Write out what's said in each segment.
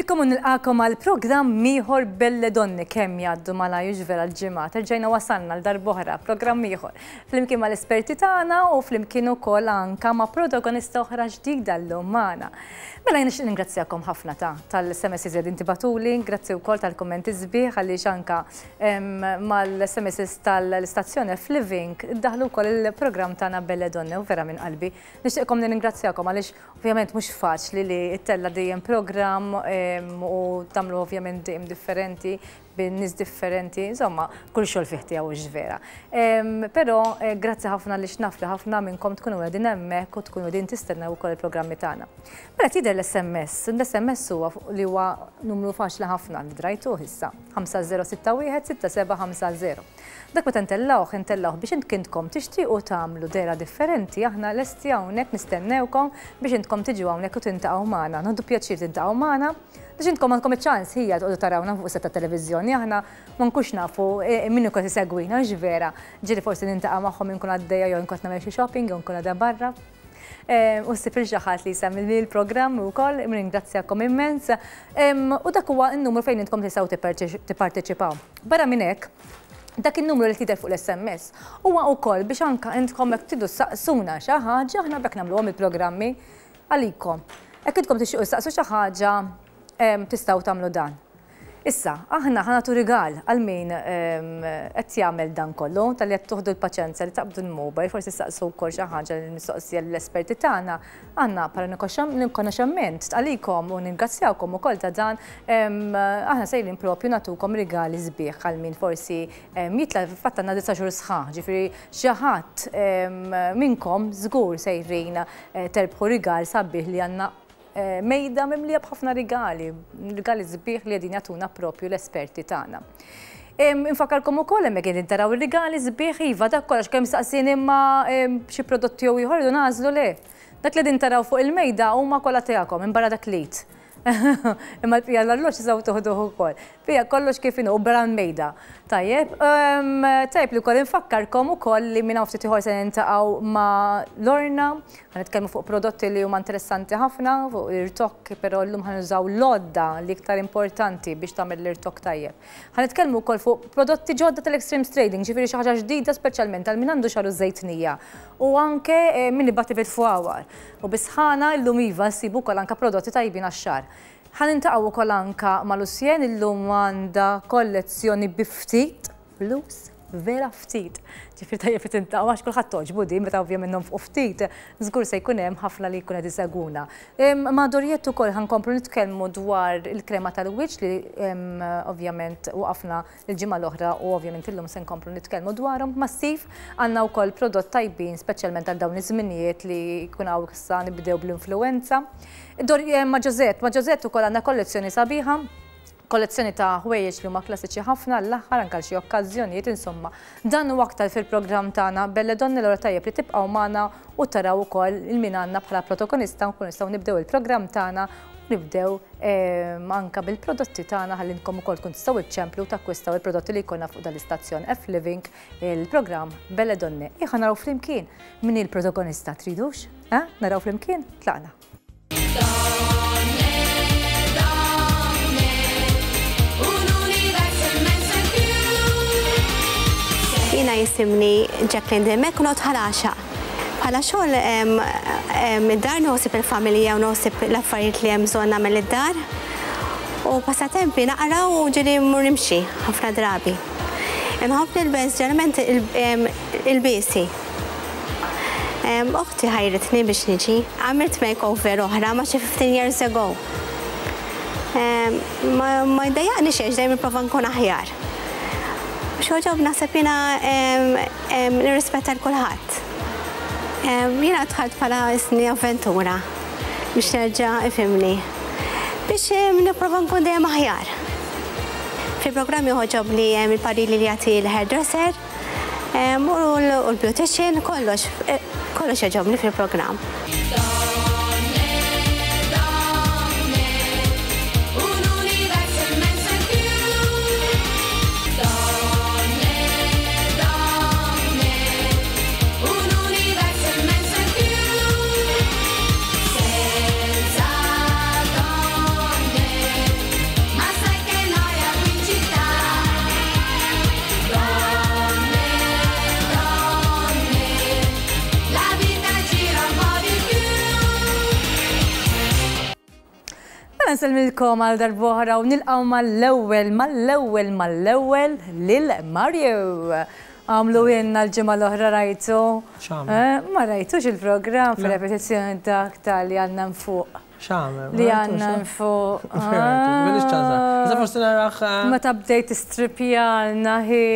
Inselmilkom u nilqakom għal programm ieħor Belle Donne kemm jgħaddu malajr vera l-ġimgħat. Erġajna wasalna l darb'oħra programm ieħor. Flimkien mal-esperti tagħna u flimkien ukoll anka ma' protagonista oħra ġdida llum magħna. Mela jien nixtieq ningrazzjakom ħafna ta' tal-SMS li intibatuli, grazzi wkoll tal-kummenti sbieħ għaliex anka mal-SMS tal-istazzjon F-Living daħlu wkoll il-programm tagħna Belle Donne u vera minn qalbi. Nixtieqkom nirringrazzjakom għaliex Ovvjament mhux faċli li ttella' dejjem programm u tagħmlu ovvjament dejjem differenti bin nies differenti, insomma, kull xogħol fih tiegħu hux vera. Però grazzi ħafna għaliex naf li ħafna minnkom tkunu qegħdin hemmhekk u tkunu qegħdin tistennew ukoll il-programmi tagħna. Mela tidher l-SMS, l-SMS huwa li huwa numru faċli ħafna li drajtuh issa, 5061 6750. Dak meta ntellgħuh, intellgħuh biex intkom tixtiequ tagħmlu dehra differenti, aħna lesti hawnhekk nistennewkom biex intkom tiġu hawnhekk u tintaqgħu magħna. Nieħdu pjaċir tintaqgħu magħna biex intkom għandkom iċ-ċans ħija toqgħodu tarawna fuq set tat-televiżjoni, aħna ma nkunx nafu min ikun qed isegwina, hux vera? Ġieli forsi nintaqa' magħhom inkun għaddejja jew inkun qed nagħmel xi shopping jew inkun għadha barra. U ssib lil xi ħadd li jsemmi l-programm ukoll, nirringrazzjakom immens. U dak huwa n-numru fejn intkom tistgħu tipparteċipaw. Barra minn hekk, dak in-numru li tidher fuq l-SMS huwa wkoll biex anka intkom jekk tridu ssaqsuna xi ħaġa, aħna b'hekk nagħmluhom il-programmi għalikom. Jekk intkom tixtiequ ssaqsu xi ħaġa, tistgħu tagħmlu dan. Issa, aħna ħa nagħtu rigal għal min qed jagħmel dan kollu, talli qed tuħdu l-paċenzja li taqbdu l-mobile, forsi ssaqsu wkoll xi ħaġa l-mistoqsija lill-esperti tagħna. Għandna bħala rikonoxximent għalikom u ningrazzjawkom ukoll ta' dan, aħna sejrin propju nagħtukom rigali sbieħ għal min forsi jitla' fatt għandna disa' xhur sħaħ, ġifieri xi ħadd minnkom żgur sejrin terbħu rigal sabiħ li għandna mejda mimlija b'ħafna rigali, rigali sbieħ li qegħdin jagħtuna propju l-esperti tagħna. Infakkarkom ukoll hemmhekk qegħdin taraw ir-rigali sbieħ iva dak kollox kemm saqsini imma xi prodotti jew ieħor nagħżlu le. Dak li qegħdin taraw fuq il-mejda huma kollha tiegħekom minbarra dak l-id. Imma l-bqija l-arloġġ tistgħu toħduh ukoll. Bija kollox kif inhu barra l-mejda. Tajjeb, tajjeb li wkoll infakkarkom ukoll li minn hawn ftit ieħor se niltaqgħu ma' Lorna, ħa nitkellmu fuq prodotti li huma interessanti ħafna, fuq l-irtokk, però llum ħa nużaw l-għodda li iktar importanti biex tagħmel l-irtokk tajjeb. Ħa nitkellmu wkoll fuq prodotti ġodda tal-Extremes Trading, ġifieri xi ħaġa ġdida speċjalment għal min għandu xagħru żejtnija u anke min ibati bil-fwawar. U bis-sħana llum iva nsibu wkoll anke prodotti tajbin għax-xagħar. Ħa niltaqgħu wkoll anka ma' Lucienne illum għandha kollezzjoni bi ftit flus, vera ftit. Ġifieri tajjeb li tintaqgħu għax kulħadd togħġbu din meta ovvjament nonfqu ftit, żgur se jkun hemm ħafna li jkun qed isegwuna. Ma' Doriette ukoll ħa nkomplu nitkellmu dwar il-krema tal-wiċċ li ovvjament waqafna il-ġimgħa l-oħra u ovvjament illum se nkomplu nitkellmu dwarhom. Ma' Steve għandna wkoll prodott tajbin speċjalment għal dawn iż-żminijiet li jkun hawn issa nibdew bl-influwenza. Eh, ma' Josette, ma' Josette ukoll għandna kollezzjoni sabiħa kollezzjoni ta' ħwejjeġ li huma klassiċi ħafna l-aħħar anke xi okkażjonijiet insomma. Dan u aktar fil-programm tagħna Belle Donne l tajjeb li tibqgħu magħna u taraw ukoll il-min għandna bħala protagonista nkunu nistgħu nibdew il-programm tagħna nibdew ehm, anka bil-prodotti tagħna ħalli nkom ukoll tkun tistgħu iċċemplu u takkwistaw il-prodotti li jkollna fuq dal-istazzjon F Living il-programm Belle Donne. Iħa naraw flimkien min il-protagonista tridux? Eh? Naraw flimkien? Tlaqna. Jiena jisimni Jacqueline Dimech u noqgħod Ħal Għaxaq. Bħala xogħol id-dar noħsib il-familja u noħsib l-affarijiet li hemm bżonn nagħmel id-dar. U passatempi naqra u ġieli mmur nimxi ħafna drabi. Inħobb nilbes ġeneralment il-biesi. Oħti ħajritni biex niġi. Għamilt makeover oħra ma xi 15 years ago. Ma jdejjaqni xejn dejjem nipprova nkun aħjar. Xogħob naħseb jiena nirrispetta l kulħadd. Jiena dħalt bħala isni avventura biex nerġa' ifhimni. Biex nipprova nkun dejjem aħjar. Fil-programm joħoġobni il-pariri li jagħti l-hairdresser u l-beautician, kollox, kollox jogħġobni fil-programm. Nsellmilkom għal darb'oħra u nilqgħu mal-ewwel, mal-ewwel, mal-ewwel lil Mario. Għamlu inna l-ġimgħa l-oħra rajtu. X'għamel? Ma rajtux il-programm fir-repetizzjoni dak ta' li għandna fuq. X'għamel? Li għandna fuq. M'għandix ċans. Iżda forsi narah. Meta bdejt tistripjalna hi.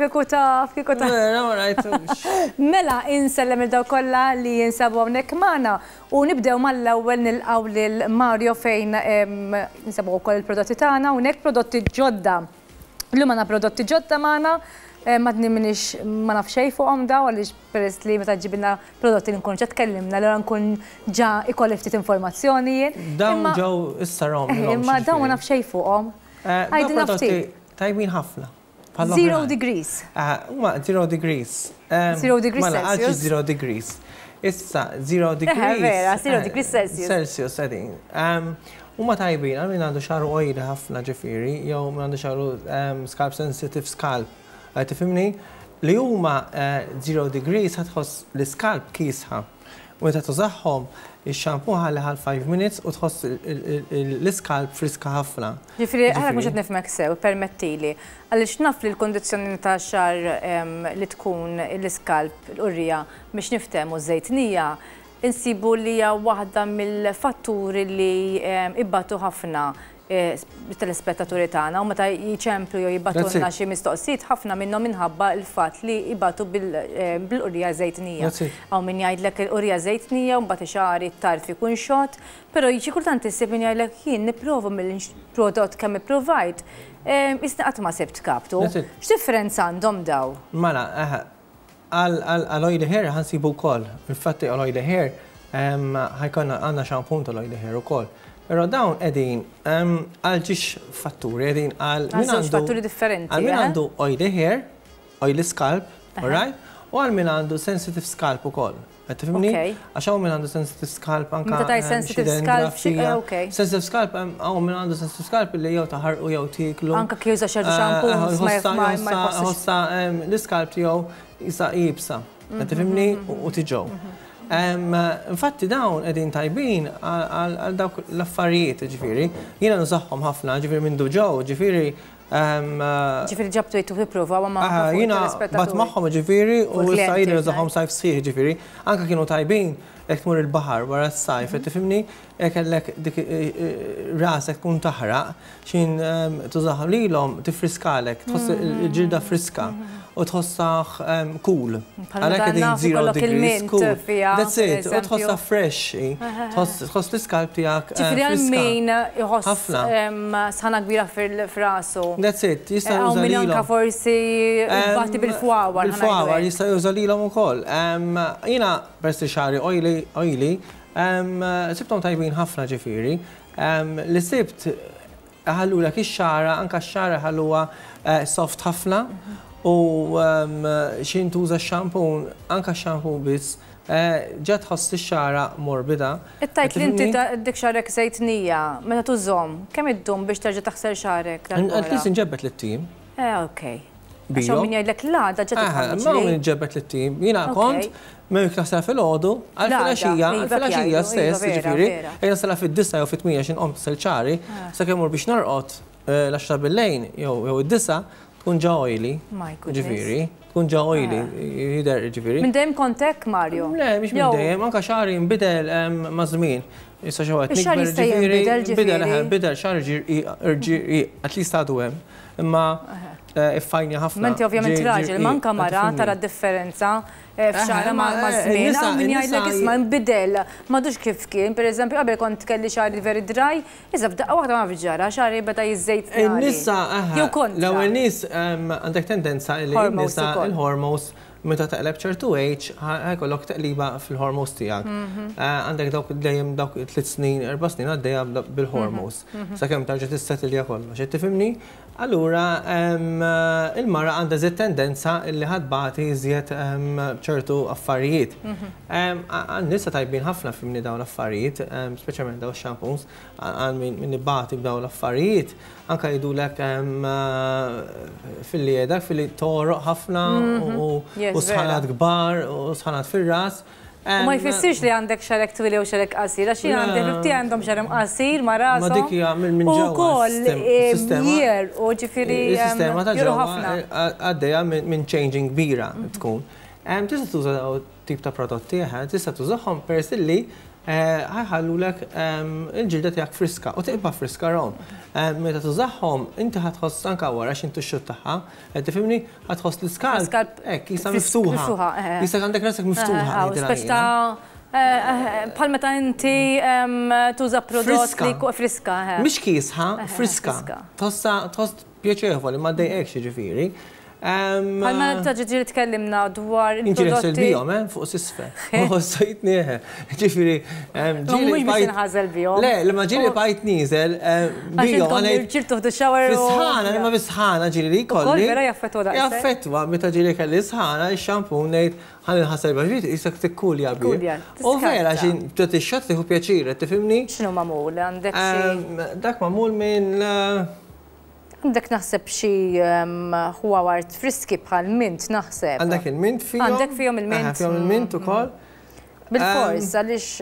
Kieku taf, kieku taf. Vera ma rajtux. Mela insellem lil dawk kollha li jinsabu hawnhekk magħna u nibdew mal-ewwel nilqgħu lil Mario fejn insabu wkoll il-prodotti tagħna hawnhekk prodotti ġodda. Illum għandna prodotti ġodda magħna, għadni m'iniex ma naf xejn fuqhom dawn għaliex peress li meta ġġibilna prodotti li nkunu ġa tkellimna allura nkun ġa ikolli ftit informazzjoni jien. Dawn ġew issa rom. Imma dawn ma naf xejn fuqhom. Għidilna ftit. Tajbin ħafna. Zero degrees. Huma zero degrees. Zero degrees Celsius. Mela, għaliex zero degrees. Issa, zero degrees. Vera, zero degrees Celsius. Celsius, qegħdin. Huma tajbin għal min għandu xagħru oily ħafna ġifieri, jew min għandu xagħru scalp sensitive scalp. Tifhimni? Li huma zero degrees ħa tħoss l-iscalp kiesħa. U meta tużahom, ix-shampoo ħalli għal 5 minutes u tħoss l-iscalp friska ħafna. Ġifieri, għalhekk mhux qed nifhmek sew, ippermettili. Għaliex naf li l-kundizzjoni ta' xagħar li tkun l-iscalp, l-qurrija, biex niftehmu żejtnija, insibu li hija waħda mill-fatturi li ibatu ħafna telespettaturi tagħna u meta jċemplu jew jibagħtulna xi mistoqsijiet ħafna minnhom minħabba l-fatt li jbatu bil-qurrija żejtnija. Hawn min jgħidlek il-qurrija żejtnija u mbagħad xagħri t-tarf ikun xott, però xi kultant issib min jgħidlek jien nipprova mill-prodott kemm ippruvajt, isni qatt ma sibt kaptu. X'differenza għandhom daw? Mela, għal oily hair ħa nsibu wkoll. Infatti għal oily hair ħa jkollna għandna shampoo tal-oily hair ukoll. Però dawn qegħdin għal żewġ fatturi, qegħdin għal min għandu fatturi differenti. Għal min għandu oily hair, oily scalp, alright? U għal min għandu sensitive scalp ukoll. Qed tifhimni? Għax hawn min għandu sensitive scalp anka. Meta tgħid sensitive scalp, Sensitive scalp hawn min għandu sensitive scalp li jew taħarqu jew tieklu. Anka kif juża ċertu shampoos ma jħossha l-iscalp tiegħu jisa iebsa. Qed tifhimni? U tiġew. Infatti dawn qegħdin tajbin għal dawk l-affarijiet, ġifieri. Jiena nużahom ħafna, ġifieri minn ġew, ġifieri. Ġifieri ġabtu jittu tipprova ma' Jiena bat magħhom ġifieri u issa jien nużahom sajf sħiħ ġifieri. Anka kienu tajbin jekk tmur il-baħar wara s-sajf, qed tifhimni? Jekk kellek dik rasek tkun taħraq, xin tużahom lilhom tifriskalek, tħoss il-ġilda friska u tħossah cool. Għalhekk qegħdin zero degrees cool. That's it, u tħossha fresh, tħoss l-iscalp tiegħek. Ġifieri għal min iħoss sħana kbira fil-rasu. That's it, jista' juża lilhom. Anka forsi bati bil-fwawar. Bil-fwawar jista' juża lilhom ukoll. Jiena peress li xagħri oily, oily, sibthom tajbin ħafna ġifieri. Li sibt ħallulek ix-xagħra, anka x-xagħra ħalluha soft ħafna u xin tuża x-shampoo, anka x-shampoo biss, ġa tħoss ix-xagħra morbida. Tgħid li inti dik xagħrek żejtnija, meta tużhom, kemm iddum biex terġa' taħsel xagħrek? At least inġebbed lit-tim. Ok. Għax hawn min jgħidlek l-għada ġa tidħol. Ma min ġebbed lit-tim. Jiena kont minn naħsel filgħodu għal filgħaxija, għal filgħaxija stess, ġifieri, jekk naħsel fid-9 jew fit-8 xi nqom sel ċari, sakemm mur biex norqod l-10 bil-lejn jew id-9 tkun ġa oily. Ġifieri, tkun ġa oily, jidher ġifieri. Minn dejjem kont hekk, Mario? Le, mhix minn dejjem, anke xagħri nbidel maż-żmien. Issa xi waqt Ix-xagħar jista' jinbidel ġifieri. Bidel xagħar ġie at least għadu hemm. Imma iffajni ħafna. Menti ovvjament raġel, manka mara tara differenza f'xagħra ma' żmien. Hawn min jgħidlek isma' nbidel, m'għadux kif kien. Pereżempju qabel kont kelli xagħri very dry, issa f'daqqa waħda ma nafx ġara, xagħri beda jiżżejt. In-nisa, l-ewwel nies għandek tendenza li n-nisa il-hormones meta taqleb ċertu age ħa jkollok teqliba fil-hormones tiegħek. Għandek dawk dejjem dawk 3 snin, 4 snin għaddejja bil-hormones. Sakemm tarġa' tissetilja kollox. Qed tifhimni? Allura il-mara għandha żied tendenza li ħa tbati iżjed ċertu affarijiet. Għan-nisa tajbin ħafna fimni dawn l-affarijiet, speċjalment dawn shampoos, għal min ibati b'dawn l-affarijiet, anka jgħidulek filli jgħidak filli togħroq ħafna u sħanat kbar u sħanat fir-ras. U ma jfissirx li għandek xagħrek twil jew xagħrek qasir, għax jien għandi ħbieb tiegħi għandhom xagħarhom qasir ma' rashom. Ma dik hija minn ġewwa. U wkoll jierqu, ġifieri. Is-sistema ta' ġewwa għaddejja minn changing kbira tkun. Tista' tuża dawn tip ta' prodotti, tista' tużahom peress li ħa jħallulek il-ġilda tiegħek friska u tibqa' friska rom. Meta tużahom inti ħa tħoss anke wara x'intu x-xut tagħha, qed tifhimni? Ħa tħoss l-iskalp hekk qisha miftuħa. Qisek għandek rasek miftuħa. Speċi ta' bħal meta inti tuża prodott li friska. Mhix kiesħa, friska. Tħossha tħoss pjaċevoli, ma ddejqekx jiġifieri. Bħal meta ġieli tkellimna dwar il-prodotti. Inti nħassel bihom, eh, fuq s'isfel. Ħossejtni, eh. Ġifieri, ġieli. Mhux biex inħażel bihom. Le, imma ġieli bqajt nieżel bihom. Għax tuħdu shower. Fis-sħana, imma bis-sħana ġieli li jkolli. Ukoll vera jaffettwa daqshekk. Jaffettwa, meta ġieli kelli sħana, ix-shampoo ngħid ħa ninħasel bih, ġifieri qisek tikkulja bih. U vera, xi tagħti x-xott tieħu pjaċir, qed tifhimni? X'inhu magħmul? Għandek xi. Dak magħmul minn. Għandek naħseb xi ħwawar friski bħal mint naħseb. Għandek il-mint fihom. Għandek fihom il-mint. Fihom il-mint ukoll. Bilfors, għaliex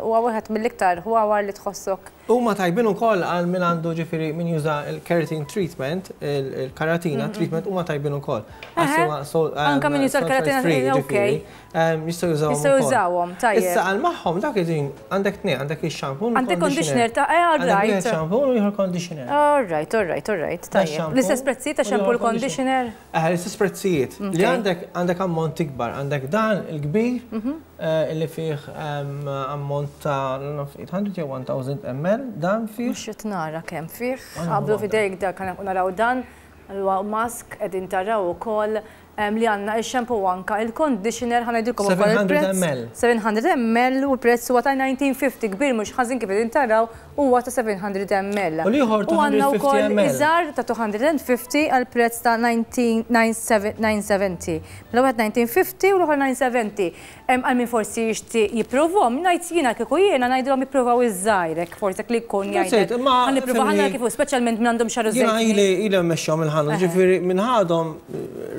huwa wieħed mill-iktar ħwawar li tħossok. Huma tajbin ukoll għal min għandu ġifieri min juża l-keratin treatment, il-karatina treatment huma tajbin ukoll. Anke min juża l-keratina, okej. Jistgħu jużawhom. Jistgħu jużawhom, tajjeb. Issa għal magħhom dak iġin għandek tnejn, għandek ix-shampoo. Għandek conditioner ta' eh, all right. Għandek shampoo u ieħor conditioner. All right, all right, all right. Tajjeb. L-istess prezzijiet ta' shampoo u conditioner? Eh, l-istess prezzijiet. Li għandek għandek ammont ikbar, għandek dan il-kbir mhm. eh, li fih ammont ta' 800 jew 1000 ml, dan fih. Mhux qed nara kemm fih. Qablu fidejk dak naraw dan, huwa mask qegħdin taraw ukoll li għandna ix-shampoo u anka il-conditioner ħa ngħidilkom ukoll il-prezz. 700 ml. 700 ml u l-prezz huwa ta' 1950 kbir mhux ħażin kif qegħdin taraw huwa ta' 700 ml. U l-ieħor U għandna 250 wkoll ml. iżgħar ta' 250 għal prezz ta' 970. Mela wieħed 1950 u l-ieħor 970. Għal min forsi jixtieq jippruvhom, ngħid jiena kieku jiena ngħidilhom jippruvaw iż-żgħir hekk forsi dak li jkun jgħidlek. Ħa nipprova ħa nara kif hu, speċjalment min għandhom xagħru Jiena żejtni. ili ili mmexxihom il-ħanut, ġifieri minn ħadhom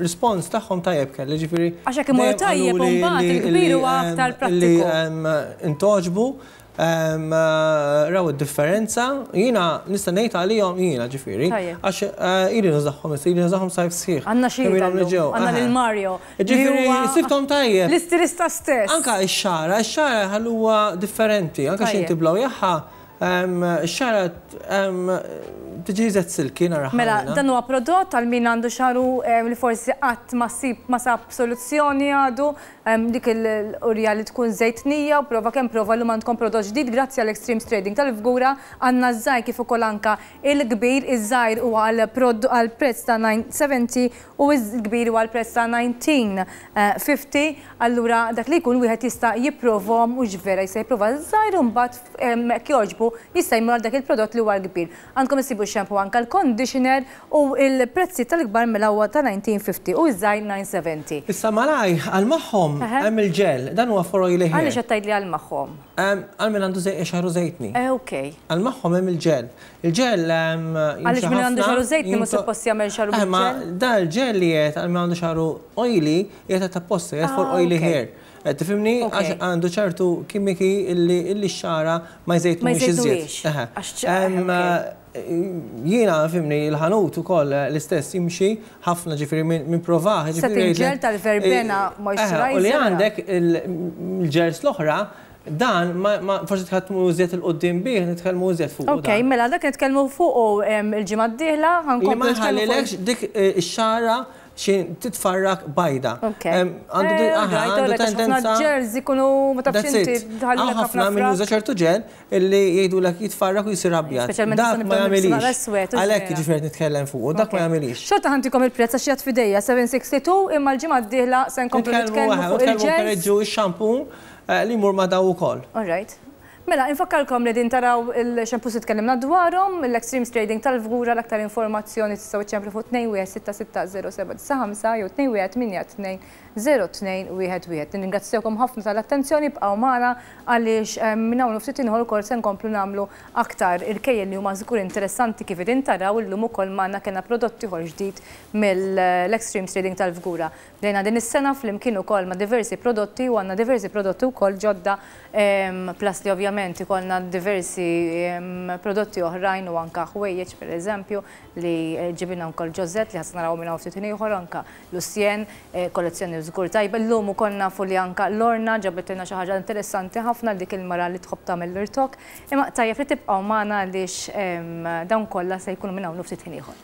rispons tagħhom tajjeb kelli, ġifieri. Għax hekk imorru tajjeb u mbagħad il-kbir huwa aktar prattiku. Li ntgħoġbu Raw id-differenza, jiena nista' ngħid għalihom jiena ġifieri. Għax ili nużahom issa, ili nużahom sajf sħiħ. Għandna xi għandna lil Mario. Ġifieri sibthom tajjeb. L-istilista stess. Anka x-xagħar, ix-xagħar ħalluha differenti, anke xi inti blow jaħħa, x-xagħar tiġi iżgħet silky naraha. Mela, dan huwa prodott għal min għandu xagħru li forsi qatt ma sib ma sab soluzzjoni għadu, Dik il-qurja li tkun żejtnija u prova kemm prova llum għandkom prodott ġdid grazzi għal Extremes Trading tal-Fgura għandna ż-żgħir kif ukoll anka il-kbir, iż-żgħir huwa għal prezz ta' 970 u l-kbir huwa għal prezz ta' 1950 allura dak li jkun wieħed jista' jipprovhom hux vera jista' jipprova ż-żgħir u mbagħad jekk jogħġbu jista' jmur għal dak il-prodott li huwa l-kbir. Għandkom issibu x-shampoo anka l-conditioner U l-prezzijiet tal-kbar mela huwa ta' 1950 u ż-żgħir 970. Issa malajr, għal magħhom hemm il-ġel, dan huwa for oily hair. Għaliex qed tgħidli għal magħhom? Għal min għandu xagħru żejtni. Eh ok. Għal magħhom hemm il-ġel. Il-ġel jimxi ħafna. Għaliex min għandu xagħru żejtni mhux suppost jagħmel xagħru bil-ġel? Eh ma dan il-ġel li qed għal min għandu xagħru oily qiegħed apposta, qiegħed for oily hair. Qed tifhimni? Għax għandu ċertu kimiki illi x-xagħra ma jżejtnuhiex iżjed. Jiena fimni il-ħanut ukoll l-istess jimxi ħafna ġifieri minn provah. Setting gel tal-verbena moisturizer. U li għandek il-gels l-oħra dan forsi tħaddmu iżjed 'il quddiem bih, nitkellmu iżjed fuqu. Ok, mela dak nitkellmu fuqu il-ġimgħa d-dieħla. Li ma jħallilekx dik ix-xagħra Xi titfarrak bajda. Għandu eh, tendenza. Ġels ikunu ma tafx inti tħallilek ħafna min juża ċertu ġel illi jgħidulek jitfarrak u jsir abjad. Speċjalment ma jagħmilix. Għalhekk jiġifieri nitkellem fuq, dak ma jagħmilix. Xorta ħantikom il-prezz għax jgħid f'idejja 762 imma l-ġimgħa d-dieħla se nkomplu nitkellmu fuq il-ġel. Nitkellmu x-shampoo eh, li jmur ma' daw ukoll. All right. Mela, infakkarkom li din taraw il-shampoos li tkellimna dwarhom, l-Extremes Trading tal-Fgura l-aktar informazzjoni tistgħu iċċemplu fuq 21660795 jew 2182 0211. Nirringrazzjakom ħafna tal-attenzjoni, ibqgħu magħna għaliex minn hawn u ftit ieħor ukoll se nkomplu nagħmlu aktar irkejjen li huma żgur interessanti kif qegħdin taraw illum ukoll magħna kellna prodott ieħor ġdid mill-Extreme Trading tal-Fgura. Bdejna din is-sena flimkien ukoll ma' diversi prodotti u għandna diversi prodotti wkoll ġodda plus li ovvjament ikollna diversi prodotti oħrajn u anke ħwejjeġ pereżempju li ġibilna wkoll Josette li ħa naraw minn hawn ftit ieħor anke Lucien, kollezzjoni żgur tajba. Illum ukoll nafu li anke Lorna ġabitilna xi ħaġa interessanti ħafna għal dik il-mara li tħobb tagħmel l-irtokk. Imma tajjeb li tibqgħu magħna għaliex dawn kollha se jkunu minn hawn u ftit ħin ieħor.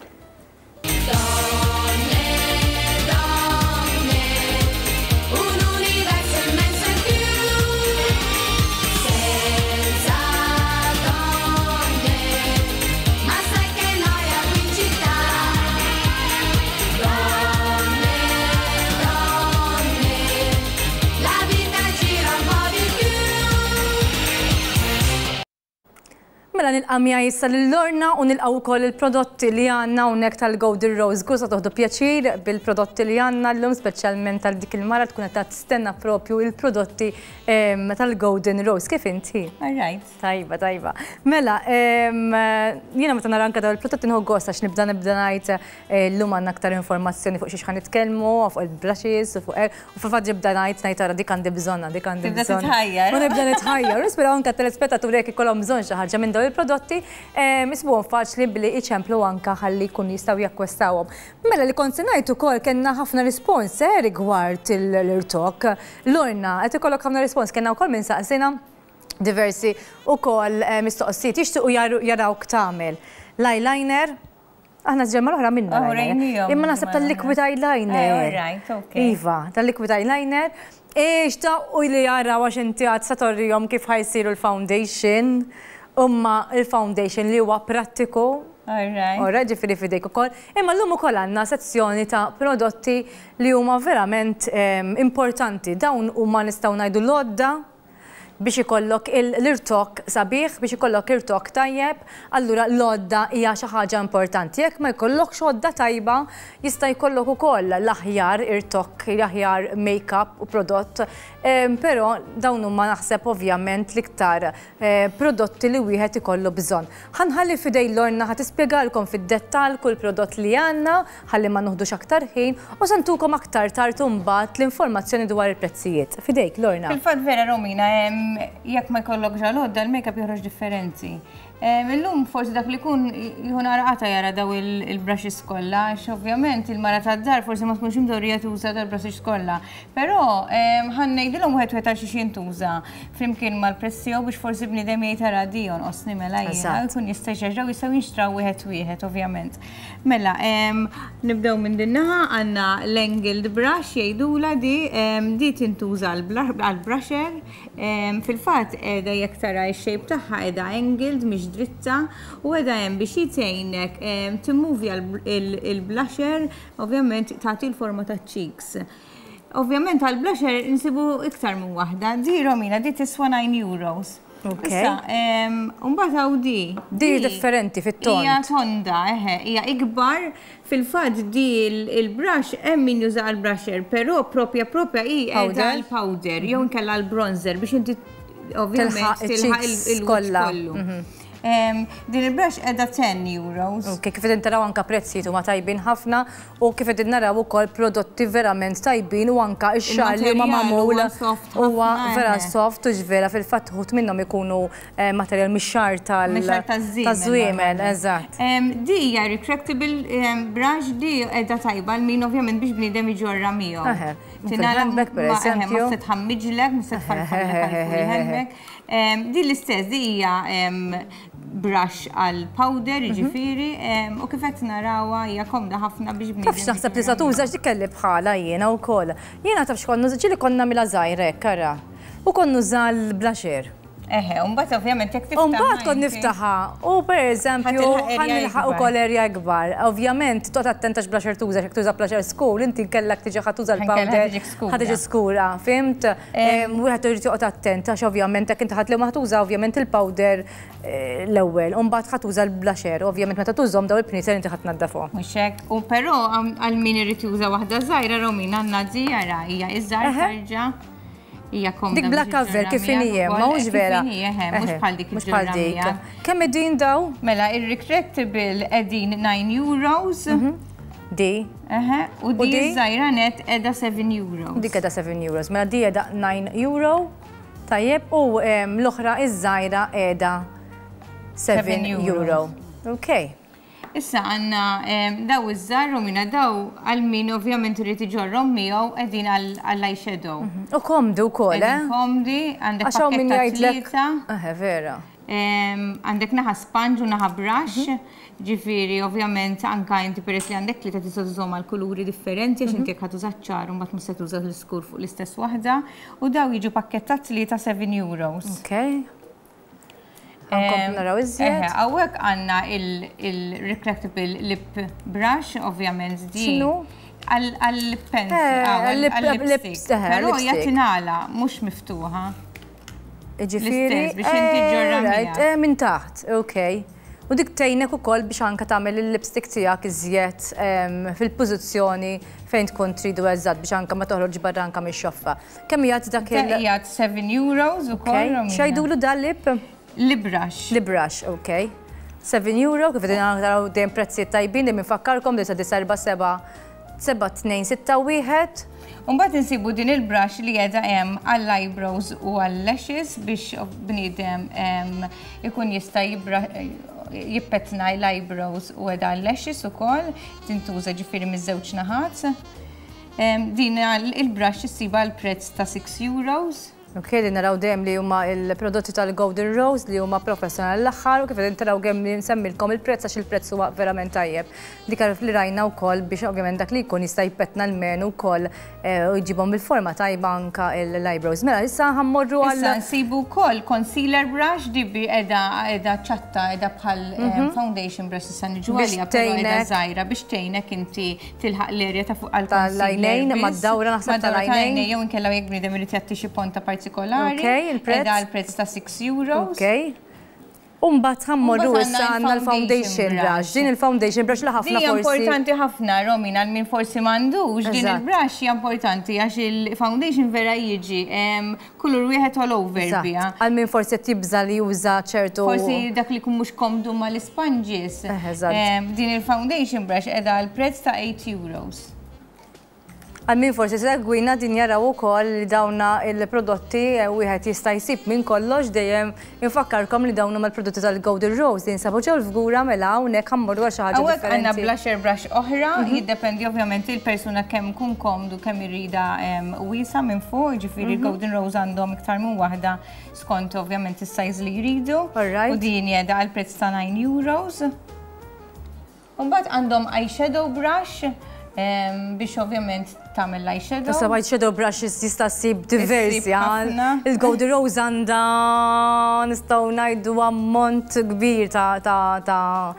Mela nilqa' miegħi issa lil Lorna u nilqgħu wkoll il-prodotti li għandna hawnhekk tal-Golden Rose. Żgur se toħdu pjaċir bil-prodotti li għandna llum speċjalment għal dik il-mara tkun qed tistenna propju il-prodotti tal-Golden Rose. Kif inti? All right. Tajba, tajba. Mela, jiena meta nara anke dawn il-prodotti nieħu gost għax nibda nibda ngħid eh, llum għandna aktar informazzjoni fuq xiex ħa nitkellmu, fuq il-blushes, u fuq hekk. U fil-fatt nibda ngħid ngħid ara dik għandi bżonnha, dik għandi Tibda bżonn. titħajjar. U nibda nitħajjar. U nispera anke t-telespettaturi jekk ikollhom bżonn xi ħaġa minn dawn il-prodotti, isibuhom faċli billi iċemplu anke ħalli jkunu jistgħu jakkwistawhom. Mela li kont se ngħid ukoll kellna ħafna rispons eh, rigward l-irtokk. Lorna, qed ikollok ħafna rispons, kellna wkoll minn saqsina diversi ukoll mistoqsijiet jixtiequ jarawk tagħmel l-eyeliner. Aħna ġemma l-oħra minna. Oh, Imma naħseb tal-liquid eyeliner. Eh, right, okay. Iva, tal-liquid eyeliner. Ix u li jaraw għax inti għad sa torrijom kif ħajsiru l-foundation. Umma il-foundation li huwa prattiku. Alright. Alright, ġifiri fidejk ukoll. Imma llum ukoll għandna sezzjoni ta' prodotti li huma verament importanti. Dawn huma nistgħu ngħidu l-għodda biex ikollok l-irtokk sabiħ, biex ikollok irtokk tajjeb, allura l-għodda hija xi ħaġa importanti. Jekk ma jkollokx għodda tajba, jista' jkollok ukoll l-aħjar irtokk, l-aħjar make-up u prodott, però dawn huma naħseb ovvjament l-iktar prodotti li wieħed ikollu bżonn. Ħa nħalli f'idejn Lorna ħa tispjegalkom fid-dettall kull prodott li għandna ħalli ma noħdux aktar ħin u se ntukom aktar tard imbagħad l-informazzjoni dwar il-prezzijiet. F'idejk, Lorna. Fil-fatt vera Romina, jekk ma jkollokx għal-għodda l-makeup joħroġ differenti. Illum forsi dak li jkun jieħu naqra qata jara daw il-brushes kollha, għax ovvjament il-mara tad-dar forsi ma tkunx imdorrija tuża dal-brushes kollha. Però ħa ngħidilhom wieħed wieħed għal xiex jintuża flimkien mal-prezz tiegħu biex forsi bniedem jgħid ara di jonqosni mela jiena jkun jista' jxerraw jistgħu jinxtraw wieħed wieħed ovvjament. Mela, nibdew minn din naħa għandna l-angled brush jgħidula di, di tintuża għall-brusher. Fil-fatt qiegħda jekk tara x-shape tagħha qiegħda angled mhix dritta u qiegħda hemm biex tgħinek timmuvja l-blusher, ovvjament tagħti l-forma taċ-cheeks. Ovvjament għall-blusher insibu iktar minn waħda. Di Romina, di tiswa 9 euros. Okay. Issa, mbagħad hawn di. Di differenti fit-tond. Hija tonda, eħe, hija ikbar. Fil-fatt di il-brush hemm min juża għall-brusher, però propja propja hi qiegħda għall-powder jew inkella għall-bronzer biex inti ovvjament tilħaq il-wiċċ kollu. Din il-brush qiegħda 10 euros. Ok, kif qegħdin taraw anka prezzijiet huma tajbin ħafna u kif qegħdin naraw ukoll prodotti verament tajbin u anka x-xagħar li huma magħmul huwa vera soft u ġvera fil-fatt uħud minnhom ikunu eh, materjal mix-xagħar tal-żwiemel, eżatt. Di hija retractable brush di qiegħda tajba għal min ovvjament biex bniedem iġorra miegħu. Fil-handbag per eżempju. Ma se tħammiġlek, ma se tfarfarlek għal Di l-istess, di hija brush għal powder, mhm. jiġifieri, u kif qed narawha hija komda ħafna biex bniedem. Tafx naħseb li sa tuża x'dik kelli bħala jiena wkoll. Jiena taf x'kont nuża ġieli konna mila żgħir hekk ara. U kont nuża l-blusher. Eħe, u mbagħad ovvjament jekk tiftaħ. U mbagħad kont niftaħha u pereżempju ħa nilħaq ukoll area ikbar. Ovvjament toqgħod attent għax blusher tuża, jekk tuża blusher skur, inti kellek tiġi ħa tuża l-powder. Ħa tiġi skura, fimt? Wieħed irid joqgħod attent għax ovvjament jekk inti ħadd li ma tuża ovvjament il-powder l-ewwel, u mbagħad ħa tuża l-blusher, ovvjament meta tużhom daw il-pnieter inti ħa tnaddafhom. Mhux hekk, u però għal min irid juża waħda żgħira Romina għandna di ara hija iżgħar terġa'. Hija komda. Dik bla cover kif inhi hemm, ma hux vera. Mhux bħal dik Mhux bħal dik. Kemm qegħdin daw? Mela, ir-retractable qegħdin 9 euros. Di. Eħe, u di żgħira net qiegħda 7 euros. Dik qiegħda 7 euros. Mela di qiegħda 9 euro. Tajjeb, u l-oħra iż-żgħira qiegħda 7 euro. Ok. Issa għandna daw iż-żgħar Romina daw għal min ovvjament irid iġorrhom miegħu qegħdin għall-eyeshadow. U komdi wkoll, eh? Komdi, għandek pakkett ta' tlieta. Eħe, vera. Għandek naħa sponge u naħa brush, ġifieri ovvjament anka inti peress li għandek tlieta tista' tużhom għal kuluri differenti għax inti jekk ħa tuża ċ-ċar u mbagħad mhux se tuża l-iskur fuq l-istess waħda. U daw jiġu pakkett ta' tlieta 7 euros. Okay. Għankom naraw iżjed. Hawnhekk għandna il-retractable lip brush, ovvjament di. X'inhu? Għal-lip pencil, għal-lipstick. Però hija tingħala, mhux miftuħa. Ġifieri. Biex inti ġorra Minn taħt, ok. U dik tgħinek ukoll biex anke tagħmel il-lipstick tiegħek iżjed fil-pożizzjoni fejn tkun tridu eżatt biex anke ma toħroġ barra anke mix-xoffa. Kemm jgħid dak il- Jgħid 7 euros ukoll. X'jgħidulu dal lip? Lip brush. Lip brush, ok. 7 euro, kif qegħdin naraw dejjem prezzijiet tajbin, dejjem infakkarkom 947 7261. Umbagħad insibu din il-brush li qiegħda hemm għall-eyebrows u għall-lashes biex bniedem ikun jista' jippetna l-eyebrows u qiegħda għall-lashes ukoll, tintuża ġifieri miż-żewġ naħat. Din il-brush issibha għall-prezz ta' 6 euros. Ok, li naraw dejjem li huma il-prodotti tal-Golden Rose li huma professjonali l-aħħar u kif qegħdin taraw kemm li nsemmilkom il-prezz għax il-prezz huwa verament tajjeb. Dik li rajna wkoll biex ovvjament dak li jkun jista' jpettna l-menu wkoll u jġibhom bil-forma tajba anka l-eyebrows. Mela issa ħa mmorru għal. Issa nsibu wkoll concealer brush di bi qiegħda qiegħda ċatta qiegħda bħal foundation brush issa niġu għaliha però qiegħda żgħira biex tgħinek inti tilħaq l-erja ta' fuq għal tal-għajnejn, mad-dawra naħseb tal-għajnejn. Jew inkella jekk bniedem irid jagħti xi ponta partikolari. Ok, il-prezz. Qiegħda għal prezz ta' 6 euros. Ok. U mbagħad ħa mmorru issa għandna l-foundation brush. Din il-foundation brush li ħafna forsi. Importanti ħafna, Romina, għal min forsi m'għandux, din il-brush hija importanti għax il-foundation vera jiġi kulur wieħed all over biha. Għal min forsi qed jibża' li juża ċertu. Forsi dak li jkun mhux komdu mal-isponges. Din il-foundation brush qiegħda għal prezz ta' 8 euros. Għal min forsi segwina din jaraw ukoll li dawna il-prodotti wieħed jista' jsib minn kollox dejjem infakkarkom li dawn huma l-prodotti tal-Golden Rose li jinsabu ġew l-fgura mela hawnhekk ħa mmorru għal xi ħaġa Hawnhekk għandna blusher brush oħra, jiddependi ovvjament il-persuna kemm kun komdu kemm irida wiesa minn fuq, jiġifieri Golden Rose għandhom iktar minn waħda skont ovvjament is-size li jridu. U din qiegħda għal prezz ta' 9 euros. Mbagħad għandhom eyeshadow brush biex ovvjament tagħmel l-eyeshadow. Issa eyeshadow brushes jista' ssib diversi. Il-Golden Rose għandha nistgħu ngħidu ammont kbir ta'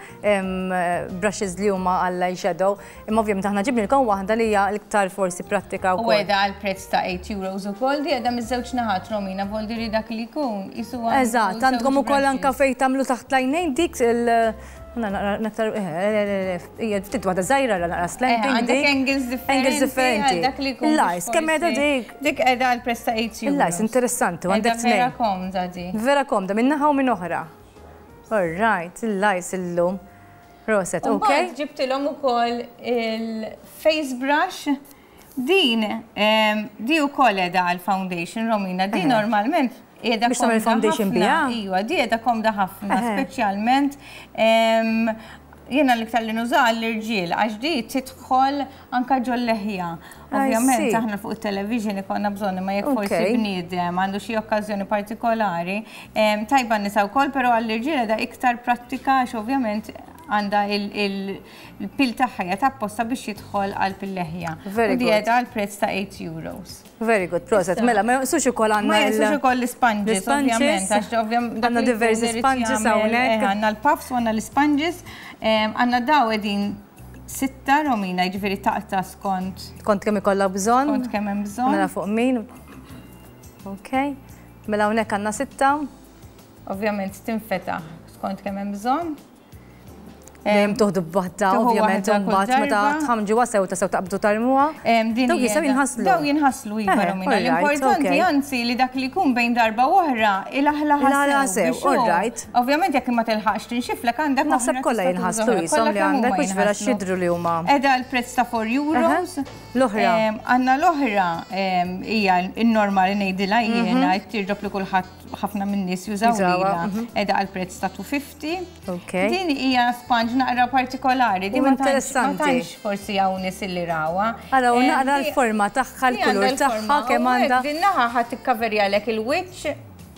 brushes li huma għall-eyeshadow. Imma ovvjament aħna ġibnilkom waħda li hija l-iktar forsi prattika wkoll. U qiegħda għal prezz ta' 8 euros ukoll, di qiegħda miż-żewġ naħat Romina, voldiri dak li jkun. Eżatt, għandkom ukoll anke fejn tagħmlu taħt l-għajnejn dik il- Naqra, hija ftit waħda żgħira naqra slanting. Għandek angles differenti. Angles differenti. Dak li jkun. L-ice, kemm qiegħda dik? Dik qiegħda għal prezz ta' 8 euros. Il-ice, interessanti, għandek tnejn. Vera komda di. Vera komda, minn naħa u minn oħra. All right, il-ice illum. Proset, ok. Ġibtilhom ukoll il-face brush. Din, di ukoll qiegħda għal foundation, Romina, di normalment qiegħda Biex tagħmel foundation biha? Iva, di qiegħda komda ħafna, speċjalment jiena l-iktar li nuża l-irġiel, għax di tidħol anka ġol-leħja. Ovvjament, aħna fuq il-television ikollna bżonn ma jekk forsi bniedem għandu xi okkażjoni partikolari. Tajba nisa wkoll, però għall-irġiel da iktar prattika għax ovvjament. Għandha il-pil tagħha hija apposta biex jidħol għal pil-leħja. Very U di good. qiegħda għal prezz ta' 8 euros. Very good, proset. Mela, ma jonqsux ukoll għandna Ma jonqsux ukoll l-sponges, l-sponges. ovvjament, għax ovvjament dak Għandna li diversi jkun irid sponges jagħmel, hawnhekk. Għandna l-puffs u għandna l-sponges. Għandna daw qegħdin 6 Romina, jiġifieri taqta' skont. Kont kemm ikollha bżonn. Kont kemm hemm bżonn. Mela fuq min. Ok. Mela hawnhekk għandna 6. Ovvjament tinfetaħ skont kemm hemm bżonn. Dejjem toħdu b'waħda, Tuħu ovvjament, waħda kull mbagħad meta darba. tħamġuha sew ta' sew taqbdu tarmuha. Din Dawk hija jistgħu jinħaslu. Daw jinħaslu, iva, Romina. L-importanti, anzi, li dak li jkun bejn darba u oħra, ilaħlaħa Ilaħlaħa sew sew, biex hu all right. Ovvjament jekk ma tilħaqx tinxiflek għandek Naħseb oħra kollha tista' tuża jinħaslu oħra. jisom Kollha li kemm għandek, huma mhux vera jinħaslu. xidru li huma. Qiegħda l-prezz ta' 4 euros. L-oħra. Għandna l-oħra hija n-normali ngħidilha jiena, t-teardrop li kulħadd ħafna min-nies jużaw Jużawha, lilha. Qiegħda għal prezz ta' 250. Ok. Din hija sponge naqra partikolari, din U ma interessanti. tantx forsi hawn nies illi rawha. Ara, u naqra l-forma tagħha, Di l-kulur għandha l-forma, tagħha, kemm u hekk għandha. Din naħa ħadd tikkaverjalek il-wiċċ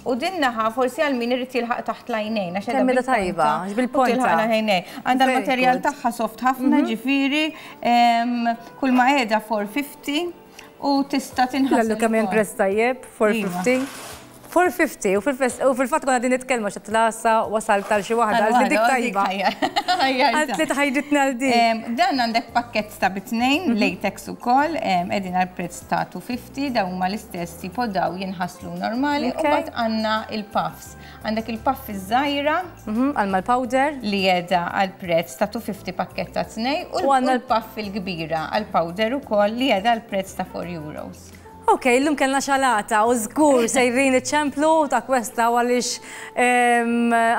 u din naħa forsi għal min irid jilħaq taħt l-għajnejn, għax Kemm qiegħda qiegħda tajba, bil-ponta għax bil-ponta. u tilħaq l-għajnejn. Għandha Very l-materjal good. tagħha soft ħafna, ġifieri, kull ma qiegħda 450 u tista' tinħasel Lallu kemm hemm ukoll. prezz tajjeb, 450. 450, u fil-fatt konna din nitkellmu x'qed tlasa wasal tal xi waħda, għal li dik tajba. Għal li tħajġitna għal dik. Dan għandek pakkett ta' bitnejn, latex ukoll, qegħdin għal prezz ta' 250, dawn huma l-istess tipo daw jinħaslu normali, u mbagħad għandna il-puffs. Għandek il-puff iż-żgħira. Għal mal-powder. Li qiegħda għal prezz ta' 250 pakkett ta' tnej, u U għandna l-puff il-kbira għal powder ukoll li qiegħda għal prezz ta' 4 euros. Ok, illum kellna xalata u żgur sejrin iċ-ċemplu ta' kwesta għaliex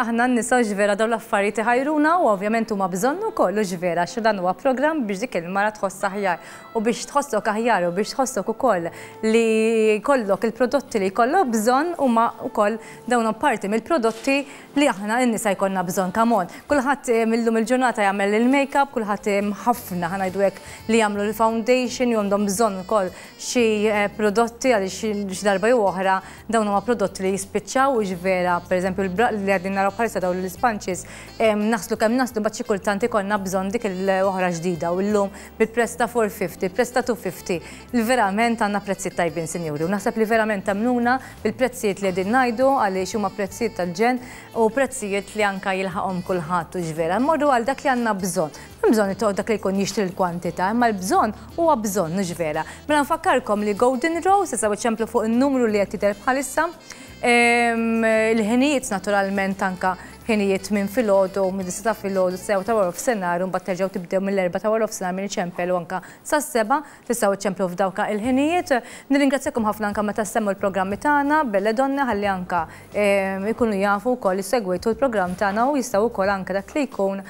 aħna n-nisa ġvera dawn l-affarijiet iħajruna u ovvjament huma bżonn ukoll u ġvera xi dan huwa programm biex dik il-mara tħoss aħjar u biex tħossok aħjar u biex tħossok ukoll li jkollok il-prodotti li jkollok bżonn huma wkoll dawn parti mill-prodotti li aħna n-nisa jkollna bżonn. Come on. Kulħadd millum il-ġurnata jagħmel il-make-up, kulħadd ħafna ħanajdu hekk li jagħmlu l-foundation, jew għandhom bżonn ukoll xi prodotti għaliex xi darba jew oħra dawn huma prodotti li jispiċċaw u ġvera, pereżempju li qegħdin naraw bħalissa dawn l-sponges, naħslu kemm naħslu mbagħad xi kultant ikollna bżonn dik l-oħra ġdida u llum bil-prezz ta' 450, il-prezz ta' 250, li verament għandna prezzijiet tajbin, sinjuri, u naħseb li verament tagħmluna bil-prezzijiet li qegħdin ngħidu għaliex huma prezzijiet tal-ġen u prezzijiet li anka jilħaqhom kulħadd u ġvera. Mmorru għal dak li għandna bżonn. Hemm bżonn li toqgħod dak li jkun jixtri l-kwantità, imma l-bżonn huwa bżonn, mhux vera. Mela nfakkarkom li Golden Rose, issa ċemplu fuq in-numru li qed jidher bħalissa. Il-ħinijiet naturalment anka ħinijiet minn filgħodu, minn disa ta' filgħodu, sew ta' wara f'senar, u mbagħad terġgħu tibdew mill-4 ta' wara f'senar minn iċempel u anka sas-7, tistgħu iċemplu f'dawk il-ħinijiet. Nirringrazzjakom ħafna anka meta semmu l-programmi tagħna, Belle Donne, ħalli anka ikunu jafu wkoll li segwejtu l-programm tagħna u jistgħu wkoll anke dak li jkun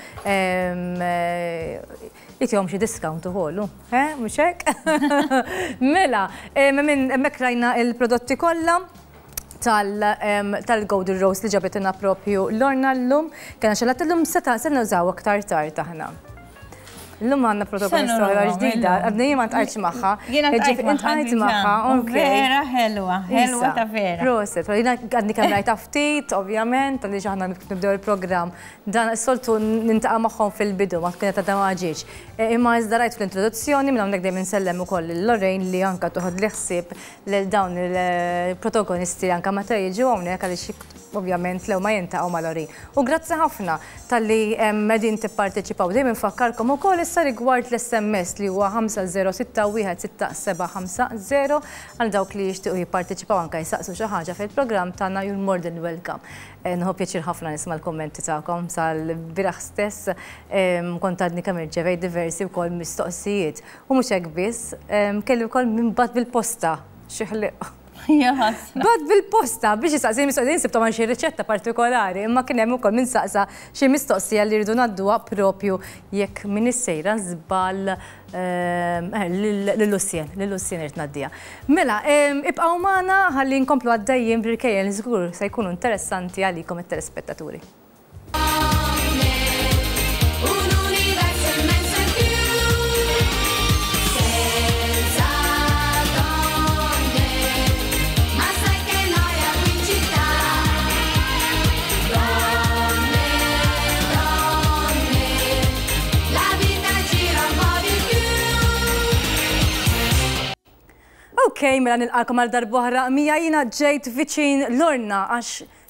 jitihom xi discount ukoll, mhux hekk? Mela, minn hemmhekk rajna il-prodotti kollha tal-Golden Rose li ġabitilna propju Lorna llum. Kena xalat llum se nużaw aktar tard aħna. Llum għandna protagonista Se oħra nużaw, ġdida, illum. għadni jien ma ntqajtx magħha. Jiena ntqajt Ġifieri, magħha ntqajt diġà. magħha, U ok. Vera ħelwa, ħelwa Issa, ta' vera. Proset, jiena għadni kemm rajta ftit, ovvjament, għaliex aħna nibdew il-programm. Dan is-soltu nintaqa' magħhom fil-bidu, ma tkun qed għadha ma ġietx. Imma iżda rajt fl-introduzzjoni, minn hawnhekk dejjem insellem ukoll lil Lorraine li anka toħod li ħsieb lil dawn il-protagonisti anka meta jiġu hawnhekk għaliex ovvjament lew ma jintaqgħu ma' Lorraine. U grazzi ħafna talli qegħdin tipparteċipaw. Dejjem infakkarkom ukoll issa rigward l-SMS li huwa ħamsa zero sitta wieħed sitta seba' ħamsa zero għal dawk li jixtiequ jipparteċipaw anke jsaqsu xi ħaġa fil-programm tagħna, you're more than welcome. Nħobb pjaċir ħafna nisma' l-kummenti tagħkom sal-bieraħ stess, kont għadni kemm irċevejt diversi wkoll mistoqsijiet. U mhux hekk biss, kelli wkoll minn bad bil-posta xi ħliq. Ja, ħasra. Bad bil-posta biex jistaqsi mistoqsija, insib tagħmel xi riċetta partikolari, imma kien hemm ukoll min saqsa xi mistoqsija li rridu ngħadduha propju jekk min issejra żball lil Lucien, lil Lucien irid ngħaddiha. Mela, ibqgħu magħna ħalli nkomplu għaddejjin b'irkejjen li żgur se jkunu interessanti għalikom it-telespettaturi. Ok, mela nilqakom għal darb'oħra Mija jiena ġejt viċin Lorna għax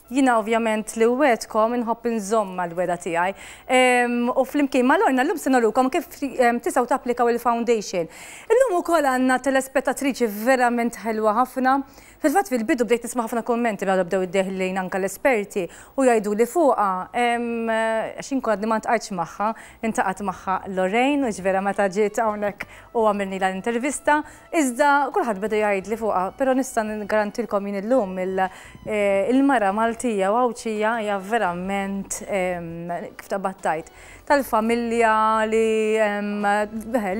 jiena ovvjament li wegħdkom inħobb inżomm mal-wegħda tiegħi. U flimkien ma' Lorna llum se nurukom kif tistgħu tapplikaw il-foundation. Illum ukoll għandna telespettatriċi verament ħelwa ħafna. Fil-fatt fil-bidu bdejt nisma' ħafna kummenti meta bdew iddeħlin anke l-esperti u jgħiduli fuqha għax jien kont għadni ma ntqajtx magħha, intaqgħet magħha Lorraine u vera meta ġiet hawnhekk u għamilnilha l-intervista, iżda kulħadd beda jgħidli fuqha, però nista' niggarantilkom jien illum il-mara Maltija u Għawdxija hija verament kif taqbad tgħid tal-familja li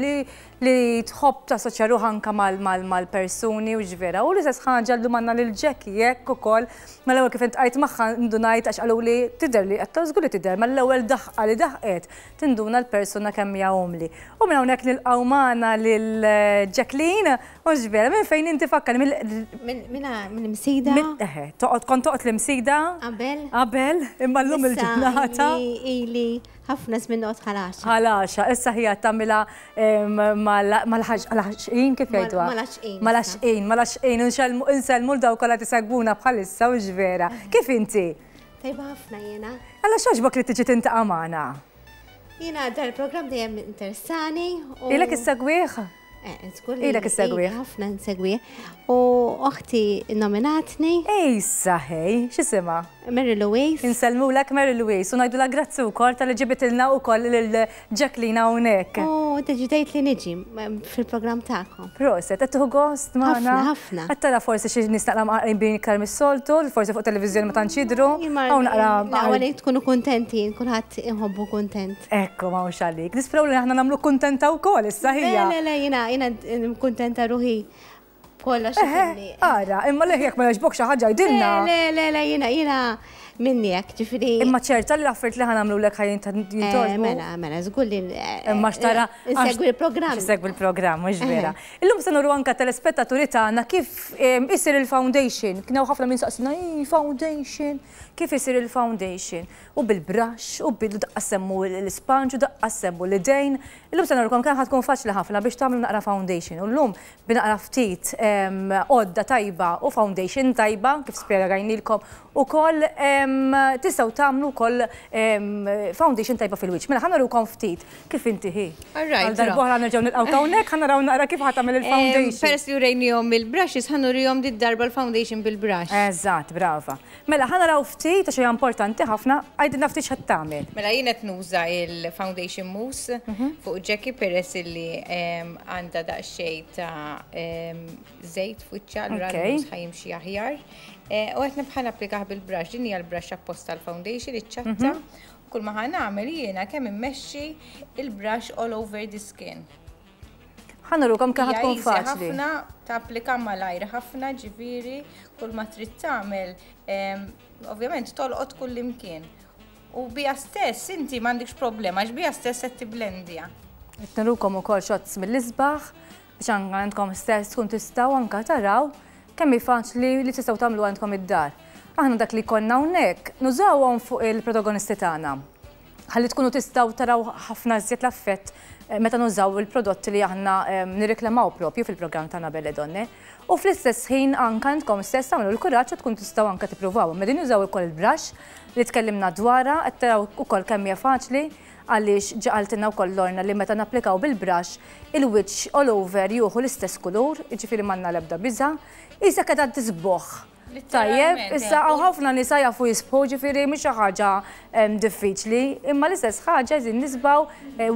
li li tħobb tassoċja ruħha anke mal-persuni u x'vera. U l-istess ħaġa llum għandna lil Jackie hekk ukoll. Mal-ewwel kif iltqajt magħha ndunajt għax qaluli tidher li qed żgur li tidher, mal-ewwel daħqa li daħqet tinduna l-persuna kemm hija umli. U minn hawnhekk nilqgħu magħna lil Jacqueline u x'vera. Minn fejn inti fakkarni? Minn Msida. Eħe, toqgħod kont toqgħod l-Imsida? Qabel. Qabel, imma llum il-ġurnata. Ili ħafna żmien noqgħod Ħal Għaxaq. Ħal Għaxaq, issa hija tagħmilha mal-ħaxqin kif jgħiduha? Mal-għaxqin. Mal-għaxqin, mal-għaxqin, insellmu 'l dawk kollha li tisegwuna bħalissa hux vera. Kif inti? Tajba ħafna jiena. Alla x'għoġbok li tiġi tintaqa' magħna? Jiena dal-programm dejjem interessani. Ilek issegwih? Żgur li. Ilek issegwih. Ħafna nsegwih. U oħti nominatni. Ejsa ħej, x'isimha? Mary Louise. Insellmulek Mary Louise u ngħidulha grazzi wkoll talli ġibitilna wkoll lil Jacqueline hawnhekk. U deċidejt li niġi fil-programm tagħkom. Proset, qed tieħu gost magħna? Ħafna, ħafna. Qed tara forsi xi nies naqra mqarqbin iktar mis-soltu, li forsi fuq televiżjoni ma tantx jidhru. Hawn naqra. L-aqwa li tkunu kuntenti, kulħadd inħobbu kuntent. Ekku, m'hawnx għalik. Nisperaw li aħna nagħmluk kuntenta wkoll issa ħija. Le, le, le, jiena jiena kuntenta ruħi kollox. Ara, imma le jekk ma jogħġbok xi ħaġa jgħidilna. Le, le, le, jiena jiena minni hekk, ġifieri. Imma ċerta li l-affarijiet li ħa nagħmlulek ħa jintogħġbu. Mela, mela, żgur li. Imma x'tara. Insegwi l-programm. Insegwi l-programm, mhux vera. Illum se nuru anke telespettaturi tagħna kif isir il-foundation. Kien hawn ħafna min saqsina, foundation, kif isir il-foundation? U bil-brush, u bil daqqa semmu l-isponge, u daqqa semmu l-idejn. Illum se nurukom kemm ħa tkun faċli ħafna biex tagħmlu naqra foundation. U llum bi naqra ftit għodda tajba u foundation tajba, kif spjegajnilkom ukoll, tistgħu tagħmlu wkoll foundation tajba fil-wiċċ. Mela ħa nurukom ftit kif inti hi. Għal darb'oħra nerġgħu nilqgħu hawnhekk, ħa naraw naqra kif ħa tagħmel il-foundation. Peress li urejnihom il-brushes, ħa nurihom did-darba l-foundation bil-brush. Eżatt, brava. Mela, ħa naraw ftit, għax hija importanti ħafna, għidilna ftit x'qed tagħmel. Mela jien qed nuża il-foundation mousse fuq Jackie peress illi għandha daqsxejn ta' żejt f'wiċċha, allura l-mousse ħa jimxi aħjar. U qed nibqa' napplikah bil-brush, din hija l-brush apposta għall-foundation, iċ-ċatta. Kull ma ħa nagħmel jiena kemm immexxi il-brush all over the skin. Ħa nurukom kemm ħa tkun faċli. Ħafna tapplika malajr ħafna ġifieri kull ma trid tagħmel ovvjament tolqot kull imkien. U bija stess inti m'għandikx problema għax bija stess qed tiblendja. Qed nurukom ukoll shots mill-isbaħ biex anke għandkom stess tkun tistgħu anke taraw kemm hi faċli li tistgħu tagħmlu għandkom id-dar. Aħna dak li jkollna hawnhekk nużawhom fuq il-protagonisti tagħna. Ħalli tkunu tistgħu taraw ħafna iżjed l-affett meta nużaw il-prodotti li aħna nirriklamaw propju fil-programm tagħna Belle Donne. U fl-istess ħin anke intkom stess tagħmlu l-kuraġġ u tkun tistgħu anke tippruvawhom. Qegħdin nużaw ukoll il-brush li tkellimna dwarha, qed taraw ukoll kemm hija faċli għaliex ġa qaltilna wkoll Lorna li meta napplikaw bil-brush il-wiċċ all over jieħu l-istess kulur, jiġifieri m'għandna l-ebda biża'. Qisek qiegħda tisboħ. Tajjeb, issa hawn ħafna nisa jafu jisbħu, ġifieri mhix xi ħaġa diffiċli, imma l-istess ħaġa qegħdin nisbgħu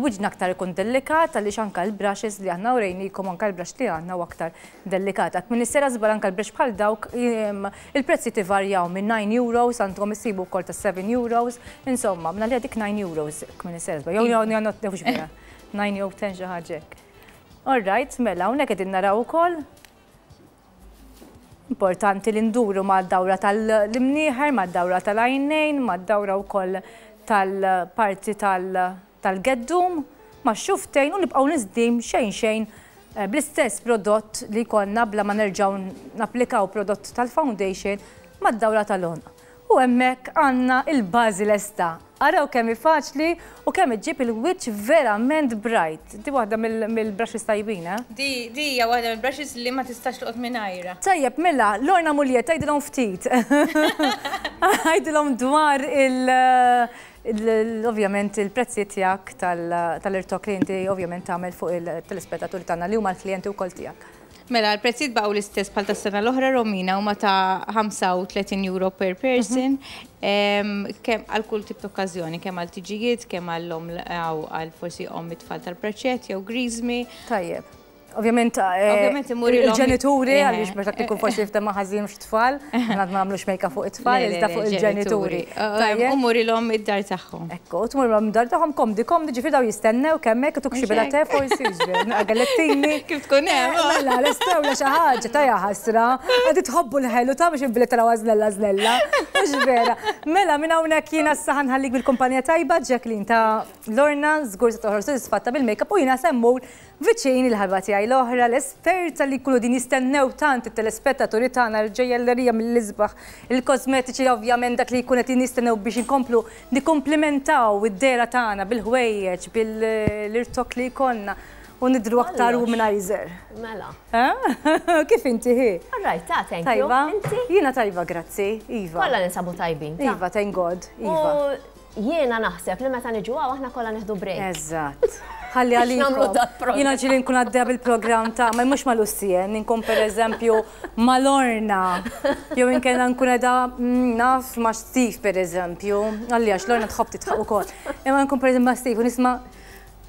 wiċċna aktar ikun delikat għaliex anke l-brushes li aħna urejnikom anke l-brush li għandna huwa aktar delikat. Għad min issejra żball anke l-brush bħal dawk il-prezzijiet ivarjaw minn 9 euros għandkom issibu wkoll ta' 7 euros, insomma, minn għalija dik 9 euros min issejra żball. Jew jew jew vera. 9 jew 10 xi ħaġa hekk. All right, mela hawnhekk qegħdin naraw ukoll Importanti li nduru mad-dawra tal-imnieħer, mad-dawra tal-għajnejn, mad-dawra wkoll tal-parti tal-geddum, max-xufftejn u nibqgħu niżdim xejn xejn bl-istess prodott li jkollna bla ma nerġgħu napplikaw prodott tal-foundation mad-dawra tal-għonq. U hemmhekk għandna l-bażi lesta. Araw kemm hi faċli u kemm iġġib il-wiċċ verament bright. Di waħda mill-brushes tajbin, eh? Di di hija waħda mill-brushes li ma tistax toqgħod mingħajrha. Tajjeb, mela, Lorna Mulier, tgħidilhom ftit. Għidilhom dwar il- ovvjament il-prezzijiet tiegħek tal-irtokk li inti ovvjament tagħmel fuq il-telespettaturi tagħna li huma l-klijenti wkoll tiegħek. Mela, l-prezzijiet baqgħu l-istess bħal tas-sena l-oħra, Romina, huma ta' 35 euro per person, kemm għal kull tip ta' okkażjoni, kemm għal tiġijiet, kemm għall-omm għal forsi omm it-tfal tal-preċett jew griżmi. Tajjeb. Ovvjament, eh, il-ġenituri, għaliex meta tkun forsi jiftem ma' ħażin mhux tfal, ma nagħmlux make fuq it-tfal, iżda fuq il-ġenituri. U murilhom id-dar tagħhom. Ekku, tmur dar tagħhom komdi, komdi ġifieri daw jistennew kemm hekk tuk xi bela te forsi, galettini. Kif tkun hemm. Mela, l-estewla xi ħaġa ta' ħasra. Għadi tħobbu l-ħelu ta' biex inbili taraw żnella żnella. Mhux vera. Mela minn hawnhekk jiena issa ħanħallik bil-kumpanija tajba Jacqueline ta' Lorna, żgur se toħroġ sodisfatta bil-makeup u jiena se mmur Viċin il-ħarba tiegħi l-oħra, l-esperta li jkunu din jistennew tant it-telespettaturi tagħna l-ġojjellerija mill-isbaħ, il-kosmetiċi ovvjament dak li jkun qed jistennew biex inkomplu nikkumplimentaw id-dehra tagħna bil-ħwejjeġ, bil-irtokk li jkollna u nidhru aktar womanizer. Mela. Kif inti hi? All right, ta' thank you. Tajba? Inti? Jiena tajba, grazzi. Iva. Kollha ninsabu tajbin. Iva, thank God. Iva. Jiena naħseb li meta niġu hawn aħna kollha nieħdu break. Eżatt. Ħalli għalikom. Jiena ġieli nkun għaddejja bil-programm ta' ma mhux ma' Lucien, inkun pereżempju ma' Lorna. Jew inkella nkun qiegħda mm, naf ma' Steve pereżempju. Għalli għax Lorna tħobb titħaq ukoll. Imma nkun pereżempju ma' Steve u nisma'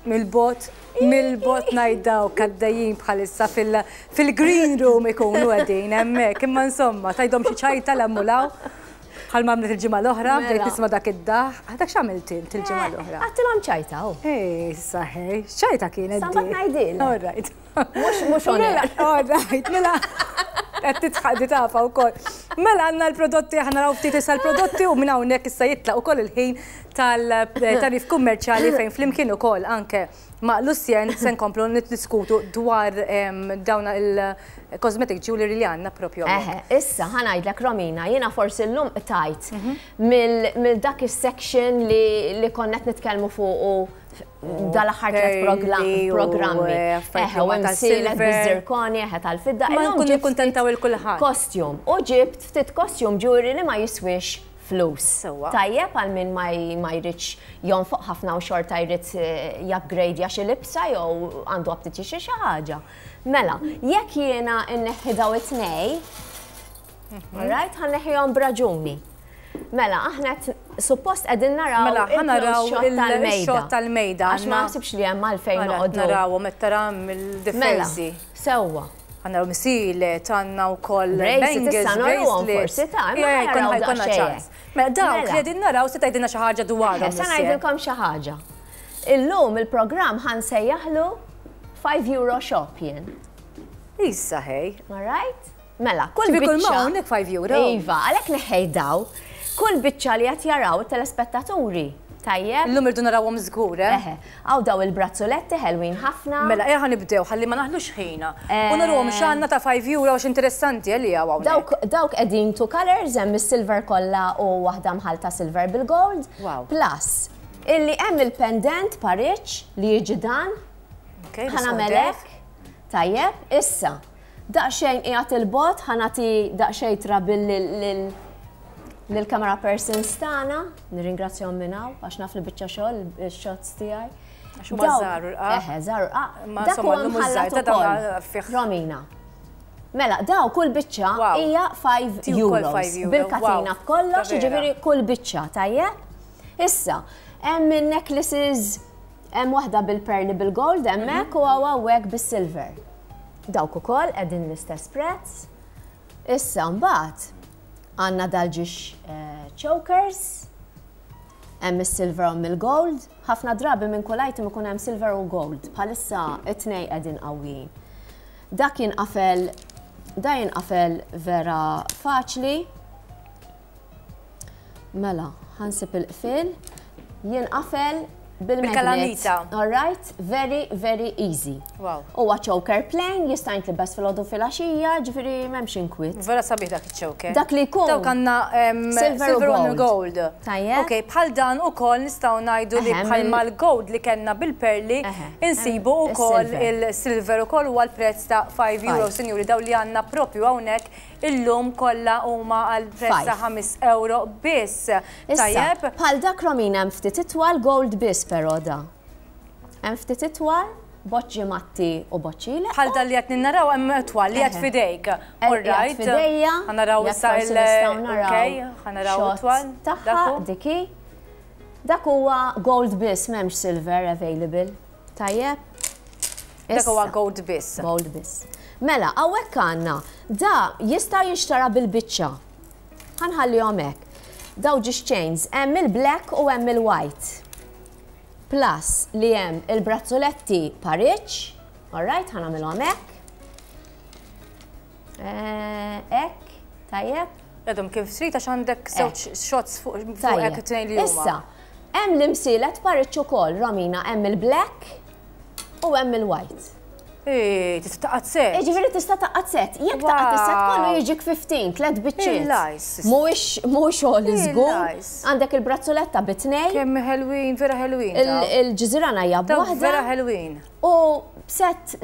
mill-bot, mill-bot ngħid dawk għaddejjin bħalissa fil-green room ikunu qegħdin hemmhekk. Imma insomma, tgħidhom xi ċajta l-hemm u Bħal ma għamlet il-ġimgħa l-oħra, bdejt Mela. nisma' dak id-daħ. Ah, Dak x'għamilt int il-ġimgħa l-oħra? Għattilhom ċajta, u. Ej, saħej, x'ċajta kienet Sa mbagħad di? ngħidilek. All right. Mhux mhux on Mela, air. all right, mela. Qed tidħaq di tafa wkoll. Mela għandna l-prodotti, aħna naraw ftit issa l-prodotti u minn hawnhekk issa jitlaq ukoll il-ħin tal-tarif kummerċjali fejn flimkien ukoll anke ma' Lucien se nkomplu niddiskutu dwar dawn il-cosmetic jewelry li għandna propju Eħe, issa ħa ngħidlek Romina, jiena forsi llum qtajt mill dak is-section li konna qed nitkellmu fuq dal-aħħar tliet programmi. Eh, Eħe, u imsielet biż-zirkoni, eħe tal-fidda. Ma nkunu kuntentaw il-kulħadd. Costume. U ġibt ftit costume jewelry li ma jiswix flus. Sewwa. Tajjeb għal min ma jridx jonfoq ħafna u xorta jrid jupgrade xi libsa jew għandu aptit xi xi ħaġa. Mela, jekk jiena nneħħi daw it-tnej, alright, ħa nneħħihom b'raġuni. Mela, aħna suppost qegħdin naraw Mela, ħa naraw il-shot tal-mejda. il-shot tal-mejda. Għax ma naħsibx li hemm għalfejn Mela, noqogħdu. Narawhom qed tara Mela, mill-differenzi. sewwa. Ħa naraw misilet, għandna wkoll Bracelets, bangles, issa narawhom bracelets. forsi ta' imma Yeah, ħa naraw jkollna daqsxejn. ċans. Mela dawk Mela. li qegħdin naraw se tgħidilna xi ħaġa dwarhom. Sa ngħidilkom xi ħaġa. Illum il-programm ħa nsejjaħlu 5 euro shop jien. Issa ħej. All right? Mela, kull Ġifieri kull ma biċċa. hawnhekk 5 euro. Iva, għalhekk neħħej daw. Kull biċċa li qed jaraw it-telespettaturi. Tajjeb? Illum irdu narawhom żgur, eh? Eħe, hawn daw il-brazzoletti ħelwin ħafna. Mela, eħa nibdew, ħalli ma naħlux ħina. U narawhom x'għandna ta' 5 euro għax interessanti eh, li hawn hawnhekk. Dawk qegħdin two colors, hemm is-silver kollha u waħda mħalta silver bil-gold. Wow. Plus, illi hemm il-pendant pariċ li jiġi dan, Okay, ħa nagħmelek. Tajjeb, issa, daqsxejn qiegħed il-bot, ħa nagħti daqsxejn trouble lil-camera persons tagħna, nirringrazzjahom minn hawn għax naf li biċċa xogħol il-shots tiegħi. Għax huma żgħar u rqaq. Eħe, żgħar u rqaq. Ma Dak insomma, huwa llum mħallat żgħar, ta' dawn ukoll. fih. Romina. Mela, daw kull biċċa Wow. hija 5 Ti wkoll euros. 5 euro. Bil-katina Wow. b'kollox, Ta' vera. jiġifieri kull biċċa, tajjeb? Issa, hemm in-necklaces, hemm waħda bil-perli bil-gold hemmhekk u hawn hawnhekk bis-silver. Dawk ukoll qegħdin l-istess prezz. Issa mbagħad għandna dal-ġiex chokers, hemm is-silver u mill-gold. Ħafna drabi minn kull item ikun hemm silver u gold. Bħalissa it-tnej qegħdin qawwijin. Dak jinqafel, da jinqafel vera faċli. Mela, ħa nsib il-qfil. Jinqafel Bil-magnet. Bil-kalamita. All right, very, very easy. Wow. Huwa choker plain, jista' jintlibes filgħodu filgħaxija, ġifieri m'hemmx inkwiet. Vera sabiħ dak iċ-choker. Dak li jkun. Dawk għandna Silver u silver and gold. gold. Tajjeb. Ok, bħal dan ukoll nistgħu ngħidu li Eħe, bħal mal-gold li kellna bil-perli Eħe, insibu hemm ukoll is-silver. il-silver ukoll huwa l-prezz ta' 5 euro, sinjuri, daw li għandna propju hawnhekk illum kollha huma għal prezz ta' Five. 5 euro biss. Issa, Tajjeb. bħal dak Romina hemm ftit itwal gold biss però da. Hemm ftit itwal, boċċi matti u boċċi le. Bħal dan li qed naraw hemm twal li qed Eħe. fidejk. All All right. Fidejja. Ħa naraw jekk issa forsi il- nistgħu naraw Ok, ħa naraw shot it-twal. Tagħha Dak hu. diki. Dak huwa gold biss, m'hemmx silver available. Tajjeb. Dak huwa Issa. gold biss. Gold biss. Mela, hawnhekk għandna, da jista' jinxtara bil-biċċa. Ħa nħallihom hekk. Daw ġiex chains, hemm il-black u hemm il-white. Plus li hemm il-brazzoletti pariġġ, all right, ħa nagħmilhom hekk. Hekk, tajjeb. Għedhom kif trid għax għandek żewġ shots fuq fuq Tajjeb. hekk it-tnejn li huma. Issa, hemm l-imsielet pariġġ ukoll, Romina, hemm il-black u hemm il-white. Ej, tista' taqgħad set. Ġifieri tista' taqgħad set. Jekk taqgħad is-set kollu jiġik 15, tlet biċċiet. Il-lajs. Mhuwiex mhuwiex xogħol żgur. Il-lajs. Għandek il-brazzoletta bit-tnejn, Kemm ħelwin, vera ħelwin. daw. il-ġiżirana hija Dawk b'waħda vera ħelwin. u set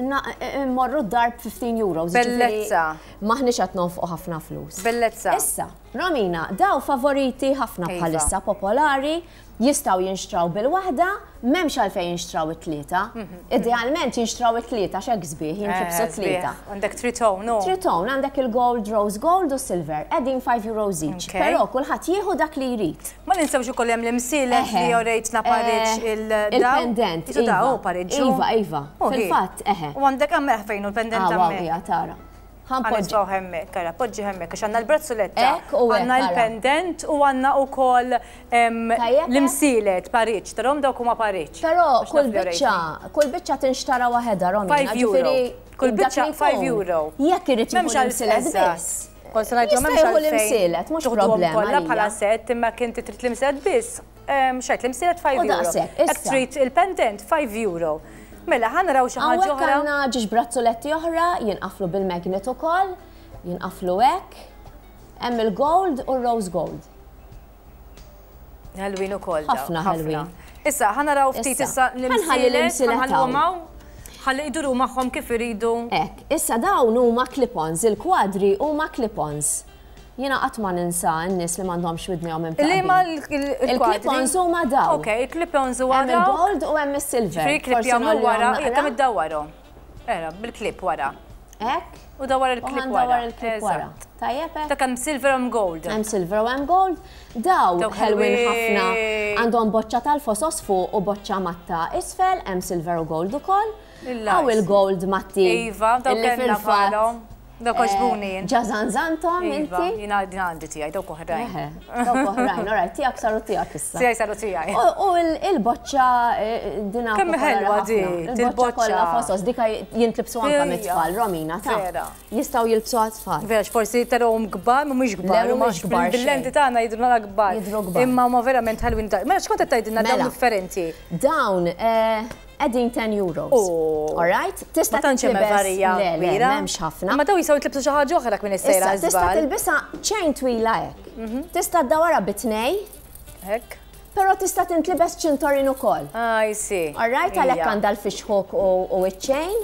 morru d-dar b'15 euros. ġifieri Bellezza. Maħniex qed nonfqu ħafna flus. Bellezza. Issa, Romina, daw favoriti ħafna Iva. bħalissa popolari, jistgħu jinxtraw bil-waħda, m'hemmx għalfejn jinxtraw it-tlieta. Idealment jinxtraw it-tlieta x'hekk sbieħ, jintlibsu Eh, sbieħ. tlieta. Għandek tritone, no? Tritone, għandek il-gold, rose gold u silver, qegħdin 5 euros each. Ok. Però kulħadd jieħu dak li jrid. Ma ninsewx ukoll hemm l-imsielet Eħe. li orejtna pariġġ Eh, il-daw. Il-pendent, Isu daw, iva. pariġġu. Iva, iva. Oh, hi. Fil-fatt, eħe. U għandek hemmhekk fejn u l-pendent Ah, wow, hemmhekk. hija tara. Ħa npoġġi. Ħa nitfgħu hemmhekk, ara, poġġi hemmhekk, għax għandna l-brazzoletta, Hekk u hekk, għandna ara. l-pendent u għandna wkoll Tajjeb, l-imsielet pariġġ, tarahom dawk huma pariġġ. Però Għax kull naf li biċċa, kull biċċa tinxtara waħedha, Romina. 5 euro. ġifieri Kull dak biċċa li 5 jkun. euro. Jekk irid jieħu M'hemmx għal l-imsielet eżatt. biss. Kont se ngħidlu Jista' m'hemmx jieħu għalfejn l-imsielet, mhux tuħduhom problema kollha għalija. bħala set, imma kien trid l-imsielet biss. Xajt l-imsielet 5 U euro. daqshekk, Jekk issa. trid il-pendent 5 euro. Mela, ħa naraw xi ħaġa Hawnhekk oħra. għandna ġiex brazzoletti oħra, jinqaflu bil-magnet ukoll, jinqaflu hekk. Hemm il-gold u r-rose gold. Ħelwin ukoll. daw, Ħafna ħelwin. Issa, ħa naraw ftit Issa. issa Ħa nħalli l-imsielet, l-imsielet ħa nħalluhom hawn. hawn. Ħalli jduru magħhom kif iridu. Hekk, issa dawn huma clip-ons, il-kwadri huma clip-ons. Jiena qatt ma ninsa n-nies li m'għandhomx widnejhom Li imtaqbin. ma il-kwadri? Il-clip-ons huma dawn. Ok, il-clip-ons huwa Hemm dawn. il-gold u hemm is-silver. Ġifieri clip Forsi jagħmlu ngħollihom wara, naqra. kemm iddawwarhom. Era, bil-clip wara. Hekk. U dawar U il-clip ħa wara. ndawwar il-clip wara. Eżatt. Tajjeb hekk? Dak hemm silver u gold. Hemm silver u hemm gold. Daw Dawk ħelwin ħafna ħelwin. għandhom boċċa tal-fosos fuq u boċċa matta isfel, hemm silver u gold ukoll. Il-lajs. Hawn il-gold matti. Iva, dawk illi kellna fil-fatt, bħalhom. Dawk għoġbuni jien. Ġażanżantom Iva, inti. jiena għandi tiegħi, dawk oħrajn. Eħe, dawk oħrajn, alright, tiegħek saru tiegħek issa. Tiegħi saru tiegħi. U il-boċċa dina Kemm popolari ħelwa ħafna. di, Il-boċċa il-boċċa. kollha fosos, dika jintlibsu anke Ejja. mit-tfal, Romina, ta' Vera. Jistgħu jilbsu għat-tfal. Vera, forsi tarahom kbar, mhumiex kbar, Le, huma mhumiex kbar Bil-lenti xejn. tagħna jidhru nara kbar. Jidhru kbar. Imma huma verament ħelwin ta' Mela x'kont qed tgħidilna dawn Mela. differenti? Dawn, qegħdin 10 euros. Oh. All right? Tista' Ma tantx hemm tintlibes- varija Le, le, kbira. m'hemmx ħafna. Ma daw jistgħu jitlibsu xi ħaġa oħra minn is-sejra Issa, tista' żball. tilbisha chain twila hekk. Tista' ddawwarha bit-tnej, Hekk. però tista' tintlibes ċintorin ukoll. Ah, I see. All right, għalhekk Ija. għandha l-fish hook u iċ-chain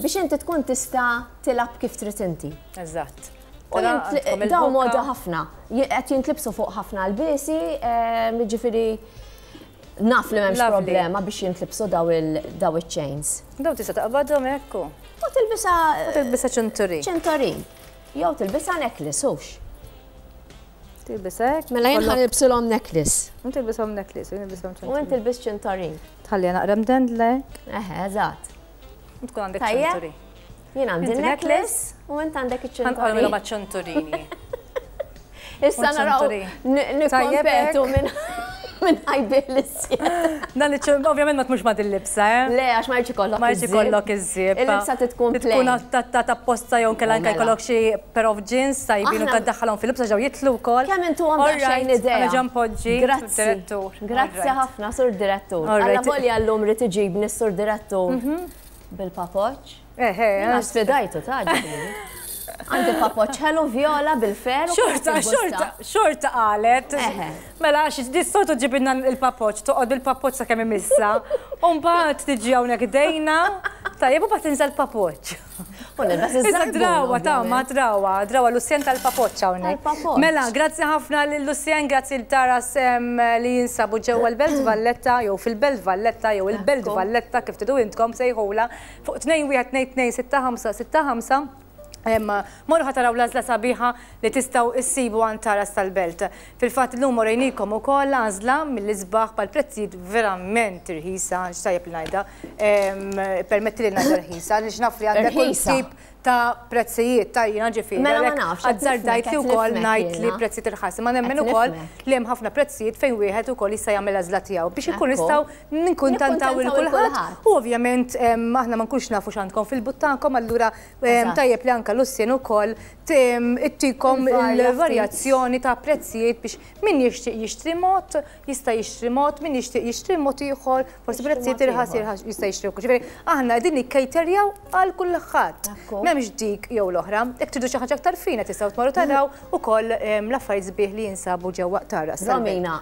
biex inti tkun tista' tilgħab kif trid inti. Eżatt. U Tara, għandkom daw il-bokka. moda ħafna. Qed jintlibsu fuq ħafna l-biesi, ġifieri naf li m'hemmx Lovely. problema biex jintlibsu daw il-chains. Daw tista' taqbadhom hekk u. U tilbisha Tilbisha ċinturin. ċintorin. Jew tilbisha necklace, hux. Tilbisha hekk. Mela jien ħa nilbsilhom necklace. U tilbishom necklace, u nilbishom U ċinturin. int tilbis ċintorin. Tħalli naqra mdendlek. Eħe, eżatt. U tkun għandek Tajjeb. ċinturin. Jien għandi Inti necklace u int għandek Ħanqolmilhom iċ-ċintorin. għaċ-ċinturini. Issa U naraw ċinturin. Tajjeb nikkompetu hekk. minn. Min ħa jbigħ l-iżjed. Dan iċ ovvjament ma tmurx ma' din libsa, eh? Le, għax ma jridx ikollok. Ma jridx ikollok iż-żieb. Il-libsa trid tkun plain. Tkun adattata apposta jew inkella anke jkollok xi pair of jeans tajbin u taddaħħalhom fil-libsa ġew jidħlu wkoll. Kemm intuhom daqsxejn idea. All right, ġa npoġġi. Grazzi. Direttur. Grazzi ħafna, Sur Direttur. Alla volja llum ried iġibni s-Sur Direttur bil-papoċċ. Eħe. Jiena sfidajtu ta' ġifieri. Għandi papoċċ ħelu vjola bil-fer. Xorta, xorta, xorta qalet. Mela, għax dis-soltu ġibilna l-papoċċ, toqgħod bil-papoċċ sakemm imissha. U mbagħad tiġi hawnhekk ħdejna, tajjeb u mbagħad tinża' l-papoċċ. U nilbes iż-żarbun. Issa drawa ta' ma drawa, drawa Lucien tal-papoċċ hawnhekk. Tal-papoċċ. Mela, grazzi ħafna lil Lucien, grazzi lil Taras li jinsabu ġewwa l-Belt Valletta jew fil-Belt Valletta jew il-Belt Valletta kif tridu intkom sejħulha fuq 2122 6565. Morru ħa taraw l-għażla sabiħa li tistgħu issibu għand Taras tal-Belt. Fil-fatt illum urejnikom ukoll għażla mill-isbaħ bħal prezzijiet verament irħisa, x'tajjeb li ngħidha, permettili ngħidha rħisa, għaliex naf li għandek kull tip ta' prezzijiet ta' jiena ġifieri. Mela ma nafx. Azzardajt li wkoll ngħid li prezzijiet irħas, imma nemmen ukoll li hemm ħafna prezzijiet fejn wieħed ukoll jista' jagħmel l-għażla tiegħu biex inkunu nistgħu nikkuntantaw lil kulħadd u ovvjament aħna ma nkunx nafu x'għandkom fil-but tagħkom allura Tajjeb li anke Lucien ukoll ittikom il-varjazzjoni ta' prezzijiet biex min jixtieq jixtri mod, jista' jixtri mod, min jixtieq jixtri mod ieħor, forsi prezzijiet irħas jista' jixtri wkoll. Ġifieri aħna qegħdin nikkejterjaw għal kulħadd. M'hemmx dik jew l-oħra. Jekk tridu xi ħaġa aktar fina tistgħu tmorru taraw ukoll l-affarijiet sbieħ li jinsabu ġewwa Taras. Romina,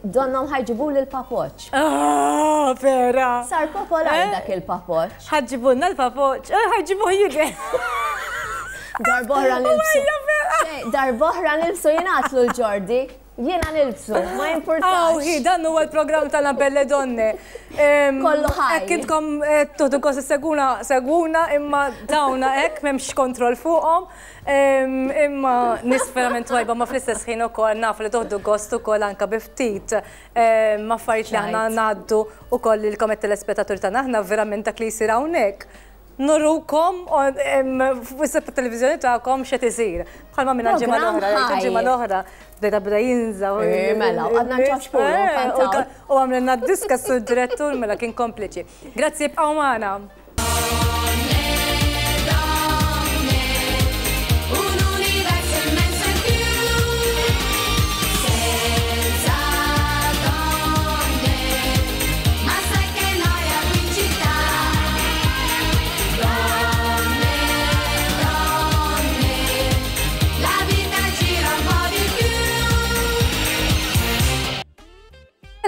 donnhom ħa jġibuli l-papoċċ. Ah, vera! Sar popolari dak il-papoċċ. Ħa ġġibulna l-papoċ, eh, ħa ġġibuh jidher. Darbohra nilbsu. Darbohra nilbsu jingħatlu l-ġordi. Jiena nilbsu, ma jimpurtax. Awhi, dan huwa l-programm tagħna Belle Donne. Kollu ħaj. Hekk intkom eh, tuħdu gost seguna, seguna, imma dawna hekk m'hemmx kontroll fuqhom. Imma nies verament twajba ma fl-istess ħin ukoll nafu li toħdu gost ukoll anke bi ftit affarijiet li aħna ngħaddu ukoll lilkom it-telespettaturi tagħna. Aħna verament dak li jsir hawnhekk nurukom fuq is-televizjoni tagħkom x'qed isir. Bħalma minna l-ġimgħa l-oħra, il-ġimgħa l-oħra bdejta bda jinża. Eh, mela, għadna nċaċpulu. Eh, u għamlilna d-diska sur-direttur mela kien kompliċi. Grazzi, ibqgħu magħna.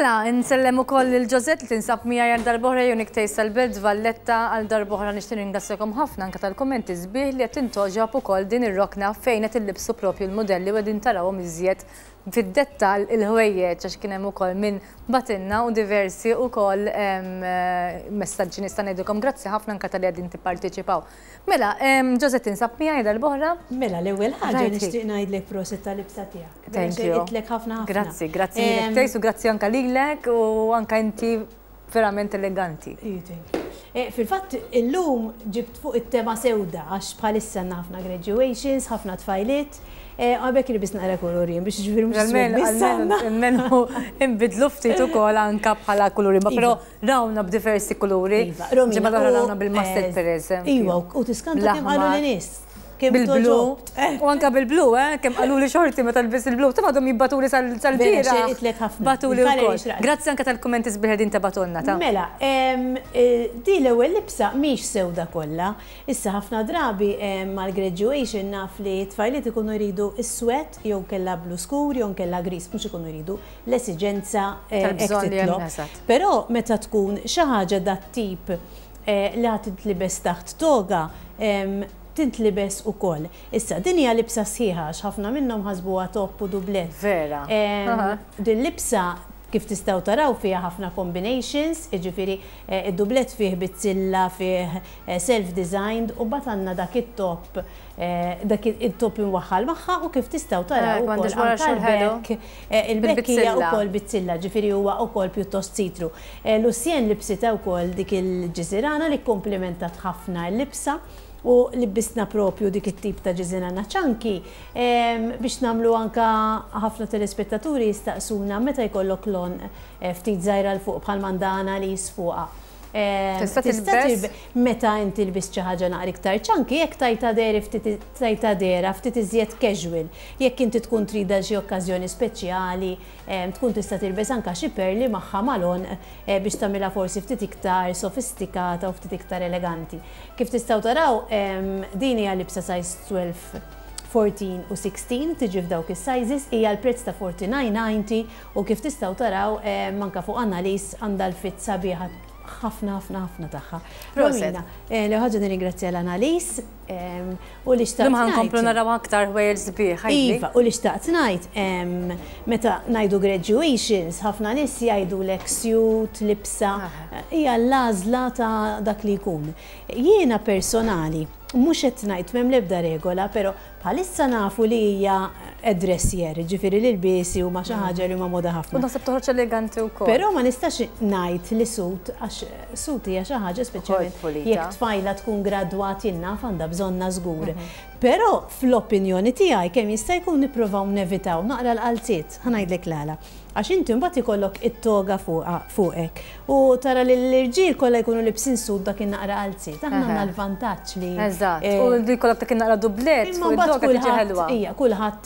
Mela, insellem ukoll lil Josette li tinsab miegħi għal darb'oħra Unique Taste tal-Belt Valletta għal darb'oħra nixtieq ringrazzjakom ħafna anke tal-kummenti sbieħ li qed tintgħoġob ukoll din ir-rokna fejn qed illibsu propju l-mudelli u qegħdin tarawhom iżjed fid-dettall il-ħwejjeġ għax kien hemm ukoll min bagħtilna u diversi ukoll messaġġi nista' ngħidilkom grazzi ħafna anke talli qegħdin tipparteċipaw. Mela, Josette tinsab miegħi darb'oħra. Mela, l-ewwel ħaġa nixtieq ngħidlek prosit tal-libsa tiegħek. Thank you. Itlek ħafna ħafna. Grazzi, grazzi lilek Tejs u grazzi anke lilek u anke inti verament eleganti. Eh, fil-fatt illum ġibt fuq it-tema sewda għax bħalissa għandna ħafna graduations, ħafna tfajliet. Eh, għabek li naqra kuluri biex ġifieri mhux Almenu inbidlu ftit ukoll anka bħala kuluri, ma però iva. rawna b'diversi kuluri. Iva, Ġimgħa rawna bil-mustard per eżempju. Iva, u tiskanta kemm qalu li nies. Bil-blu. U anka bil-blu, eh? Kemm qaluli xorti meta lbist il-blu. Taf għadhom jibbatuli sal-bieraħ. Batuli wkoll. Grazzi anke tal-kummenti sbieħ li intabatulna ta. Mela, di l-ewwel libsa mhix sewda kollha. Issa ħafna drabi mal-graduation naf li t-tfajliet ikunu jridu iswed jew kellha blu skur jew nkella gris, mhux ikunu jridu l-esiġenza hekk titlob. Però meta tkun xi ħaġa dat-tip li ħa tintlibes taħt toga, tintlibes ukoll. Issa, din hija libsa sħiħa għax ħafna minnhom ħasbuha top u dublett. Vera. Din libsa kif tistgħu taraw fiha ħafna combinations, jiġifieri id-dublett fih bizzilla, fih self-designed u mbagħad għandna dak it-top dak it-top imwaħħal magħha u kif tistgħu taraw ukoll anke l-back, il-back hija wkoll bizzilla, ġifieri huwa wkoll pjuttost see-through. Lucienne libsitha wkoll dik il-ġiżirana li kkumplimentat ħafna l-libsa. U libbisna propju dik it-tip ta' ġiżina chunky biex nagħmlu anka ħafna telespettaturi jistaqsuna meta jkollok lon ftit żgħira 'l fuq bħal mandana li jisfuqa. Tista' tilbes? Meta inti lbist xi ħaġa naqra iktar chunky, jekk tajta deri ftit tajta dera ftit iżjed casual. Jekk inti tkun trida xi okkażjoni speċjali, tkun tista' tilbes anka xi perli magħha mal-għonq biex tagħmilha forsi ftit iktar sofistikata u ftit iktar eleganti. Kif tistgħu taraw, din hija libsa size 12, 14 u 16, tiġi f'dawk is-sizes, hija l-prezz ta' 49.90 u kif tistgħu taraw anka fuq Annalise għandha l-fit sabiħa ħafna ħafna ħafna tagħha. Proset. Romina, l-ħaġa nirringrazzja l-Annalise u li xtaqt Lum ħa nkomplu ngħid. naraw aktar ħwejjeġ sbieħ, ħajli. Iva, u li xtaqt ngħid, meta ngħidu graduations, ħafna nies jgħidu lek suit, libsa, hija l-għażla ta' dak li jkun. Jiena personali, mhux qed ngħid m'hemm l-ebda regola, però bħalissa nafu li hija dress year, ġifieri li l-biesi huma xi ħaġa li huma moda ħafna. U naħseb toħroġ eleganti wkoll. Però ma nistax ngħid li suit, għax suit hija xi ħaġa speċjalment pulita. jekk tfajla tkun gradwat jinnaf għandha bżonna żgur. Però fl-opinjoni tiegħi kemm jista' jkun nippruvaw nevitaw naqra l-qalziet, ħa ngħidlek l-għala. Għax inti mbagħad ikollok it-toga fuqek u tara li l-irġiel kollha jkunu libsin suit dak in-naqra qalziet. Aħna għandna l-vantaġġ li Eżatt, u li jkollok dak in-naqra dublet Imma fuq mbagħad it-toga tiġi kulħadd ħelwa. Ija, kulħadd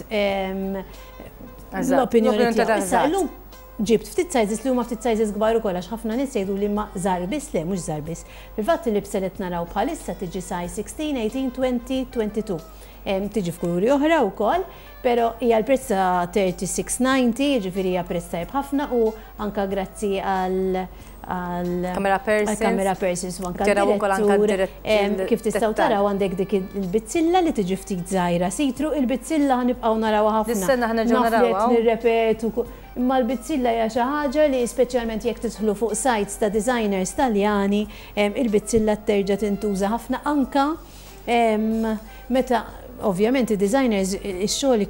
l-opinjoni L-opinjoni tiegħu. ta' Issa eżatt. illum ġibt ftit sizes li huma ftit sizes kbar ukoll għax ħafna nies jgħidu li ma żgħar biss, le mhux żgħar biss. Fil-fatt il-libsa li qed naraw bħalissa tiġi size 16, 18, 20, 22. Tiġi f'kuluri oħra wkoll, però hija l-prezz ta' 36.90, jiġifieri hija prezz tajjeb ħafna u anka grazzi għal Camera persons. Camera persons u anka Taraw ukoll anka direttur. Kif tistgħu dettal. taraw għandek dik il-bizzilla li tiġi ftit żgħira see-through, il-bizzilla ħanibqgħu narawha ħafna. Dis-sena ħa nerġgħu Naf li qed narawha. nirrepetu imma l-bizzilla hija xi ħaġa li speċjalment jekk tidħlu fuq sites ta' designers Taljani, il-bizzilla terġa' tintuża ħafna anka meta ovvjament id-designers ix-xogħol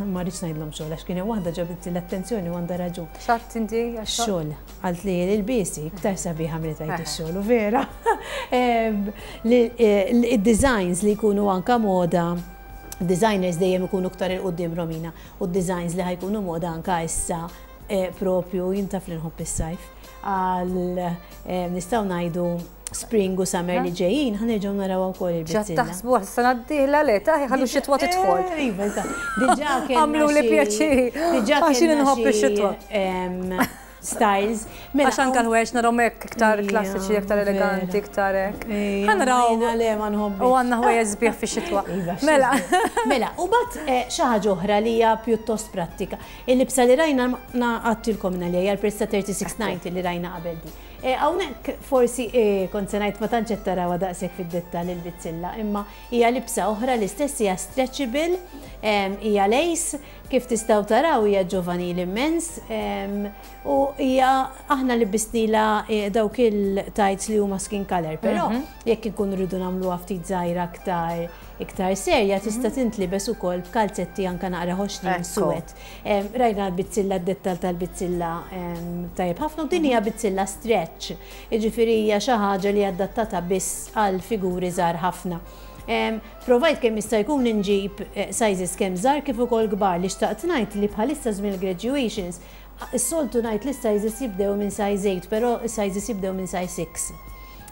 ma rridx ngħidlhom xogħol għax kien hemm waħda ġabit l-attenzjoni u għandha raġun. X'għedt inti għax-xogħol? Xogħol, għalt li l-biesi iktar sabiħa milli tgħid ix-xogħol u vera. Id-designs li jkunu anka moda, designers dejjem ikunu iktar il-qudiem Romina, u d-designs li ħa jkunu moda anka issa propju jintaf li nħobb is-sajf għal nistgħu ngħidu spring u summer li ġejjin, ħa nerġgħu naraw ukoll Ġa il-bizzilla. taħsbu għas-sena d-dieħla le, taħi ħallu x-xitwa tidħol. Iva, eżatt. Diġà kellna Għamlu li xi- pjaċir. Diġà Għax jien kellna inħobb xi, ix-xitwa. styles. Mela, Għax anka l-ħwejjeġ narahom hekk iktar Ija, klassiċi, iktar eleganti, vera. iktar hekk. Ija, Ħa naraw. ma jiena le ma nħobbix. U għandna ħwejjeġ sbieħ fix-xitwa. Iva, Mela. xitwa. Mela, u bat xi ħaġa oħra li hija pjuttost prattika. Il-libsa li rajna għattilkom li hija l-prezz ta' 36.90 li rajna qabel di. Hawnhekk forsi kont se ngħid ma tantx qed tarawha daqshekk fid-dettall il-bizzilla, imma hija libsa oħra l-istess hija stretchable, hija lace, kif tistgħu taraw hija ġovanil immens, u hija aħna li bisnila dawk il-tights li huma skin color, però jekk inkunu rridu nagħmluha ftit żgħira iktar serja tista' tintlibes ukoll b'kalzetti anka naqra ħoxnin suwed. Rajna l-bizzilla, d-dettal tal-bizzilla tajjeb ħafna u din hija bizzilla stretch, jiġifieri hija xi ħaġa li adattata biss għal figuri żgħar ħafna. Provajt kemm jista' jkun inġib sizes kemm żgħar kif ukoll kbar li xtaqt ngħid li bħalissa żmien graduations is-soltu ngħid li sizes jibdew minn size 8, però sizes jibdew minn size 6.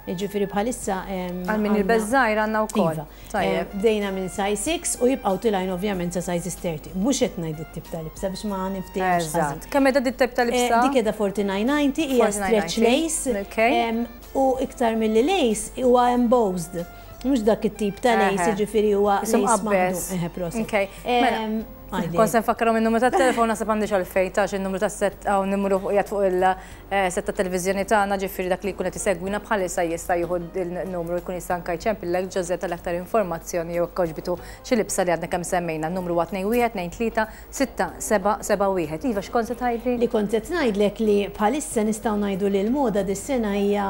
Jiġifieri bħalissa, Għal min għandna jilbes żgħir għandna wkoll. Iva. Tajjeb. Bdejna minn size 6 u jibqgħu tilgħin ovvjament sa sizes 30. Mhux qed ngħid it-tip ta' libsa biex ma niftehmx ħażin. Eżatt. Kemm qiegħda dit tip ta' libsa? Dik qiegħda 49.90 hija stretch 49.90. lace. U iktar milli lace huwa embossed. Mhux dak it-tip ta' lace, jiġifieri huwa Isum lace qabbes. maħdum. Eħe, proset. Ok. Mela, Għajdi. Kont se nfakkarhom in-numru tat-telefon naħseb għandix għalfejn tax in-numru tas-set hawn numru fuq qiegħed fuq il-set ta' televiżjoni tagħna, ġifieri dak li jkun qed isegwina bħalissa jista' jieħu il-numru jkun jista' anke jċempillek Ġożè tal-aktar informazzjoni jew għoġbitu xi libsa li għadna kemm semmejna. N-numru huwa tnejn wieħed tnejn tlieta sitta seba' seba' wieħed. Iva, x'kont se tgħidli? Li kont qed ngħidlek li bħalissa nistgħu ngħidu li l-moda dis-sena hija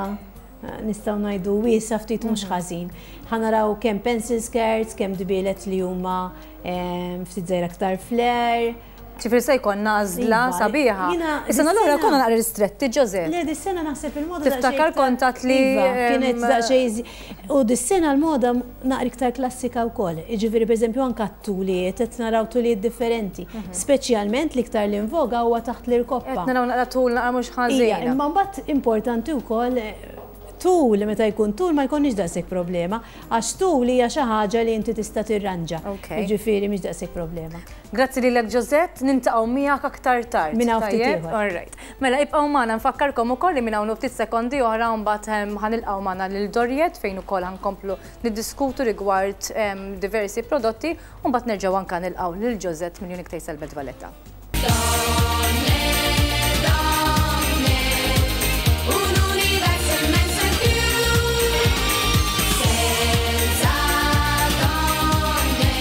nistgħu ngħidu wiesa ftit mhux ħażin. Ħa naraw kemm pencil skirts, kemm dbielet li huma ftit żgħira aktar flare. Ġifieri se jkollna għażla Iva, sabiħa. jiena Is-sena l-oħra dis-sena- konna naqra ristretti, Josette. Le, dis-sena naħseb il-moda Tiftakar daqsxejn iktar- kont għedt li, Iva, kienet daqsxejn U dis-sena l-moda naqra iktar klassika wkoll. Jiġifieri pereżempju anke t-tulijiet, qed naraw tulijiet differenti. Speċjalment l-iktar li invoga huwa taħt l-irkoppa. Qed naraw naqra tul naqra mhux Ija, ħażina. imma mbagħad importanti wkoll tul, meta jkun tul ma jkollniex daqshekk problema, għax tul hija xi ħaġa li inti tista' tirranġa. Jiġifieri mhix daqshekk problema. Grazzi lilek Josette, niltaqgħu miegħek aktar tard. Minn hawn ftit Tajjeb? ieħor. All right. Mela ibqgħu magħna nfakkarkom ukoll li minn hawn ftit sekondi oħra mbagħad ħa nilqgħu magħna lil Doriette fejn ukoll ħa nkomplu niddiskutu rigward diversi prodotti u mbagħad nerġgħu anke nilqgħu lil Josette minn Unique Taste Belt Valletta. Donne, donne, un universo immenso in più. Senza donne,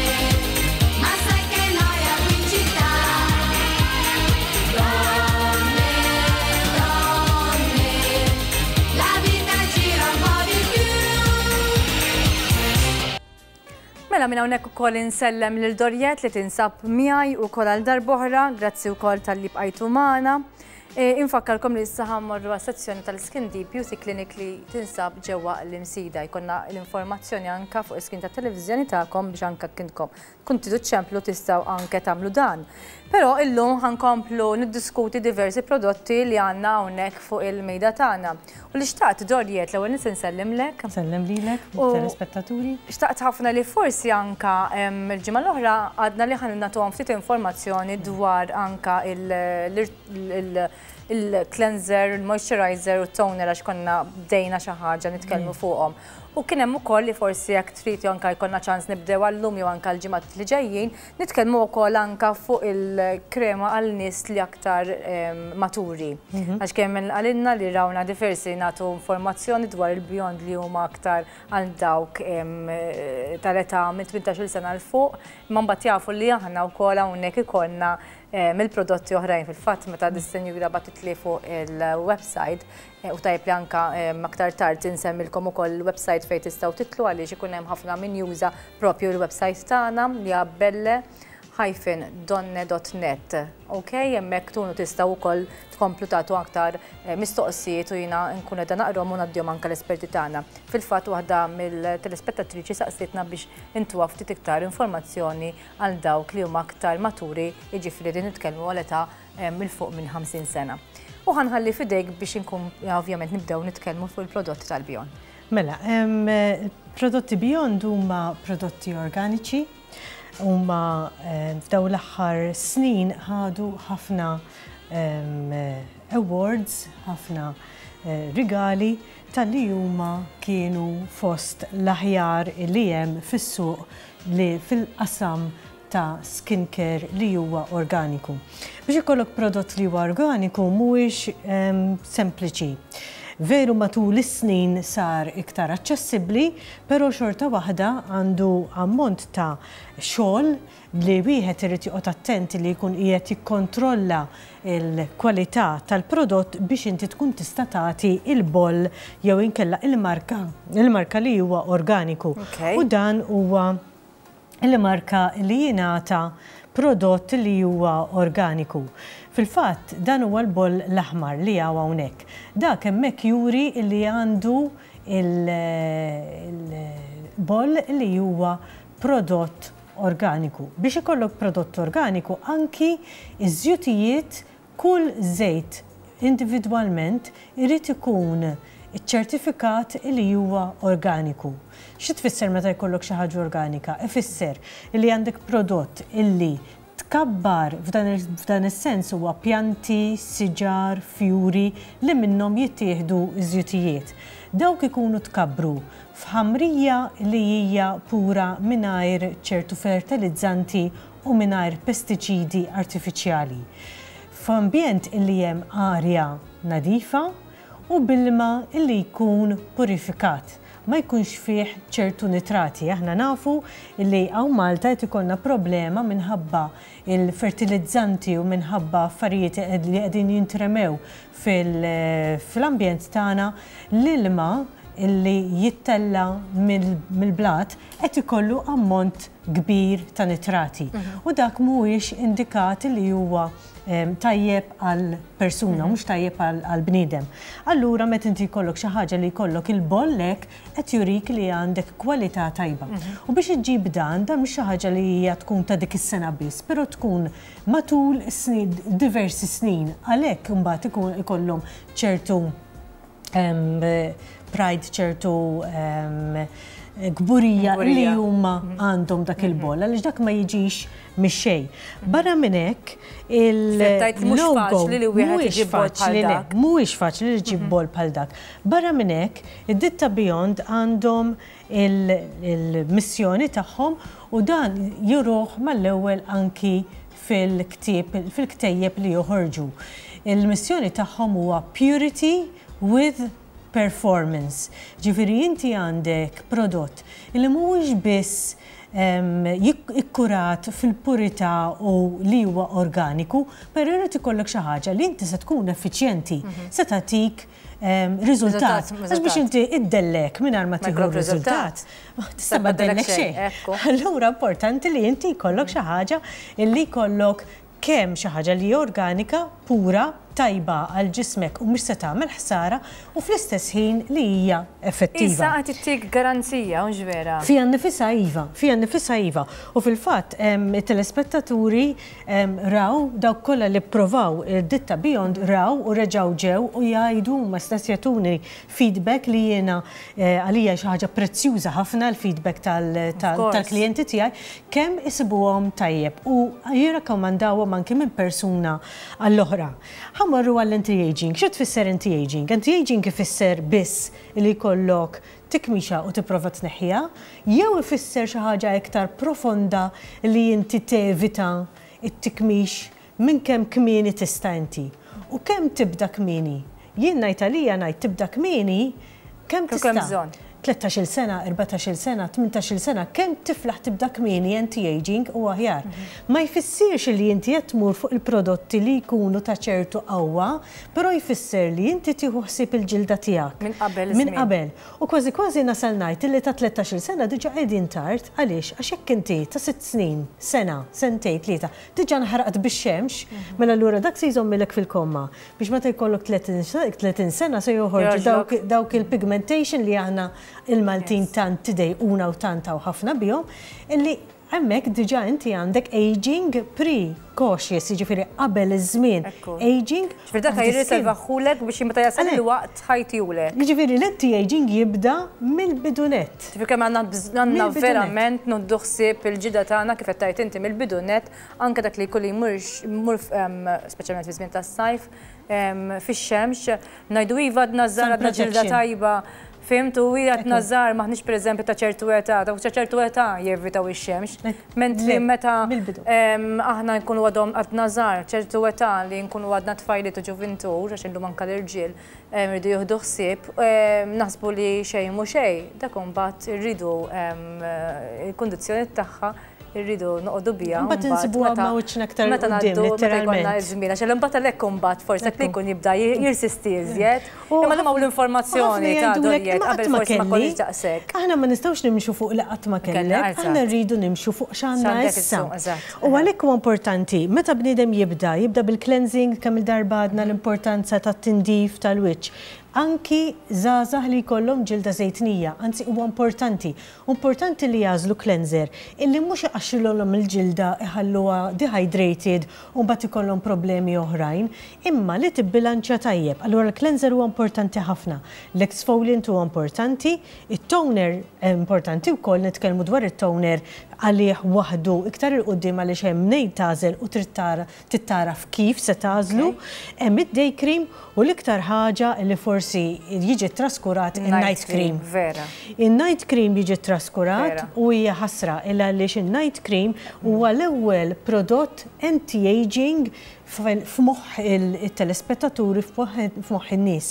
ma sai che noia qui in città. Donne, donne, la vita gira un po' di più. Mela minn hawnhekk ukoll insellem lil Doriette li tinsab miegħi ukoll għal darb'oħra, grazzi wkoll talli bqajtu magħna. Infakkarkom li issa ħa mmorru għas-sezzjoni tal-Skin Deep Beauty Clinic li tinsab ġewwa l-Imsida. Jkollna l-informazzjoni anka fuq is-screen tat-televiżjoni tagħkom biex anka kintkom kun tridu ċemplu tistgħu anke tagħmlu dan. Però illum ħa nkomplu niddiskuti diversi prodotti li għandna hawnhekk fuq il-mejda tagħna. U li xtaqt Doriette l-ewwel nett insellimlek. Nsellem lilek, telespettaturi. Xtaqt ħafna li forsi anka il-ġimgħa l-oħra għadna li ħa nagħtuhom ftit informazzjoni dwar anka il-cleanser, il-moisturizer u toner għax konna bdejna xi ħaġa nitkellmu fuqhom. U kien hemm ukoll li forsi jekk trid jew anka jkollna ċans nibdew għallum jew anka l-ġimgħat li ġejjin, nitkellmu wkoll anka fuq il-krema għal nies li aktar maturi. Għax kemm għalinna li rawna diversi nagħtu informazzjoni dwar il-Beyond li huma aktar għal dawk tal-età minn 18-il sena 'l fuq, imma mbagħad jafu li aħna wkoll hawnhekk ikollna mill-prodotti oħrajn. Fil-fatt meta dis-senjura bagħtitli fuq il-website, u tajjeb li anka aktar tard insemmilkom ukoll il-website fejn tistgħu titlu għaliex ikun hemm ħafna min juża propju l-website tagħna li hija belle hyphen donne dot net. Ok, hemmhekk tkunu tistgħu wkoll tkomplu tagħtu aktar mistoqsijiet u jiena nkun qiegħda naqrahom u ngħaddihom anke l-esperti tagħna. Fil-fatt waħda mill-telespettatriċi saqsitna biex intuha ftit iktar informazzjoni għal dawk li huma aktar maturi, jiġifieri din nitkellmu għal età minn fuq minn 50 sena. U ħa nħalli f'idejk biex inkun ovvjament nibdew nitkellmu fuq il-prodotti tal-Beyond. Mela, prodotti Beyond huma prodotti organiċi, huma f'daw l-aħħar snin ħadu ħafna awards, ħafna rigali tal-li huma kienu fost l-aħjar li hemm fis-suq li fil-qasam ta' skincare li huwa organiku. Biex ikollok prodott li huwa organiku mhuwiex sempliċi. Veru matul is-snin sar iktar aċċessibbli, però xorta waħda għandu ammont ta' xogħol li wieħed irid joqgħod attent li jkun qiegħed jikkontrolla l-kwalità tal-prodott biex inti tkun tista' tagħti il-boll jew inkella il-marka li huwa organiku. U dan huwa il-marka li jingħata prodott li huwa organiku. Fil-fatt, dan huwa l-boll l-aħmar li hawn hawnhekk. Dak hemmhekk juri li għandu il-boll li huwa prodott organiku. Biex ikollok prodott organiku, anki iż-żjutijiet, kull żejt individwalment irid ikun iċ-ċertifikat li huwa organiku. Xi tfisser meta jkollok xi ħaġa organika? Ifisser li għandek prodott illi tkabbar f'dan is-sens huwa pjanti, siġar, fjuri li minnhom jittieħdu iż-żjutijiet. Dawk ikunu tkabbru f'ħamrija li hija pura mingħajr ċertu fertilizzanti u mingħajr pestiċidi artifiċjali. F'ambjent illi hemm arja nadifa u bilma illi jkun purifikat, ma jkunx fih ċertu nitrati. Aħna nafu li hawn Malta qed ikollna problema minħabba il-fertilizzanti u minħabba affarijiet li qegħdin jintremew fil-ambjent tagħna. L-ilma illi jittella' mill-blat qed ikollu ammont kbir ta' nitrati. U dak mhuwiex indikat li huwa tajjeb għal persuna, mhux tajjeb għal bniedem. Allura meta inti jkollok xi ħaġa li jkollok il-boll hekk qed jurik li għandek kwalità tajba. U biex iġġib dan, dan mhux xi ħaġa li hija tkun ta' dik is-sena biss, però tkun matul snin, diversi snin. Għalhekk imbagħad ikun ikollhom ċertu pride, ċertu kburija li huma għandhom dak il-boll, għaliex dak ma jiġix mix-xejn. Barra minn hekk, il-logo mhuwiex faċli le, mhuwiex faċli li ġġib boll bħal dak. Barra minn hekk, id-ditta Beyond għandhom il-missjoni tagħhom u dan juruh mal-ewwel anki fil-ktieb, fil-ktejjeb li joħorġu. Il-missjoni tagħhom huwa purity with performance. Ġifieri inti għandek prodott li mhuwiex biss ikkurat fil-purità u li huwa organiku, però jrid ikollok xi ħaġa li inti se tkun effiċjenti, se tagħtik riżultat. Għax biex inti iddellek mingħajr ma tieħu riżultat, tista' ma ddellek xejn. Allura importanti li inti jkollok xi ħaġa li jkollok kemm xi ħaġa li hija organika, pura, tajba għal ġismek u mhux se tagħmel ħsara u fl-istess ħin li hija effettiva. Issa qed ittik garanzija, hux vera? Fiha nnifisha iva, fiha nnifisha iva. U fil-fatt it-telespettaturi raw, dawk kollha li pprovaw id-ditta Beyond raw u reġgħu ġew u jgħidu huma stess jagħtuni feedback li jiena għalija xi ħaġa prezzjuża ħafna l-feedback tal-klijenti tiegħi kemm isibuhom tajjeb u jirrakkomandawhom anki minn persuna għall-oħra. Ħa mmorru għall-anti-aging. Xi tfisser anti-aging? Anti-aging ifisser biss li jkollok tikmixa u tipprova tneħħiha, jew ifisser xi ħaġa iktar profonda li inti tevita t-tikmix minn kemm kmieni tista' inti. U kemm tibda kmieni? Jien ngħid għalija ngħid tibda kmieni kemm tista'. 13-il sena, 14-il sena, 18-il sena, kemm tiflaħ tibda kmieni anti-aging huwa aħjar. Ma jfissirx li inti qed tmur fuq il-prodotti li jkunu ta' ċertu qawwa, però jfisser li inti tieħu ħsieb il-ġilda tiegħek. Minn qabel Minn qabel. U kważi kważi nasal ngħid illi ta' 13-il sena diġà qegħdin tard. Għaliex? Għax jekk inti ta' sitt snin, sena, sentejn, tlieta, Diġà nħaraqt bix-xemx, mela allura dak se jżommilek fil-komma biex meta jkollok 30 sena se joħorġu dawk il-pigmentation li aħna il-Maltin tant tidejquna u tant hawn ħafna bihom, illi hemmhekk diġà inti għandek aging pre-cautious, jiġifieri qabel iż-żmien aging. Ġifieri dak jirriservahulek biex meta jasal il-waqt ħa jtihulek. Jiġifieri l-anti-aging jibda mill-bidu nett. Ġifieri kemm għandna verament nieħdu ħsieb il-ġilda tagħna kif qed tgħid inti mill-bidu nett, anke dak li jkun li jmur speċjalment fi żmien tas-sajf, fix-xemx, ngħidu iva għadna żgħar għadna ġilda tajba, fhimt, u hi għadna żgħar m'aħniex pereżempju ta' ċertu età, dawk ta' ċertu età jevitaw ix-xemx. Mentri meta aħna nkunu għadna żgħar, ċertu età li nkunu għadna tfajliet u ġuvintur, għax illum anke l-irġiel, Irridu jieħdu ħsieb, naħsbu li xejn mhu xejn, dak imbagħad irridu il-kundizzjoni tagħha irridu noqogħdu biha. Mbagħad insibuha ma' wiċċna aktar meta ngħaddu meta jkollna ż-żmien, għax imbagħad għalhekk imbagħad forsi dak li jkun jibda jirsisti iżjed. Imma llum hawn l-informazzjoni ta' dorijiet qabel forsi ma konniex daqshekk. Aħna ma nistgħux nimxu fuq li qatt ma kellek, aħna rridu nimxu fuq x'għandna issa. U għalhekk huwa importanti, meta bniedem jibda, jibda bil-cleansing, kemm-il darba għadna l-importanza tat-tindif tal-wiċċ. Anki żgħażagħ li jkollhom ġilda żejtnija, anzi huwa importanti. Importanti li jagħżlu cleanser illi mhux iqaxxrilhom il-ġilda iħalluha dehydrated u mbagħad ikollhom problemi oħrajn, imma li tibbilanċja tajjeb. Allura l-cleanser huwa importanti ħafna. L-exfoliant huwa importanti, it-toner importanti wkoll, nitkellmu dwar it-toner għalih waħdu iktar 'il quddiem għaliex hemm mnejn tagħżel u trid tara trid tagħraf kif se tagħżlu. Hemm id-day cream u l-iktar ħaġa li forsi jiġi ttraskurat in-night cream. Vera. In-night cream jiġi ttraskurat u hija ħasra il għaliex in-night cream huwa l-ewwel prodott anti-aging f'moħħ it-telespettaturi, f'moħħ in-nies.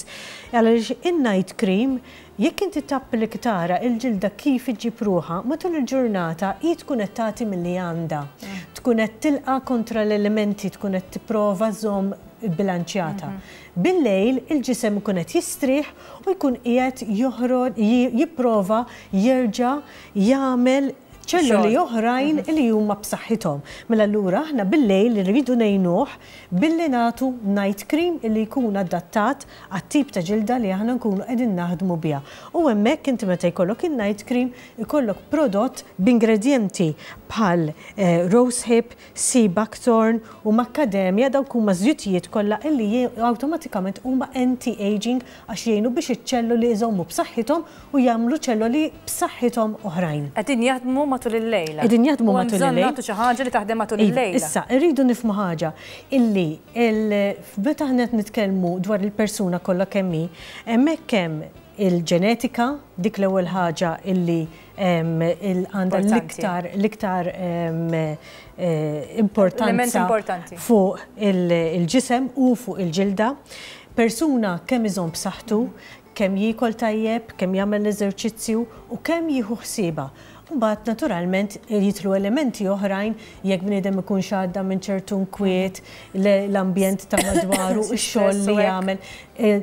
Għaliex in-night cream Jekk inti tapplika tara il-ġilda kif iġġib ruħha, matul il-ġurnata hi tkun qed tagħti milli għandha. Tkun qed tilqa' kontra l-elementi, tkun qed tipprova żżomm bbilanċjata. Bil-lejl il-ġisem ikun qed jistrieħ u jkun qiegħed joħroġ jipprova jerġa' jagħmel ċelloli oħrajn li huma b'saħħithom. Mela allura aħna bil-lejl irridu ngħinuh billi nagħtu night cream illi jkun adattat għat-tip ta' ġilda li aħna nkunu qegħdin naħdmu biha. U hemmhekk inti meta jkollok in-night cream ikollok prodott b'ingredjenti bħal rosehip, sea buckthorn u macadamia, dawk huma żjutijiet kollha illi awtomatikament huma anti-aging għax jgħinu biex iċ-ċelloli iżommu b'saħħithom u jagħmlu ċelloli b'saħħithom oħrajn. Qegħdin jaħdmu matul il-lejl. Qegħdin jaħdmu matul il-lejl. U hemm bżonn nagħtu xi ħaġa li taħdem matul il-lejl. Issa, irridu nifhmu ħaġa, illi meta aħna qed nitkellmu dwar il-persuna kollha kemm hi, hemmhekk hemm il-ġenetika, dik l-ewwel ħaġa illi għandha l-iktar l-iktar importanza fuq il-ġisem u fuq il-ġilda. Persuna kemm iżomm b'saħħtu, kemm jiekol tajjeb, kemm jagħmel l-eżerċizzju u kemm jieħu ħsiebha. Imbagħad naturalment jidħlu elementi oħrajn jekk bniedem ikunx għadda minn ċertu nkwiet, l-ambjent ta' madwaru, ix-xogħol li jagħmel,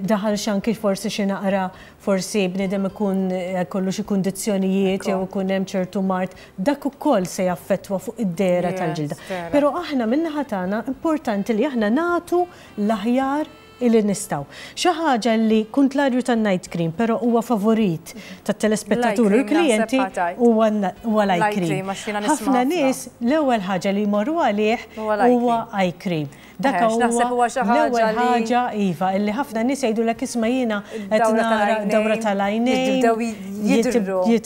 daħalx anki forsi xi naqra forsi bniedem ikun jkollu xi kundizzjonijiet jew ikun hemm ċertu mard, dak ukoll se jaffettwa fuq id-dehra tal-ġilda. Però aħna min-naħa tagħna importanti li aħna nagħtu l-aħjar illi nistgħu. Xi ħaġa li kuntlarju tan-night cream però huwa favorit tat-telespettaturi u l-klijenti huwa l-eye cream. Ħafna nies l-ewwel ħaġa li jmorru għalih huwa eye cream. Dak huwa l-ewwel ħaġa iva illi ħafna nies jgħidulek isma' jiena qed nara dawra tal-għajnejn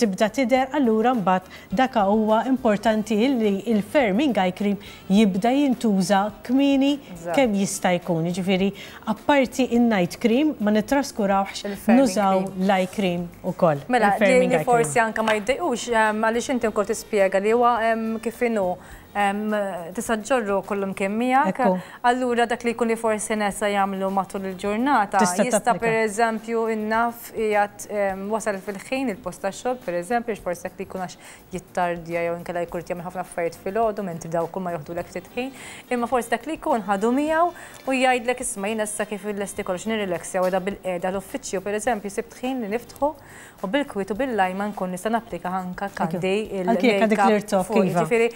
tibda tidher allura mbagħad dak huwa importanti illi l-firming eye cream jibda jintuża kmieni kemm jista' jkun. Jiġifieri apparti in-night cream ma nittraskurawhx nużaw l-eye cream ukoll. Mela, li forsi anke ma jiddejqux għaliex inti wkoll tispjega li huwa kif inhu tista' ġġorru kullimkien miegħek. Allura dak li jkun li forsi nesa jagħmlu matul il-ġurnata jista' pereżempju innaf qiegħed wasal fil-ħin il-post tax-xogħol pereżempju għax forsi dak li jkun għax jittardja jew inkella jkun irid jagħmel ħafna affarijiet filgħodu mentri dawk huma joħdulek ftit ħin, imma forsi dak li jkun ħadu miegħu u jgħidlek isma' jiena issa kif illesti kollox nirrileksja u qiegħda bilqiegħda l-uffiċċju pereżempju sibt ħin li niftħu u bil-kwiet u bil-lajma nkun nista' napplika anke għandi il-makeup fuqi. Ġifieri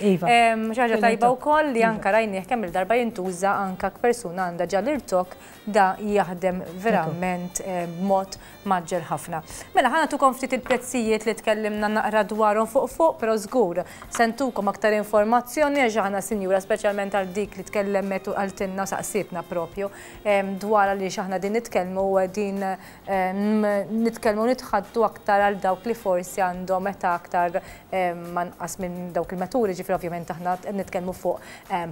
xi ħaġa tajba wkoll li anke rajnieh kemm-il darba jintuża anke jekk persuna għandha ġa l-irtokk da jaħdem verament b'mod mgħaġġel ħafna. Mela ħa nagħtukom ftit il-prezzijiet li tkellimna naqra dwarhom fuq fuq, però żgur se ntukom aktar informazzjoni għax aħna sinjura speċjalment għal dik li tkellemet u qaltilna u saqsietna propju dwar għaliex aħna din nitkellmu u qegħdin nitkellmu u nitħaddtu aktar għal dawk li forsi għandhom età aktar anqas minn dawk il-maturi, ġifieri ovvjament aħna qed nitkellmu fuq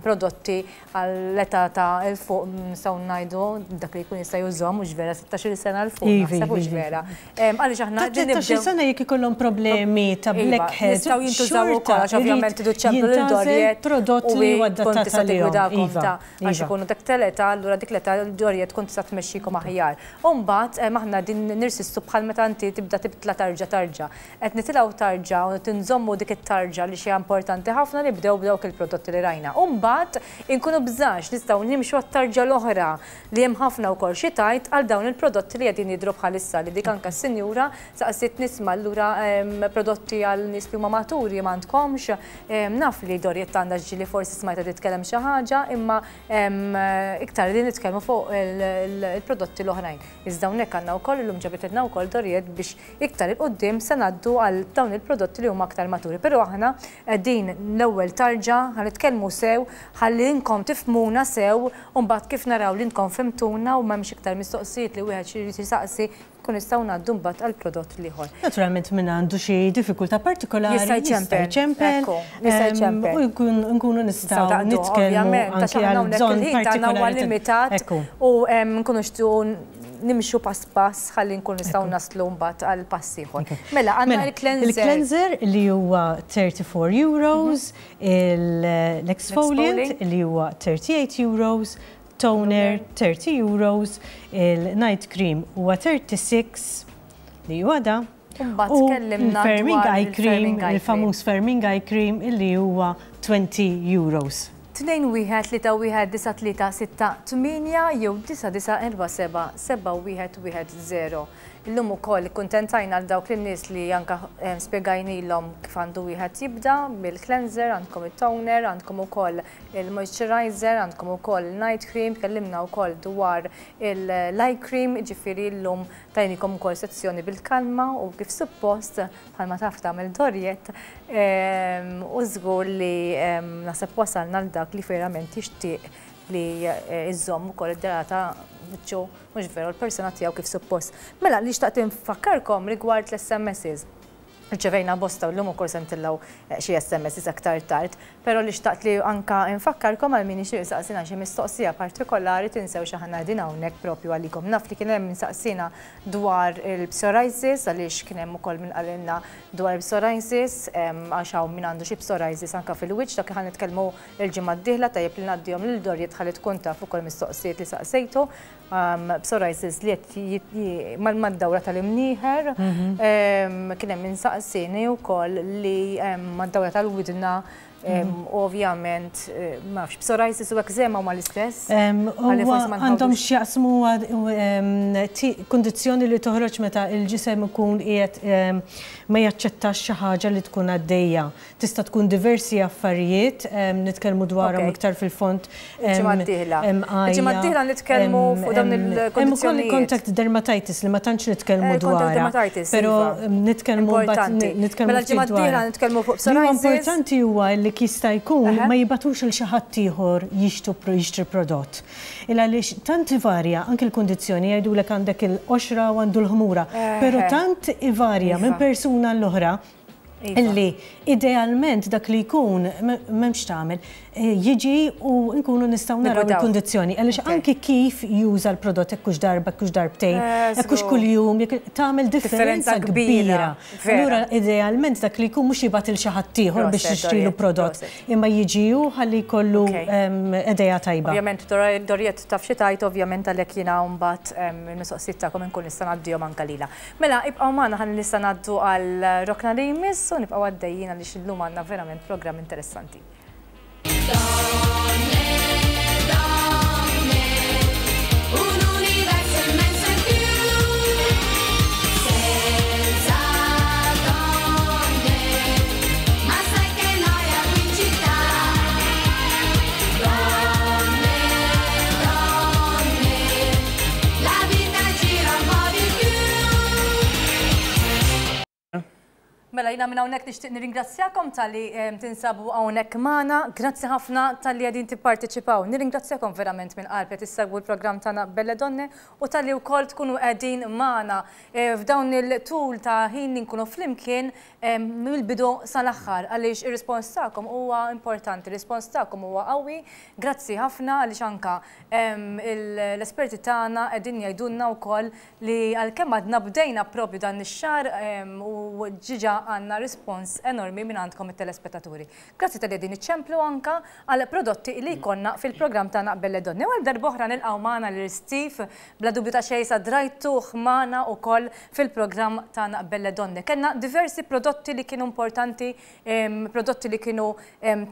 prodotti għall-età ta' 'l fuq nistgħu ngħidu dak li jkun jista' jużhom mhux vera 16-il sena 'l fuq naħseb hux vera. Għaliex aħna Ta' 13-il sena jekk ikollhom problemi ta' blackheads jistgħu jintużaw ukoll għax ovvjament tridu ċċemplu lil Doriette prodott li huwa adattat għalihom. Għax ikunu dak tal-età, allura dik l-età Doriette tkun tista' tmexxikom aħjar. U mbagħad aħna din nirsistu bħal meta inti tibda tibtla tarġa tarġa. Qed nitilgħu tarġa u qed inżommu dik it-tarġa li xi importanti ħafna nibdew b'dawk il-prodotti li rajna. U mbagħad inkunu bżax nistgħu nimxu għat-tarġa l-oħra li hemm ħafna wkoll xi tgħid għal dawn il-prodotti li qegħdin jidhru bħalissa li dik anke s-sinjura saqsiet nisma' allura prodotti għal nies li huma maturi m'għandkomx. Naf li Doriette għandha ġieli forsi smajtha titkellem xi ħaġa imma iktar qegħdin nitkellmu fuq il-prodotti l-oħrajn. Iżda hawnhekk għandna wkoll illum ġabitilna wkoll Doriette biex Iktar 'il quddiem se ngħaddu għal dawn il-prodotti li huma aktar maturi. Però aħna qegħdin l-ewwel tarġa, ħa nitkellmu sew, ħalli inkom tifhmuna sew u mbagħad kif naraw li intkom fhimtuna u m'hemmx iktar mistoqsijiet li wieħed xi jrid isaqsi, nkunu nistgħu ngħaddu mbagħad għall-prodott l-ieħor. Naturalment min għandu xi diffikultà partikolari jista' jċempel. Ekku, jista' jċempel. U nkunu nistgħu nitkellmu anke għal bżonn partikolari. Huwa limitat u nkunu nixtiequ nimxu pass pass ħalli nkunu nistgħu naslu mbagħad għal pass ieħor. Mela, għandna mela, il-cleanser. Il-cleanser li huwa 34 euros, l-exfoliant li huwa 38 euros, toner 30 euros, il-night cream huwa 36 li huwa da. U l-firming eye cream, il-famuż firming eye cream illi huwa 20 euros. 21319368 jew 9947 7110. Illum ukoll ikkuntentajna għal dawk lin-nies li anke spjegajnilhom kif għandu wieħed jibda bil-cleanser, għandkom it-toner, għandkom ukoll il-moisturizer, għandkom ukoll il-night cream, tkellimna wkoll dwar il-eye cream, jiġifieri llum tajnikom ukoll sezzjoni bil-kalma u kif suppost bħalma taf tagħmel Doriette u żgur li naħseb wasalna għal dak li verament jixtieq li jżomm ukoll id-dara ta' wiċċu mhux veru l-persuna tiegħu kif suppost. Mela li xtaqt infakkarkom rigward l-SMSs. Rċevejna bosta u llum ukoll se ntellgħu xi SMSs aktar tard, però li xtaqt li anka infakkarkom għal min jixtieq isaqsina xi mistoqsija partikolari tinsewx aħna qegħdin hawnhekk propju għalikom. Naf li kien hemm min saqsina dwar il-psoriasis għaliex kien hemm ukoll min qalilna dwar il-psoriasis għax hawn min għandu xi psoriasis anka fil-wiċċ dak li ħa nitkellmu Il-ġimgħa d-dieħla tajjeb li ngħaddihom lil Doriet ħalli tkun taf ukoll mistoqsijiet li saqsejtu. Psoriasis li qed mad-dawra tal-imnieħer. Kien hemm min saqsieni wkoll li mad-dawra tal-widna ovvjament ma nafx psoriasis u eczema huma l-istess? Għandhom x'jaqsmu kundizzjoni li toħroġ meta l-ġisem ikun qiegħed ma jaċċettax xi ħaġa li tkun għaddejja. Tista' tkun diversi affarijiet, nitkellmu dwarhom iktar fil-fond. Il-ġimgħa d-dieħla. Il-ġimgħa d-dieħla nitkellmu fuq dawn il-kundizzjonijiet. Hemm ukoll il-contact dermatitis li ma tantx nitkellmu dwarha. Dermatitis. Però nitkellmu mbagħad nitkellmu Mela l-ġimgħa d-dieħla nitkellmu fuq psoriasis. Li huwa importanti huwa li jista' jkun ma jibgħatux lil xi ħadd ieħor jixtri prodott. Il għaliex tant ivarja anki l-kundizzjoni jgħidulek għandek il-qoxra u għandu l-ħmura, però tant ivarja minn persuna għall-oħra Illi idealment dak li jkun m'hemmx tagħmel jiġi u nkunu nistgħu naraw il-kundizzjoni. Għaliex anki kif juża l-prodott jekk hux darba, jekk hux darbtejn, jekk hux kuljum, jekk tagħmel differenza kbira. Allura idealment dak li jkun mhux jibgħat il xi ħadd ieħor biex jixtrilu prodott, imma jiġi hu ħalli jkollu idea tajba. Ovvjament Doriette taf xi tgħid, ovvjament għalhekk jiena mbagħad il-mistoqsijiet tagħkom inkun nista' ngħaddihom anke lilha. Mela, ibqgħu magħna ħalli nista' ngħaddu għal rokna li jmiss u nibqgħu għaddejjin għaliex illum għandna verament programm interessanti. Mela jiena minn hawnhekk nixtieq nirringrazzjakom talli tinsabu hawnhekk magħna. Grazzi ħafna talli qegħdin tipparteċipaw. Nirringrazzjakom verament minn qalbi qed issegwu l-programm tagħna Belle Donne u talli wkoll tkunu qegħdin magħna eh, f'dawn il-tul ta' ħin li nkunu flimkien eh, mill-bidu sal-aħħar għaliex ir-rispons tagħkom huwa importanti, ir-rispons tagħkom huwa qawwi. Grazzi ħafna għaliex anka L-esperti tagħna qegħdin jgħidulna wkoll li għalkemm għadna bdejna proprju dan ix-xahar u ġiġa għandna rispons enormi minn għandkom it-telespettaturi. Grazzi talli qegħdin iċċemplu anka għal prodotti li jkollna fil-programm tagħna Belle Donne. U għal darb'oħra nilqgħu magħna lil Steve, bla dubju ta' xejn sa drajtuh magħna wkoll fil-programm tagħna Belle Donne. Kellna diversi prodotti li kienu importanti, prodotti li kienu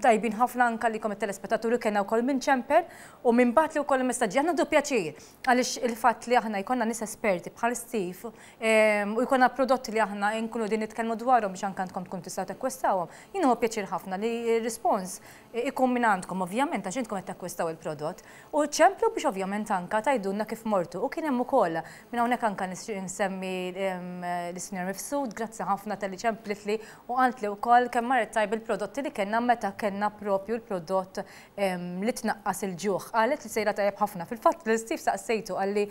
tajbin ħafna anka likom it-telespettaturi, kellna wkoll minn ċempel U min bagħatli wkoll il-messaġġi, aħna nieħdu pjaċir għaliex il-fatt li aħna jkollna nies esperti bħal Steve u jkollna prodotti li aħna nkunu qegħdin nitkellmu dwarhom biex anke intkom tkun tistgħu takkwistawhom. Jien nieħu pjaċir ħafna li r-rispons ikun minn għandkom ovvjament għax intkom qed takkwistaw il-prodott. U ċemplu biex ovvjament anke tgħidulna kif mortu. U kien hemm ukoll minn hawnhekk anke nixtieq insemmi lis-Sinjora Mifsud, grazzi ħafna talli ċemplitli u qaltli wkoll kemm marret tajba il-prodotti li kellna meta kellna propju l-prodott li tnaqqas il-ġuħ. Qalet li sejra tajjeb ħafna. Fil-fatt lil Steve saqsejtu qalli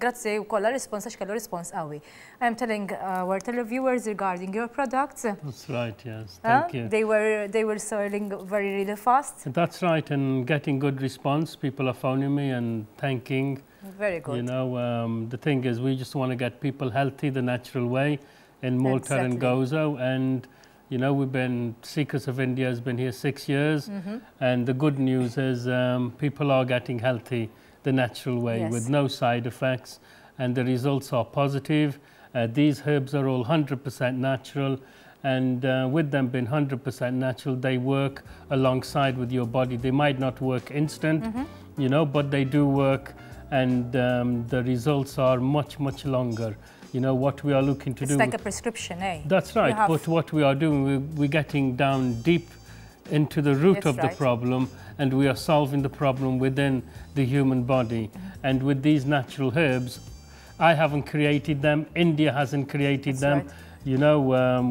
grazzi wkoll għar-rispons għax kellu rispons qawwi. I am telling our televiewers regarding your products. That's right, yes. Thank you. They were they were selling very really fast. That's right, and getting good response. People are phoning me and thanking. Very good. You know, um, the thing is, we just want to get people healthy the natural way in Malta exactly. and Gozo, and You know, we've been, Secrets of India has been here six years, mm -hmm. and the good news is um, people are getting healthy the natural way yes. with no side effects, and the results are positive. Uh, these herbs are all 100% natural, And with them being 100% natural, they work alongside with your body. They might not work instant, -hmm. you know, but they do work and the results are much, much longer. You know, what we are looking to it's do. It's like a prescription, eh? That's right. But what we are doing, we're getting down deep into the root That's of the problem and we are solving the problem within the human body. -hmm. And with these natural herbs, I haven't created them, India hasn't created That's them. Right. You know,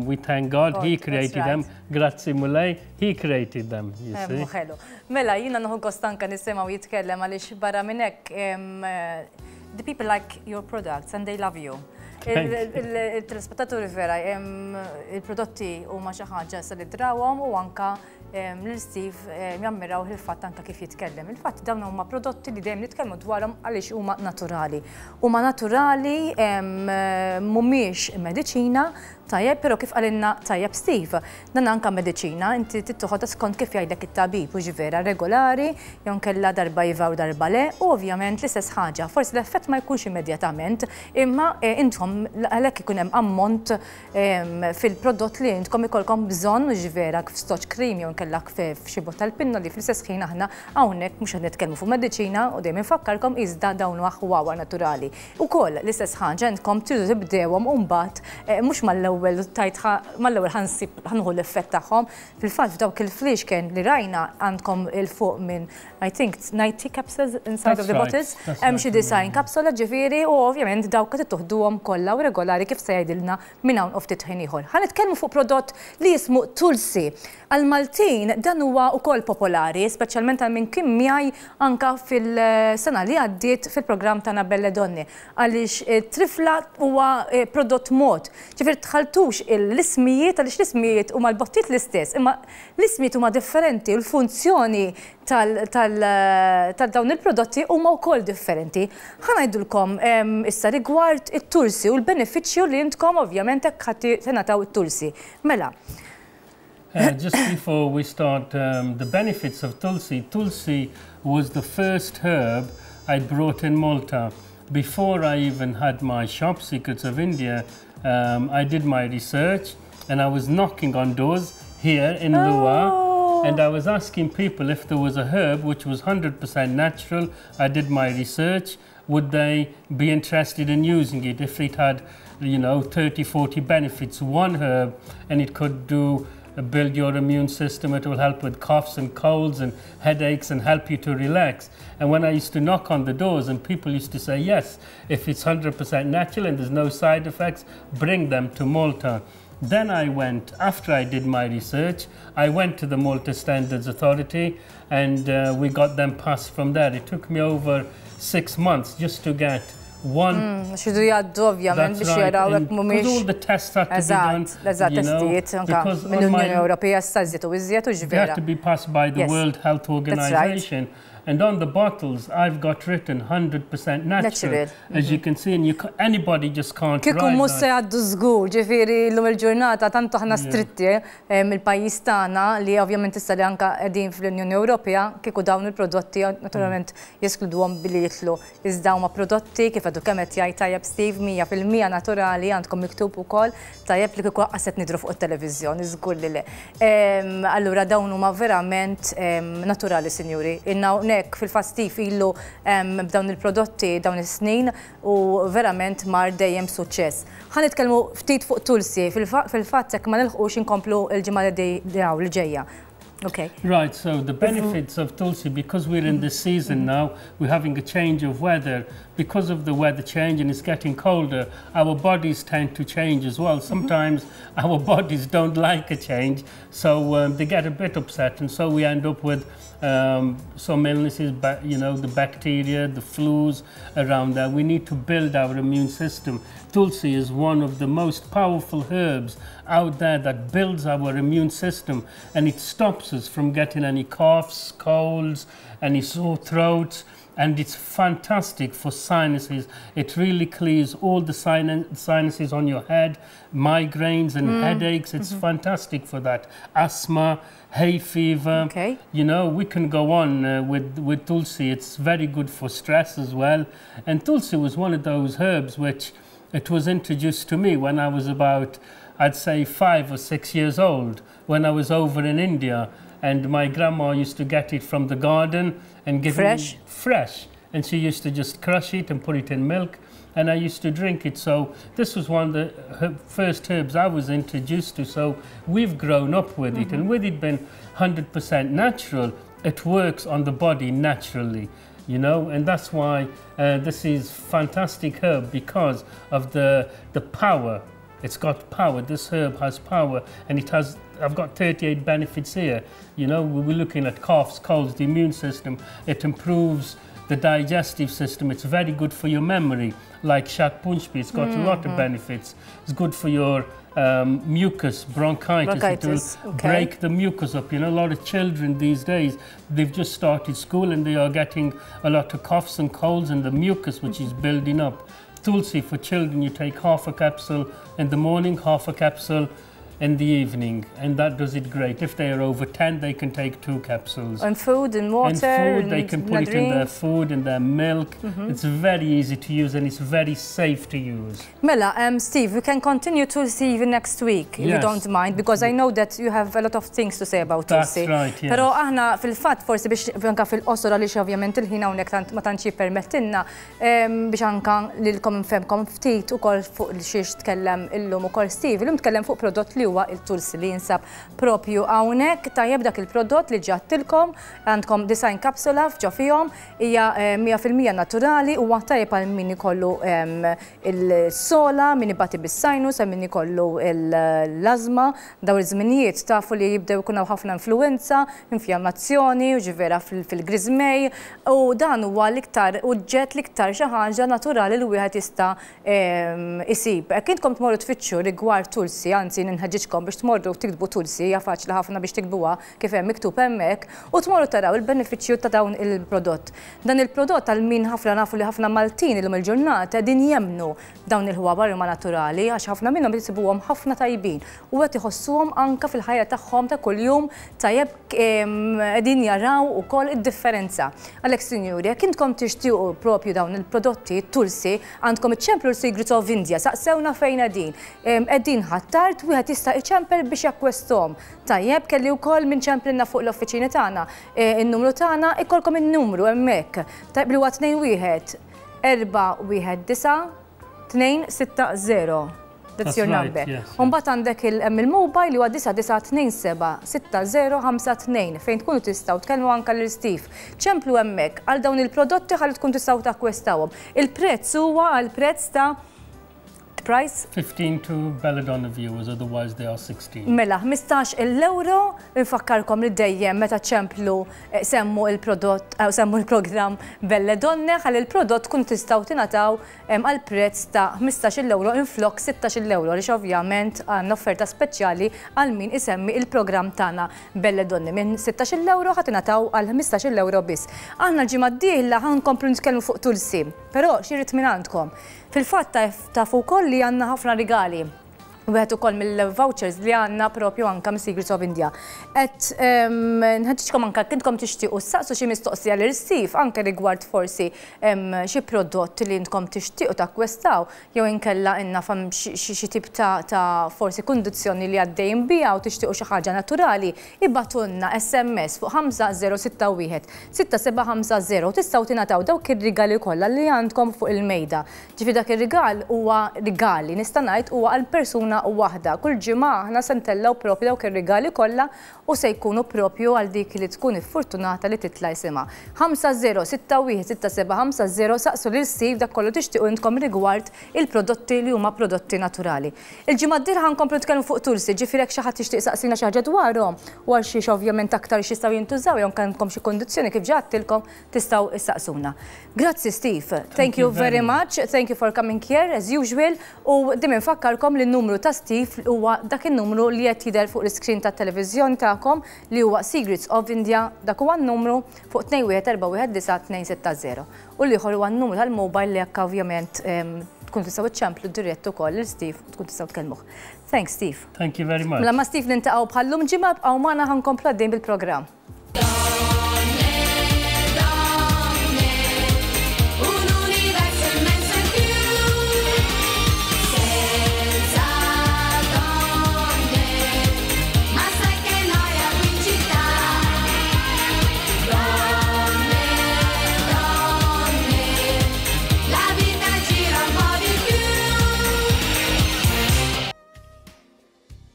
we thank God, God He created right. them. Grazzi Mulej, He created them, you see. Ħelu. Mela, jiena nieħu gost anka nisimgħu jitkellem għaliex barra minn hekk the people like your products and they love you. Il-telespettaturi vera, il-prodotti huma xi ħaġa se li drawhom u anka lil Steve jammiraw il-fatt anka kif jitkellem. Il-fatt dawn huma prodotti li dejjem nitkellmu dwarhom għaliex huma naturali. Huma naturali mhumiex mediċina, tajjeb, però kif qalilna tajjeb Steve, dan anka mediċina inti trid toħodha skont kif jgħidlek it-tabib hux vera regolari jew inkella darba iva u darba le u ovvjament l-istess ħaġa. Forsi l-effett ma jkunx immedjatament imma intom għalhekk ikun hemm ammont fil-prodott li intkom ikollkom bżonn hux vera f'stoċ cream jew inkella f'xi bott tal-pinnoli fl-istess ħin aħna hawnhekk mhux qed nitkellmu fuq mediċina u dejjem infakkarkom iżda dawn huwa ħwawar naturali. Ukoll l-istess ħaġa intkom tridu tibdewhom u mbagħad mhux mal-ewwel tajt mal-ewwel ħa nsib ħa nieħu l-effett tagħhom. Fil-fatt f'dawk il-fliexken li rajna għandkom 'il fuq minn I think 90 capsules inside of the bottles. Hemm xi 90 kapsula ġifieri u ovvjament dawk qed toħduhom kollha u regolari kif se jgħidilna minn hawn u ftit ħin ieħor. Ħa nitkellmu fuq prodott li jismu Tulsi. Għal-Maltin dan huwa wkoll popolari, speċjalment għal min kien miegħi anka fil-sena li għaddiet fil-programm tagħna Belle Donne għaliex trifla huwa prodott mod. Ġifieri tħaltux l-ismijiet għaliex l-ismijiet huma l-bottijiet l-istess, imma l-ismijiet huma differenti u l-funzjoni tal dawn il-prodotti huma wkoll differenti. Ħa ngħidulkom issa rigward it-tulsi u l-benefiċċju li intkom ovvjament hekk ħa tingħataw it-tulsi. Mela. Just before we start the benefits of Tulsi, Tulsi was the first herb I brought in Malta. Before I even had my shop, Secrets of India, I did my research and I was knocking on doors here in Luqa and I was asking people if there was a herb which was 100% natural. I did my research. Would they be interested in using it if it had, 30, 40 benefits, one herb, and it could do build your immune system, it will help with coughs and colds and headaches and help you to relax. And when I used to knock on the doors and people used to say, yes, if it's 100% natural and there's no side effects, bring them to Malta. Then I went, after I did my research, I went to the Malta Standards Authority and we got them passed from there. It took me over 6 months just to get one. X'idu jgħaddu ovvjament biex jaraw hekk mhumiex. All the tests had to be done. Eżatt, testijiet anka mill-Unjoni Ewropea issa żied u iżjed u They had to be passed by the World Health Organization. And on the bottles, I've got written 100% natural, natural. As you can see, and you, anybody just can't Kieku write mhux se that. jgħaddu żgur, ġifieri llum il-ġurnata tant aħna stretti mill-pajjiż tagħna li ovvjament issa li anka qegħdin fl-Unjoni Ewropea kieku dawn il-prodotti naturalment jeskluduhom billi jidħlu. Iżda huma prodotti kif għadu kemm qed jgħid tajjeb Steve 100% naturali għandkom miktub ukoll tajjeb li kieku qas qed nidhru fuq it-televiżjoni, żgur li le. Allura dawn huma verament naturali, sinjuri. Inna hawnhekk fil-fatt Steve ilu b'dawn il-prodotti dawn is-snin u verament mar dejjem suċċess. Ħa nitkellmu ftit fuq Tulsi, fil-fatt jekk ma nilħqux inkomplu l-ġimgħa li ġejja. Okay. Right, so the benefits of Tulsi, because we're in this season now, we're having a change of weather. Because of the weather change and it's getting colder, our bodies tend to change as well. Sometimes our bodies don't like a change, so they get a bit upset, and so we end up with some illnesses, but the bacteria, the flus around that. We need to build our immune system. Tulsi is one of the most powerful herbs out there that builds our immune system, and it stops us from getting any coughs, colds, any sore throats, and it's fantastic for sinuses. It really clears all the sinuses on your head, migraines and headaches. It's fantastic for that. Asthma, hay fever. We can go on with Tulsi. It's very good for stress as well. And Tulsi was one of those herbs which it was introduced to me when I was about I'd say, 5 or 6 years old when I was over in India. And my grandma used to get it from the garden and give fresh? Me fresh. And she used to just crush it and put it in milk. And I used to drink it. So this was one of the first herbs I was introduced to. So we've grown up with it. And with it being 100% natural, it works on the body naturally, you know, and that's why this is fantastic herb, because of the power. It's got power. This herb has power, and it has, I've got 38 benefits here. You know, we're looking at coughs, colds, the immune system. It improves the digestive system. It's very good for your memory, like Shankhpushpi. It's got a lot of benefits. It's good for your mucus, bronchitis. It will break the mucus up. You know, a lot of children these days, they've just started school and they are getting a lot of coughs and colds and the mucus, which is building up. Tulsi for children, you take half a capsule in the morning, half a capsule in the evening, and that does it great. If they are over 10, they can take 2 capsules. And food and water. And food, they can put it in their food, in their milk. It's very easy to use and it's very safe to use. Mela, Steve, we can continue Tulsi even next week, if you don't mind, because I know that you have a lot of things to say about Tulsi. That's right, yes. Pero aħna fil-fatt, forsi biex anka fil-qosor, għaliex ovvjament il-ħin hawnhekk ma tantx jippermettilna, biex anka lilkom nfehmkom ftit ukoll fuq xiex tkellem illum ukoll Steve. Illum tkellem fuq prodott li huwa il-Tulsi li jinsab propju hawnhekk. Tajjeb dak il-prodott li ġattilkom, għandkom 90 kapsula f'ġo fihom, hija 100% naturali, huwa tajjeb għal min ikollu il-sola, min ibati bis-sinus, għal min ikollu l-azma. Daw iż-żminijiet tafu li jibdew ikun hawn ħafna influenza, infjammazzjoni, u ġifiera fil-griżmej, u dan huwa l-iktar uġġett, l-iktar xi ħaġa naturali li wieħed jista' isib. Hekk intkom tmorru tfittxu rigward Tulsi, anzi ninħeġġiġkom biex tmorru tiktbu Tulsi, hija faċli ħafna biex tiktbuha kif hemm miktub hemmhekk, u tmorru taraw il-benefiċċju ta' dawn il-prodott. Dan il-prodott għal min ħafna nafu li ħafna Maltin illum il-ġurnata din jemnu dawn il-ħwabar huma naturali, għax ħafna minnhom jisibuhom ħafna tajbin u qed iħossuhom anka fil-ħajja tagħhom ta' kuljum tajjeb, qegħdin jaraw ukoll id-differenza. Għalhekk, sinjuri, jekk intkom tixtiequ propju dawn il-prodotti Tulsi, għandkom iċċemplu l-Secrets of India, saqsewna fejn qegħdin. Qegħdin Ħ'Attard, wieħed jista' iċempel biex jakkwestom. Tajjeb, kelli wkoll minn ċemplilna fuq l-offiċini tagħna. In-numru tagħna, ikolkom in-numru hemmhekk. Tajjeb, li huwa tnejn wieħed, erba' wieħed disa', tnejn sitta zero. That's That's your right, number. yes, yes. Umbagħad għandek hemm il-mobile li huwa disa' disa' tnejn seba' sitta zero ħamsa tnejn fejn tkunu tistgħu tkellmu anke lil Steve. Ċemplu hemmhekk għal dawn il-prodotti ħalli tkun tistgħu takkwestawhom. Il-prezz huwa għal prezz ta' price? 15 to Belladonna viewers, otherwise they are 16. Mela, ħmistax il-euro, nfakkarkom li dejjem meta ċemplu semmu il-prodott, semmu il-programm Belle Donne, ħalli il-prodott kun tistgħu tingħataw għal prezz ta' ħmistax il-euro inflok sittax il-euro, għaliex ovvjament għandna offerta speċjali għal min isemmi il-programm tagħna Belle Donne. Minn sittax il-euro ħa tingħataw għal ħmistax il-euro biss. Aħna l-ġimgħa d-dieħla ħa nkomplu nitkellmu fuq Tulsi, però xi rrid minn għandkom. Fil-fatt tafu wkoll li għandna ħafna rigali. Wieħed ukoll mill-vouchers li għandna propju anka mis Secrets of India. Et nħeġġiġkom anka kintkom tixtiequ saqsu xi mistoqsija lil Steve anke rigward forsi xi prodott li intkom tixtiequ takkwestaw jew inkella inna fam xi tip ta' forsi kundizzjoni li għaddejjin biha u tixtiequ xi ħaġa naturali, ibatunna SMS fuq ħamsa zero sitta wieħed sitta seba' ħamsa zero tistgħu tingħataw dawk ir-rigali kollha li għandkom fuq il-mejda. Ġifieri dak ir-rigal huwa rigali, nista' ngħid huwa għal persuna waħda. Kull ġimgħa aħna se ntellgħu propju dawk ir-rigali kollha u se jkunu propju għal dik li tkun iffortunata li titla' isimha. Ħamsa zero sitta wieħed sitta seba' ħamsa zero saqsu lil Steve dak kollu tixtiequ intkom rigward il-prodotti li huma prodotti naturali. Il-ġimgħa d-dieħla ħankomplu nitkellmu fuq Tulsi, ġifieri jekk xi ħadd jixtieq saqsina xi ħaġa dwarhom u għal xiex ovvjament aktar x'jistgħu jintużaw jew kellkom xi kundizzjoni kif ġattilkom tistgħu issaqsuna. Grazzi Steve, thank Thank you you very very much, thank you for coming here as usual, u dejjem infakkarkom li n-numru ta' Steve huwa dak in-numru li qed jidher fuq l-iskrin tat-televiżjoni tagħkom li huwa Secrets of India, dak huwa n-numru fuq tnejn wieħed erba' wieħed disa' tnejn sitta zero. U l-ieħor huwa n-numru tal-mobile li jekk ovvjament tkun tistgħu iċċemplu dirett ukoll lil Steve tkun tistgħu tkellmuh. Thanks Steve. Thank you very much. Mela ma' Steve nintaqgħu bħallum ġimgħa, bqgħu magħna ħankomplu għaddejn bil-programm.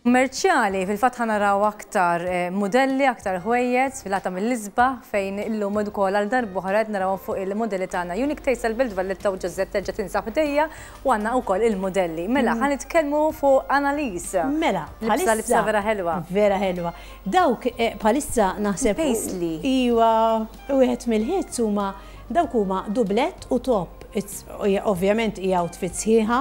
Kummerċjali, fil-fatt ħa naraw aktar mudelli, aktar ħwejjeġ sfilata mill-isbaħ fejn illum ukoll għal darb'oħra qed narawhom fuq il-mudelli tagħna. Unique Taste tal-Belt Valletta u Josette terġa' tinsab ħdejja u għandna wkoll il-mudelli. Mela, ħa nitkellmu fuq Annalise. Mela, Libsa libsa vera ħelwa. Vera ħelwa. Dawk bħalissa naħseb. Paisley. Iwa, wieħed mill-hits huma dawk huma dublett u top. Ovvjament hija outfit sħiħa.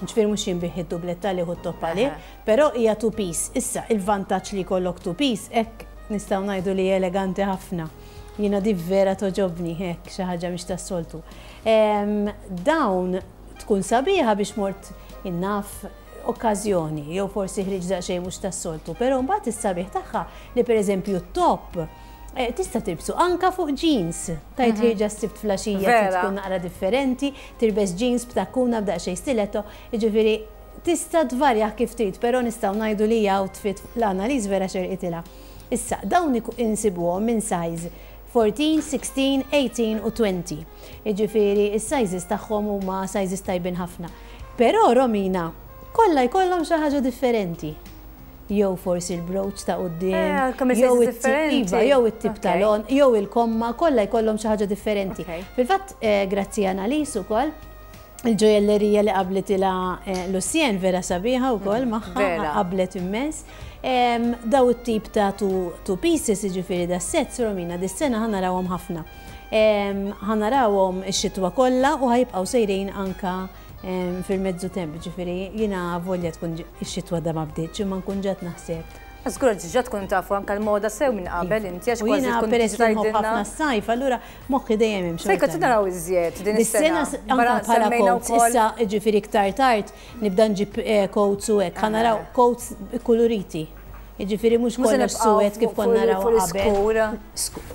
Ġifieri mhux jinbigħ id-dublett għalih u t-top għalih, però hija two piece. Issa, il-vantaġġ li jkollok two piece hekk nistgħu ngħidu li eleganti ħafna. Jiena di vera togħġobni hekk xi ħaġa mhix tas-soltu. Dawn tkun sabiħa biex mort naf okkażjoni jew forsi ħriġt daqsxejn mhux tas-soltu, però mbagħad is-sabiħ tagħha li pereżempju t-top tista' tilbsu anka fuq jeans. Tgħid ħierġa s-Sibt flaxija trid tkun naqra differenti, tilbes jeans b'takkuna b'daqsxejn stiletto, jiġifieri tista' tvarjah kif trid, però nistgħu ngħidu li hija outfit l-Annalise vera xerqitilha. Issa, dawn insibuhom minn size 14, 16, 18 u 20. Jiġifieri s-sizes tagħhom huma sizes tajbin ħafna. Però Romina, kollha jkollhom xi ħaġa differenti. Jew forsi l-brooch ta' quddiem, jew it-tip, iva, jew it-tip tal-għonq, jew il-komma, kollha jkollhom xi ħaġa differenti. Fil-fatt, grazzi Annalise ukoll, il-ġojellerija li qablitilha Lucienne vera sabiħa wkoll magħha, qablet immens. Daw it-tip ta' two pieces, jiġifieri da sets, Romina, dis-sena ħa narawhom ħafna. Ħa narawhom ix-xitwa kollha u ħa jibqgħu sejrin anka fil-mezzu temp, ġifieri jiena volja tkun ix-xitwa da ma bdietx, imma nkun ġat naħseb. Żgur ġa tkun tafu anke l-moda sew minn qabel inti għax kważi tkun peress li nħobb ħafna s-sajf, allura moħħi dejjem hemm. Sejka naraw iżjed din is-sena. Anke bħala coats, issa ġifieri iktar tard nibda nġib coats u hekk, ħa naraw coats kuluriti. Jiġifieri mhux kollox suwed kif konna naraw qabel.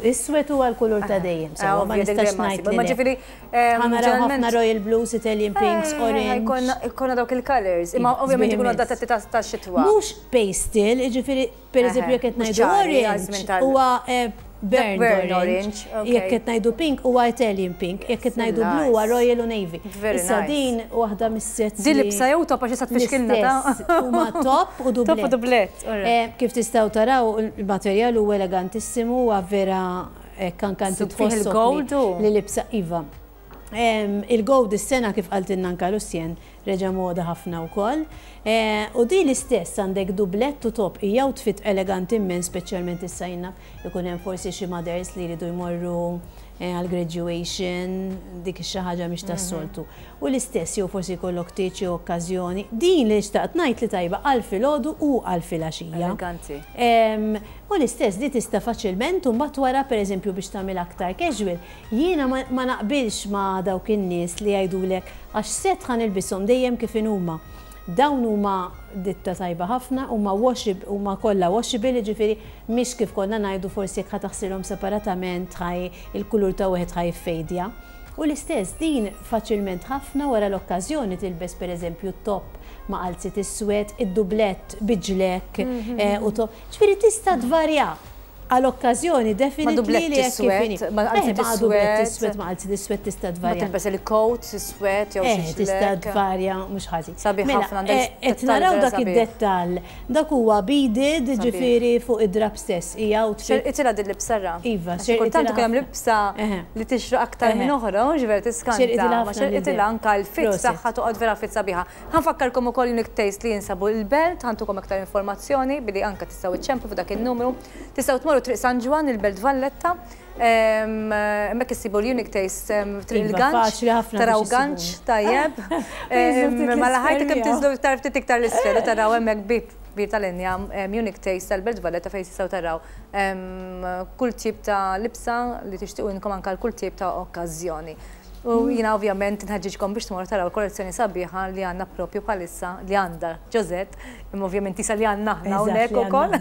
Is-swed huwa l-kulur ta' dejjem, sewwa ma nistax ngħid. Ma ġifieri Ħa naraw ħafna royal blues, Italian pinks, orange. Ikollna dawk il-colors, imma ovvjament ikunu adattati ta' xitwa. Mhux pastel, jiġifieri pereżempju jekk qed ngħidu orange huwa burnt orange, jekk qed ngħidu pink huwa Italian pink, jekk qed ngħidu blu huwa royal u navy. Issa din waħda mis-sets. Din libsa jew top għax issa tfixkilna ta' huma top u dublett. Top u dublett. Kif tistgħu taraw il-materjal huwa elegantissimu huwa vera hekk anke inti tħossok li libsa iva. Il-gold is-sena kif qaltilna anke Lucien reġa' moda ħafna wkoll. U di l-istess għandek dublett u top hija outfit eleganti immens speċjalment issa jien naf ikun hemm forsi xi mothers li jridu jmorru għal graduation, dik xi ħaġa mhix tas-soltu. U l-istess jew forsi jkollok tieġ jew okkażjoni. Din li xtaqt ngħid li tajba għal filgħodu u għal filgħaxija. Eleganti. U l-istess di tista' faċilment u mbagħad wara pereżempju biex tagħmilha aktar casual, jiena ma naqbilx ma' dawk in-nies li jgħidulek għax set ħa nilbishom dejjem kif inhuma. Dawn huma ditta tajba ħafna, huma washable, huma kollha washable, jiġifieri mhix kif konna ngħidu forsi jekk ħa taħsilhom separatament ħa il-kulur ta' wieħed ħa jiffejdja. U l-istess din faċilment ħafna wara l-okkażjoni tilbes pereżempju t-top ma' qalziet iswed, id-dublett bi ġlekk u top. Ġifieri tista' tvarja għal okkażjoni definitely li hekk kif inhi. Ma qalziet iswed, ma dublett iswed, ma qalziet iswed tista' tvarja. Ma tilbes il-coat iswed jew xi. Tista' tvarja mhux ħażin. Sabiħ ħafna għandek. Qed naraw dak id-dettall. Dak huwa beaded, ġifieri fuq id-drapp stess. Hija outfit. Xerqitilha din l-libsa ra. Iva, xerqitilha. Kultant ikun hemm libsa li tixraq aktar minn oħra, mhux vera tiskanta. Ma xerqitilha anke l-fit tagħha toqgħod vera fit sabiħa. Ħa nfakkarkom ukoll Unique Taste li jinsabu l-Belt, ħa ntukom aktar informazzjoni billi anke tistgħu iċċemplu fuq dak in-numru. Tistgħu tmorru Triq San Ġwann, il-Belt Valletta. Hemmhekk issibu l-Unique Taste Triq Iva, il-Ganċ. faċli ħafna Taraw biex ganċ issibuhom. tajjeb. Mela ħajti kemm tinżlu iktar ftit iktar l-isfel u taraw hemmhekk bieb kbir tal-injam Unique Taste tal-Belt Valletta fejn tistgħu taraw kull tip ta' libsa li tixtiequ inkom anke għal kull tip ta' okkażjoni. U jiena ovvjament nħeġġiġkom biex tmorru taraw il-kollezzjoni sabiħa li għandna propju bħalissa li għandha Josette, imma ovvjament isa li għandna aħna hawnhekk ukoll.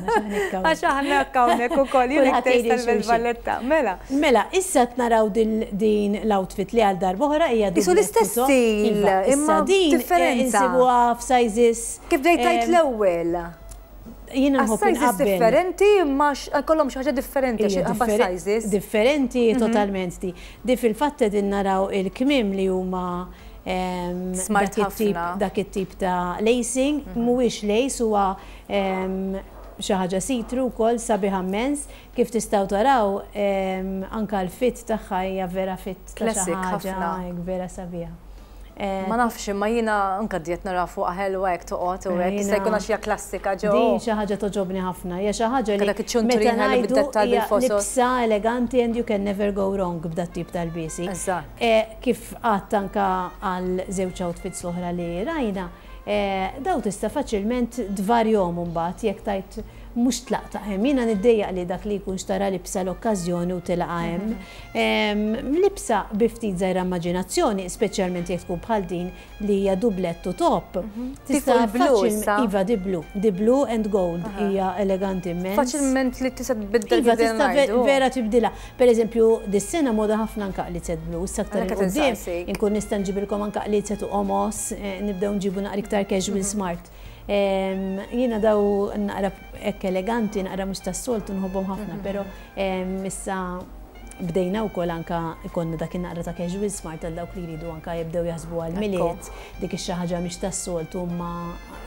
Għax aħna hekk hawnhekk ukoll, jien hekk tgħid tal-Belt Valletta. Mela. Mela, issa qed naraw din l-outfit li għal darb'oħra hija Isu l-istess stil, imma din differenza. Insibuha f'sizes. Kif bdejt tgħid l-ewwel. Jiena nħobb Sizes inqabbel. differenti imma kollhom xi ħaġa differenti għax ħabba sizes. Differenti totalment di. Di fil-fatt qegħdin naraw il-kmiem li huma Smart dak it-tip ħafna. dak it-tip ta' lacing, mhuwiex lace huwa Xi ħaġa see-through wkoll sabiħa mmens. Kif tistgħu taraw anke l-fit tagħha hija vera fit ta' xi ħaġa hekk vera sabiħa. Ma nafx imma jiena anke d-diet nara fuqha ħelwa hekk toqgħod u hekk jista' jkun għax hija klassika ġo. Din xi ħaġa togħġobni ħafna. Hija xi ħaġa li meta ngħidu hija libsa eleganti and you can never go wrong b'dat-tip ta' lbiesi. Kif għedt anke għal żewġ outfits l-oħra li rajna, Dawn tista' faċilment tvarjhom imbagħad jekk tgħid mhux tlaqtha hemm. Jiena niddejjaq li dak li jkun xtara libsa l-okkażjoni u tilqa' hemm. Libsa bi ftit żgħira immaġinazzjoni, speċjalment jekk tkun bħal din li hija dublett u top, tista' faċilment. Iva, di blu. Di blu and gold hija eleganti immens. Faċilment li tista' tbiddel. Iva, tista' vera tibdilha. Per eżempju, dis-sena moda ħafna anke qliezet blu, issa aktar 'il quddiem inkun nista' nġibilkom anke qliezet u qomos, nibdew nġibu naqra iktar casual smart. Jiena daw naqra hekk eleganti, naqra mhux tas-soltu nħobbhom ħafna, però issa bdejna wkoll anke ikollna dak in-naqra ta' casual smart għal dawk li jridu anke jibdew jaħsbu għall-Milied, dik ix-xi ħaġa mhix tas-soltu imma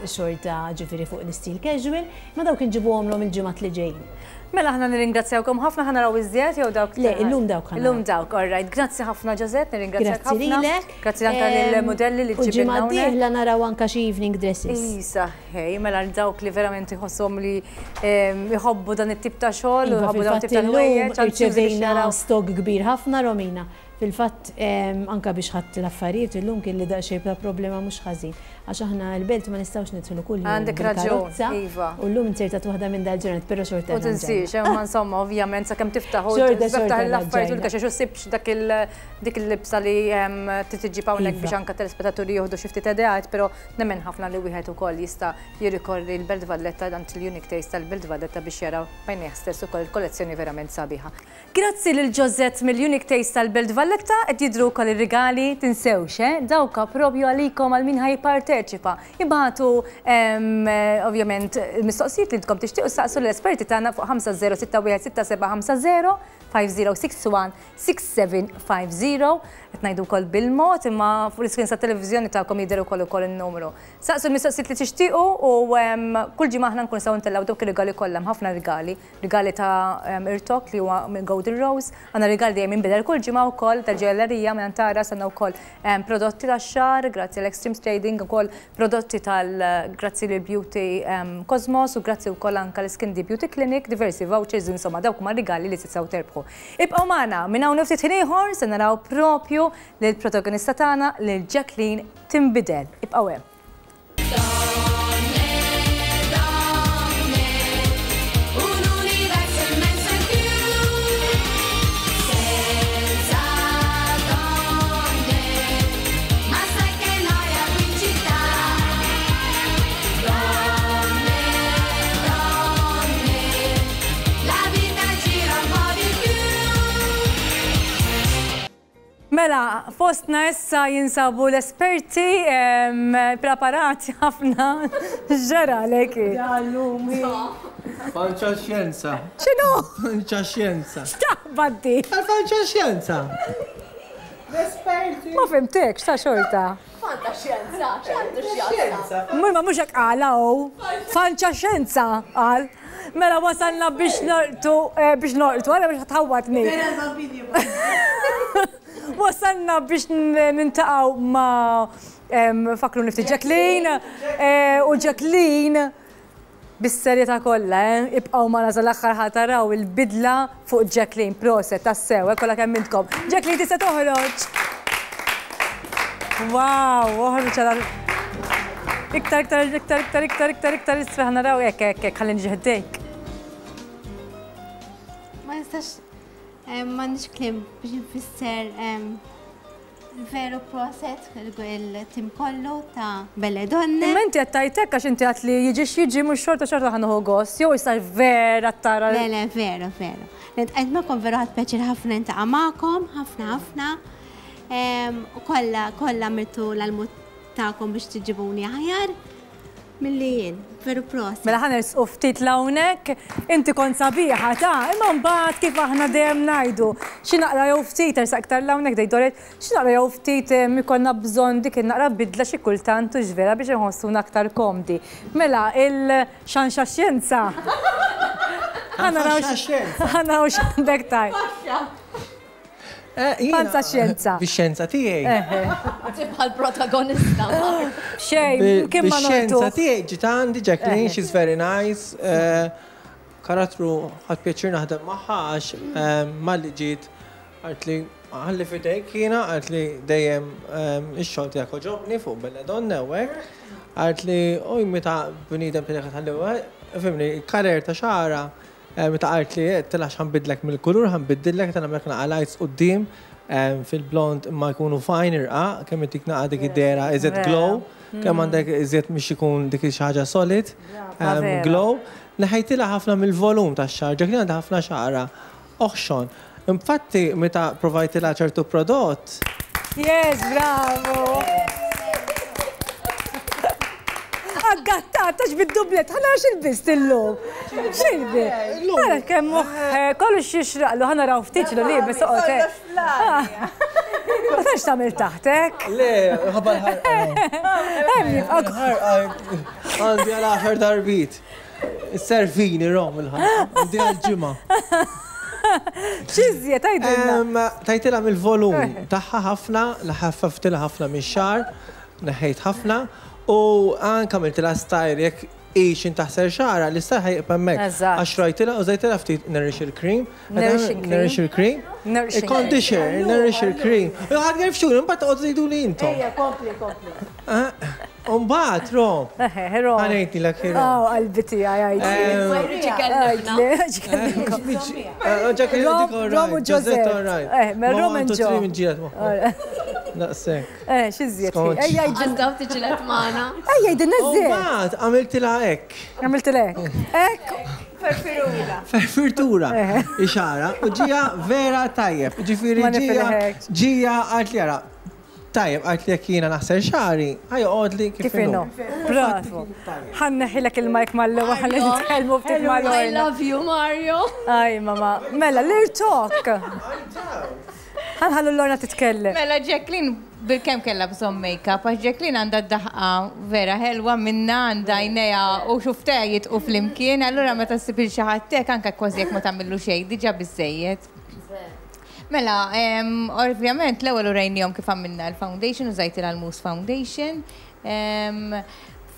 xorta ġifieri fuq l-istil casual, imma dawk inġibuhomlhom il-ġimgħat li ġejjin. Mela aħna nirringrazzjawkom ħafna ħa naraw iżjed jew dawk? Le, illum dawk ħa naraw. Illum dawk, all right. Grazzi ħafna Josette, nirringrazzjak ħafna. Grazzi lilek. Grazzi anke lill-mudelli li ġibna. U ġimgħa d-dieħla naraw anke xi evening dresses. Isa, ħej, mela għal dawk li verament iħossuhom li jħobbu dan it-tip ta' xogħol u jħobbu dan it-tip ta' ħwejjeġ. Irċevejna stock kbir ħafna Romina. Fil-fatt, anke biex ħadt l-affarijiet illum kelli daqsxejn ta' problema mhux ħażin. Għax aħna l-belt ma nistgħux nidħlu kuljum Għandek raġun, iva. U llum inzertat waħda minn dal-ġranet, però xorta. U tinsiex, imma insomma, ovvjament sakemm tiftaħ u tiftaħ l-affarijiet u l-kaxex u ssibx dak il dik il-libsa li trid iġġib hawnhekk biex anke telespettaturi jieħdu xi ftit ideat, però nemmen ħafna li wieħed ukoll jista' jirrikorri l-Belt Valletta għand il-Unique Taste tal-Belt Valletta biex jara b'għajnejh stess ukoll il-kollezzjoni verament sabiħa. Grazzi lil Josette mill-Unique Taste tal-Belt Valletta, qed jidhru wkoll ir-rigali, tinsewx eh, dawk propju għalikom għal min ħa jipparteċipa. Ibagħtu ovvjament il-mistoqsijiet li intkom tixtiequ ssaqsu lill-esperti tagħna fuq 50616750, 5061 6750, qed ngħidu wkoll bil-mod imma fuq l-iscreens tat-televiżjoni tagħkom jidher ukoll ukoll in-numru. Saqsu l-mistoqsijiet li tixtiequ u kull ġimgħa aħna nkunu nistgħu ntellgħu dawk ir-rigali kollha, hemm ħafna rigali. Rigali ta' irtok li huwa minn Golden Rose. Għandna rigal dejjem jinbidel kull ġimgħa wkoll tal-ġojellerija minn Antaras għandna wkoll prodotti tax-xagħar grazzi għal Extreme Trading ukoll prodotti tal grazzi lil Beauty Cosmos u grazzi wkoll anke l Skin D Beauty Clinic diversi vouchers insomma dawk huma rigali li tistgħu terbħu. Ibqgħu magħna minn hawn u ftit ħin ieħor se naraw propju lill-protagonista tagħna lil Jacqueline tinbidel. Ibqgħu hemm. Mela, fostna issa jinsabu l-esperti preparati ħafna. X'ġara leki? Fanċa xjenza. X'inhu? Fanċa xjenza. X'taħbat di? Fanċa xjenza. L-esperti. Ma fimtekx ta' xorta. Fanta xjenza, x'għandu x'jaqsam? Ma mhux hekk qal hawn. Fanċa xjenza qal. Mela wasalna biex norqtu, eh, biex norqtu, għala biex tħawwadni. Wasalna biex nintaqgħu ma' fakru nifti Jacqueline eh, u Jacqueline Bis-serjetà kollha, eh? Ibqgħu magħna sal-aħħar ħa taraw il-bidla fuq Jacqueline. Proset, tassew, eh, kollha kemm intkom. Jacqueline tista' toħroġ! Wow, oħroġ għal Iktar, iktar, iktar, iktar, iktar, iktar, iktar, isfel naraw hekk, hekk, hekk, ħalli niġi ħdejk. Ma nistax, eh, m'għandix kliem biex nfisser eh, Veru proset il-tim kollu ta' Belle Donne. Imma inti qed tgħid hekk għax inti għedt li jiġi x'jiġi mhux xorta xorta ħa nieħu gost, jew issa vera tara. Le le veru veru. Li ntqajt magħkom veru ħadt pjaċir ħafna niltaqa' magħkom, ħafna ħafna. U kollha kollha għamiltu l-almu tagħkom biex tiġibuni aħjar. Milli jien, veru prosit. Mela ħa nersqu ftit 'l hawnhekk. Inti kont sabiħa ta, imma mbagħad kif aħna dejjem ngħidu, xi naqra jew ftit, ersaq iktar 'l hawnhekk tgħid Doret, xi naqra jew ftit ikollna bżonn dik in-naqra bidla xi kultant hux vera biex inħossuna aktar komdi. Mela il-xanxa xjenza. Ħa naraw ħa naraw x'għandek tgħid. Panza xjenza. Bix-xjenza tiegħi. Tibqa' l-protagonista. Xejn, kien ma Bix-xjenza tiegħi ġiet għandi Jacqueline, she's very nice. Karattru ħadt pjaċir naħdem magħha għax malli ġiet qaltli ħalli f'idejk jiena, qaltli dejjem ix-xogħol tiegħek għoġobni fuq Belle Donne u hekk. Qaltli u meta bniedem tiegħek tħalli fimni, il-karer ta' xagħarha Meta qaltli għedtilha għax ħa nbiddlek mill-kulur, ħa nbiddillek, qed nagħmlek naqa' lights quddiem fil-blond imma jkunu fine irqaq, kemm itik naqa' dik id-dehra iżjed glow, kemm għandek iżjed mhix ikun dik xi ħaġa solid, glow. Neħejtilha ħafna mill-volum tax-xagħar, Jacqueline għandha ħafna xagħarha oħxon. Infatti meta provajtilha ċertu prodott. Yes, bravo! Aggattat, għax bid-dublet, ħana għax il-bist illum. Xilbi? Għara kemm eh, kollox jixraqlu, ħana raw ftit li libes oqgħod. Eh. Ma tantx tagħmel taħtek. Le, ħabba l-ħarqa. Għandi għal aħar darbit. Servini rom il-ħarqa. Għandi għal ġimgħa. X'iżjed għidilna? Tajtilha mill-volum eh. tagħha ħafna, ħaffaftilha ħafna mix-xagħar, neħħejt ħafna u anke għamiltilha style jekk hi x'in taħsel xagħarha, l-istyle ħa jibqa' hemmhekk. Għax rajtilha użajtilha ftit nourish il-cream. Nourish il-cream. Il-conditioner, nourish il-cream. Ħadd gerfxuni, imbagħad toqgħodu tgħiduli intom. Ejja, kompli, kompli. U mbagħad Rom. Eħe, Rom. Ħa ngħidlek hi Rom. Aw, qalbi tiegħi għidli. Rom, Rom u Ġożett. Eh, mela Rom and Joe. Daqshekk. Eh, x'iżjed? Ejja, Għażdaw tiġilet magħna. Ejja, jgħidilna iżjed. Mbagħad għamiltilha hekk. Għamiltilha hekk. Hekk. Ferfirura. Ferfirtura. Ixara. U ġija vera tajjeb. Ġifieri ġija ġija għalt li ara. Tajjeb, għalt li jekk jiena naħsel xagħri, ħa joqgħodli kif inhu. Bravo. Ħa nneħħilek il-mic mal-ewwel ħalli nitkellmu ftit ma' Lorna. I love you, Mario. Aj, mama. Mela, l-irtok. Ħa nħallu Lorna titkellem. Mela Jacqueline bilkemm kellha bżonn make-up għax Jacqueline għandha d-daħqa vera ħelwa minnha għandha għajnejha u xuftejha jidqu flimkien, allura meta ssib lil xi ħadd hekk anke kważi jekk ma tagħmillu xejn diġà biżżejjed. Mela, ovvjament l-ewwel urejnihom kif għamilna l-foundation, użajtilha l-mousse foundation.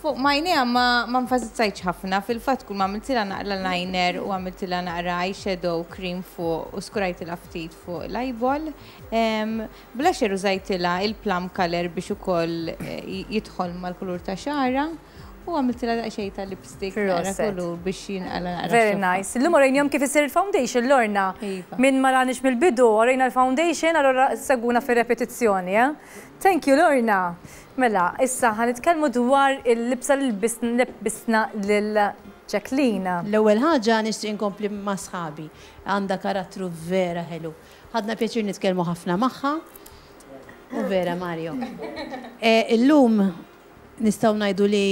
Fuq m'għajnejha ma enfasizzajtx ħafna, fil-fatt kull ma għamiltilha naqra liner u għamiltilha naqra eyeshadow cream fuq u skurajtilha ftit fuq l-eyeball. Blusher użajtilha il-plum colour biex ukoll jidħol mal-kulur ta' xagħarha. U għamiltilha daqsxejn ta' lipstick naqra kulur biex jinqala naqra. Very nice. Illum orejnihom kif isir il-foundation, Lorna. Iva. Min ma ranix mill-bidu, orejna l-foundation, allura segwuna fir-repetizzjoni, eh? Thank you, Lorna. Mela, issa ħa nitkellmu dwar il-libsa li lebbisna lil Jacqueline. L-ewwel ħaġa nixtieq inkompli ma' sħabi. Għandha karattru vera ħelu. Ħadna pjaċir nitkellmu ħafna magħha. U vera, Mario. Illum Nistgħu ngħidu li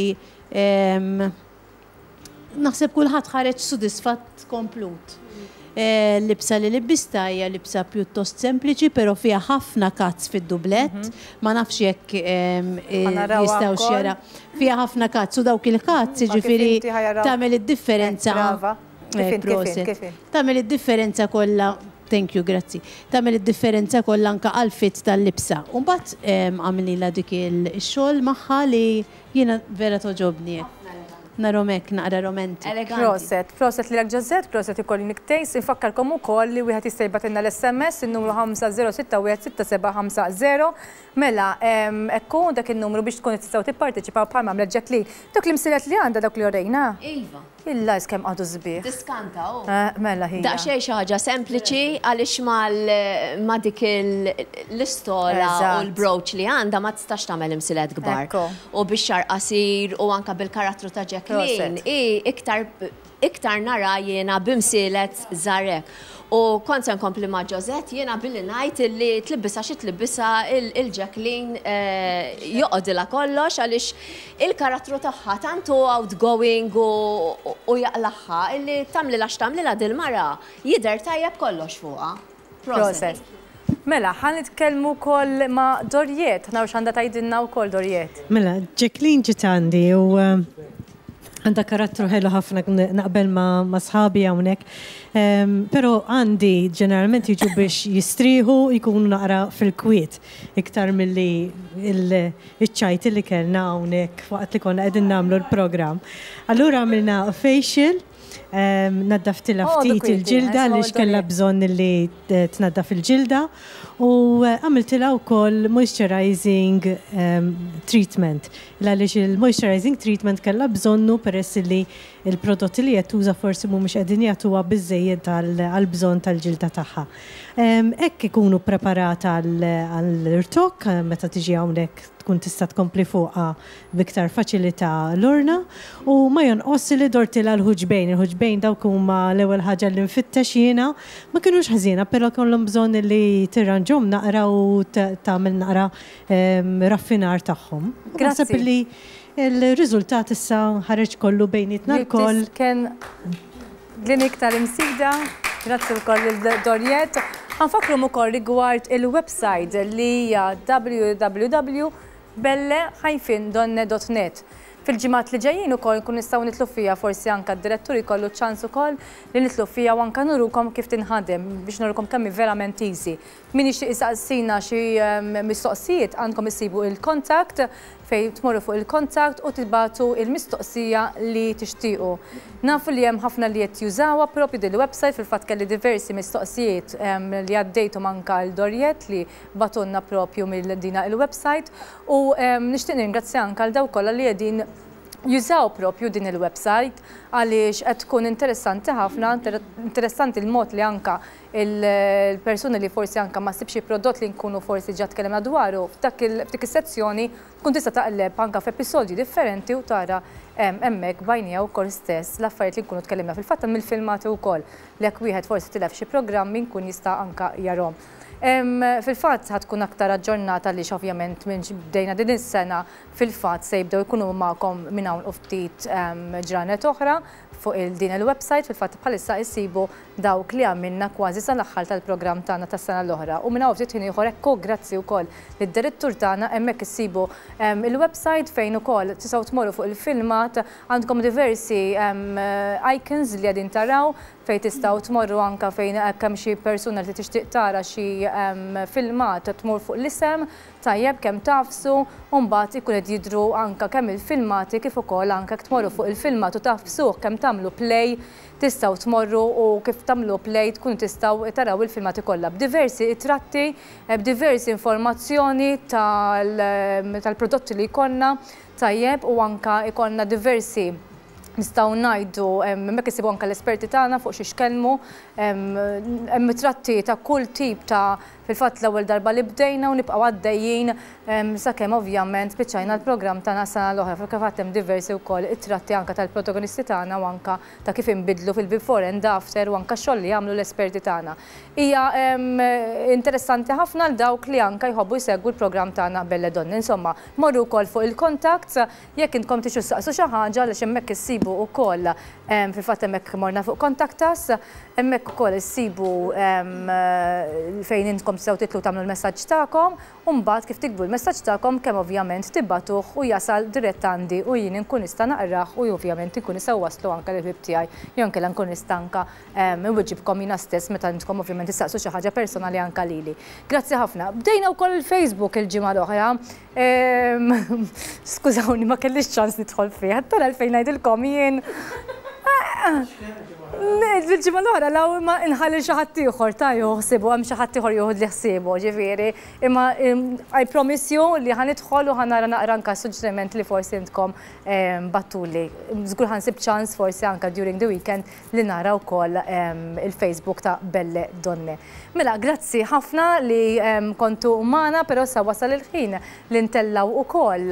naħseb kulħadd ħareġ sudisfatt komplut. L-libsa li libbistha hija libsa pjuttost sempliċi però fiha ħafna cuts fid-dublett. Ma nafx jekk jistgħux jaraw. Fiha ħafna cuts u dawk il-cuts jiġifieri tagħmel id-differenza. Proset. Tagħmel id-differenza kollha Thank you, grazzi. Tagħmel id-differenza kollha anke għall-fit tal-libsa. U mbagħad għamlilha dik ix-xogħol magħha li jiena vera togħġobni hekk. Narhom hekk naqra romantic. Eleganti. Proset, proset lilek Josette, proset ukoll Unique Taste. Infakkarkom ukoll li wieħed jista' jibgħatilna l-SMS in-numru 50616750. Mela, hekk hu dak in-numru biex tkunu tistgħu tipparteċipaw bħalma għamlet Jacqueline. Dawk l-imsielet li għandha dawk li orejna? Iva. Il-lajs kemm qagħdu sbieħ. Tiskanta hu. Mela ħija. Daqsxejn xi ħaġa sempliċi għaliex ma' dik l-istola u l-brooch li għandha ma tistax tagħmel imsilet kbar. U bix-xagħar qasir u anke bil-karattru ta' Jacqueline hi iktar Iktar nara jiena b'imsielet żgħar hekk. U kont se nkompli ma' Josette jiena billi ngħid illi tlibbisha xi tlibbisha il-Jacqueline joqgħodilha kollox għaliex il-karattru tagħha tant hu outgoing u jaqlagħha illi tagħmlilha x'tagħmlilha dil-mara jidher tajjeb kollox fuqha. Proset. Mela, ħa nitkellmu wkoll ma' Doriette, ħa naraw x'għandha tgħidilna wkoll Doriette. Mela, Jacqueline ġiet għandi u għandha karattru ħelu ħafna naqbel ma' sħabi hawnhekk. Però għandi ġeneralment jiġu biex jistrieħu jkunu naqra fil-kwiet iktar milli iċ-ċajt li kellna hawnhekk waqt li konna qegħdin nagħmlu l-programm. Allura għamilna facial Naddaftilha ftit il-ġilda għaliex kellha bżonn li tnaddaf il-ġilda u għamiltilha wkoll moisturizing treatment. Għaliex il-moisturizing treatment kellha bżonnu peress li l-prodotti li qed tuża forsi mhumiex qegħdin jagħtuha biżżejjed għall-bżonn tal-ġilda tagħha. Hekk ikunu ppreparata għall-irtokk meta tiġi hawnhekk tkun tista' tkompli fuqha b'iktar faċilità l-urna u ma jonqosx li dortilha l-ħuġbejn. Il-ħuġbejn dawk huma l-ewwel ħaġa li nfittex jiena. Ma kinux ħżiena però kellhom bżonn li tirranġhom naqra u tagħmel naqra raffinar tagħhom. U naħseb li l-riżultat issa ħareġ kollu bejnietna lkoll. Clinic tal-Imsida, grazzi wkoll lil Doriette. Ħa nfakkruhom ukoll rigward il-website li hija www.belle-donne.net. Fil-ġimgħat li ġejjin ukoll nkunu nistgħu nidħlu fiha forsi anke d-direttur jkollu ċ-ċans ukoll li nidħlu fiha u anke nurukom kif tinħadem biex nurukom kemm hi verament easy. Min jixtieq isaqsina xi mistoqsijiet għandkom issibu il-contact fejn tmorru fuq il-contact u tibagħtu il-mistoqsija li tixtiequ. Nafu li hemm ħafna li qed jużawha propju din il-website, fil-fatt kelli diversi mistoqsijiet li għaddejthom anke għal Doriette li bagħtulna propju mill dina il-website u nixtieq nirringrazzja anke għal dawk kollha li qegħdin jużaw propju din il-website għaliex qed tkun interessanti ħafna, interessanti l-mod li anke il-persuni li forsi anke ma ssibx xi prodott li nkunu forsi ġa tkellimna dwaru f'dak f'dik is-sezzjoni tkun tista' taqleb anke f'episodji differenti u tara hemmhekk b'għajnejha wkoll stess l-affarijiet li nkunu tkellimna. Fil-fatt hemm il-filmati wkoll li jekk wieħed forsi tilef xi programmi nkun jista' anke jarhom. Fil-fatt ħa tkun aktar aġġornata għaliex ovvjament minn bdejna din is-sena fil-fatt se jibdew ikunu magħkom minn hawn u ftit ġranet oħra fuq din il-website. Fil-fatt bħalissa issibu dawk li għamilna kważi sal-aħħar tal-programm tagħna tas-sena l-oħra. U minn hawn ftit ħin ieħor ekku grazzi wkoll lid-direttur tagħna hemmhekk issibu il-website fejn ukoll tistgħu tmorru fuq il-filmat għandkom diversi icons li qegħdin taraw fejn tistgħu tmorru anke fejn hekk hemm xi persuna li tixtieq tara xi filmat tmur fuq l-isem tajjeb kemm tagħfsu u mbagħad ikun qed jidhru anke kemm il-filmati kif ukoll anke jekk tmorru fuq il-filmat u tagħfsuh kemm tagħmlu play Tistgħu tmorru u kif tagħmlu play tkunu tistgħu taraw il-filmati kollha b'diversi itratti, b'diversi informazzjoni tal-prodotti li jkollna, tajjeb, u anke jkollna diversi nistgħu ngħidu hemmhekk issibu anke l-esperti tagħna fuq xiex kellmu, hemm itratti ta' kull tip ta' Fil-fatt l-ewwel darba li bdejna u nibqgħu għaddejjin sakemm ovvjament spiċċajna l-programm tagħna s-sena l-oħra. Fil-fatt hemm diversi wkoll it-tratti anke tal-protagonisti tagħna u anke ta' kif inbidlu fil-before and after u anke x-xogħol li jagħmlu l-esperti tagħna. Hija interessanti ħafna għal dawk li anke jħobbu jsegwu l-programm tagħna Belle Donne. Insomma, morru wkoll fuq il-contacts jekk intkom tixu ssaqsu xi ħaġa għaliex hemmhekk issibu wkoll fil-fatt hemmhekk morna fuq contact us. Hemmhekk ukoll issibu fejn intkom tistgħu titlu tagħmlu l-messaġġ tagħkom u mbagħad kif tiktbu l-messaġġ tagħkom kemm ovvjament tibagħtuh u jasal dirett għandi u jien inkun nista' naqrah u ovvjament inkun nista' nwasslu anke lill-ħbieb tiegħi jew inkella nkun nista' anke inwiġibkom jiena stess meta intkom ovvjament issaqsu xi ħaġa personali anke lili. Grazzi ħafna. Bdejna wkoll il-Facebook il-ġimgħa l-oħra. Skużawni ma kellix ċans nidħol fih. Tara għalfejn ngħidilkom jien. Il-ġimgħa l-oħra law imma inħalli xi ħadd ieħor ta' joħsibu hemm xi ħadd ieħor joħodli ħsiebu, ġifieri. Imma I promise you li ħa nidħol u ħa nara naqra anke suġġeriment li forsi intkom battuli. Żgur ħa nsib ċans forsi anke during the weekend li nara wkoll il-Facebook ta' Belle Donne. Mela, grazzi ħafna li kontu magħna, però issa wasal il-ħin li ntellgħu ukoll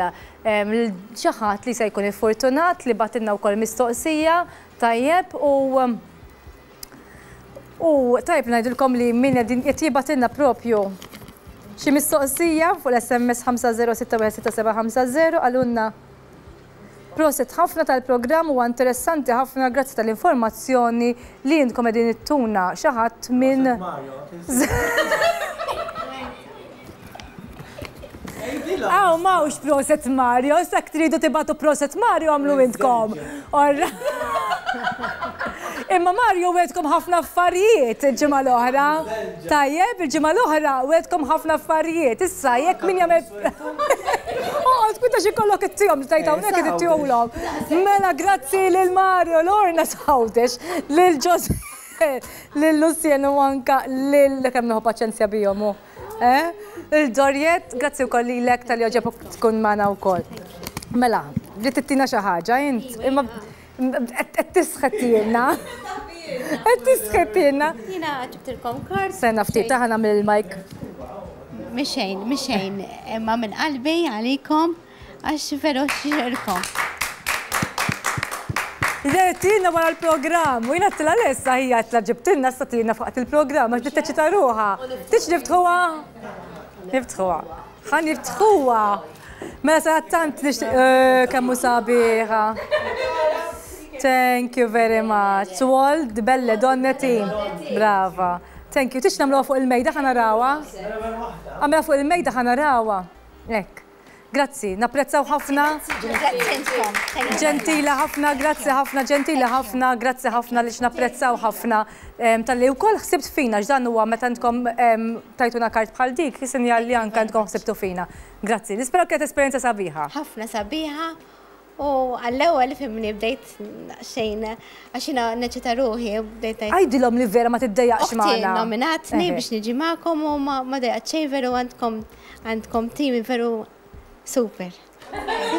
lil xi ħadd li se jkun iffortunat li bagħtilna wkoll mistoqsija. Tajjeb u u tajjeb ngħidilkom li min qed jibgħatilna propju xi mistoqsija fuq l-SMS 50616750 qalulna Proset ħafna tal-programm huwa interessanti ħafna grazzi tal-informazzjoni li intkom qegħdin ittuna xi ħadd minn Aw, m'hawnx proset Mario, issa jekk tridu tibgħatu proset Mario għamlu intkom. Imma Mario wegħedkom ħafna affarijiet il-ġimgħa l-oħra. Tajjeb, il-ġimgħa l-oħra wegħedkom ħafna affarijiet. Issa jekk min jagħmel Oqgħod kwita xi kollok ittihom li tajt hawnhekk qed ittihomlhom. Mela grazzi lil Mario, Lorna Sawdex, lil Jose, lil Lucien u anka lil kemm nieħu paċenzja bihom hu. Eh? Il-Dorjet, grazzi wkoll lilek talli għoġobok tkun magħna wkoll. Mela, bdiet tittina xi ħaġa int, imma qed tisħettilna. Qed tisħettilna. Jiena ġibtilkom kard. Sena ftit ta' nagħmel il-mic. Mixejn, mixejn, imma minn qalbi għalikom għax veru xirkom. Tina wara l-programm, u jina t-tila l-essa hija t-tila ġibtilna issa tina fuqat il-programm, għax bdiet ruħha. Tix niftħuha? Niftħuha. Ħa niftħuha. Mela sa tant nixtieq eh, kemm hu sabiħa. Thank you very much. To all the Belle Donne team. Brava. Thank you. Tix nagħmluha fuq il-mejda ħa narawha? Għamilha fuq il-mejda ħa narawha. Hekk. Grazzi, napprezzaw ħafna. Ġentila ħafna, grazzi ħafna, ġentila ħafna, grazzi ħafna li napprezzaw ħafna talli wkoll ħsibt fina x'dan huwa meta intkom tajtuna kart bħal dik, sinjal li anke intkom ħsibtu fina. Grazzi, nispera kienet esperjenza sabiħa. Ħafna sabiħa u għall-ewwel fimni bdejt xejn għax jiena neċita ruħi u bdejt ngħid. Għidilhom li vera ma tiddejjaqx Oħti magħna. nominatni biex niġi magħkom u ma dejjaqt xejn veru għandkom għandkom team veru super.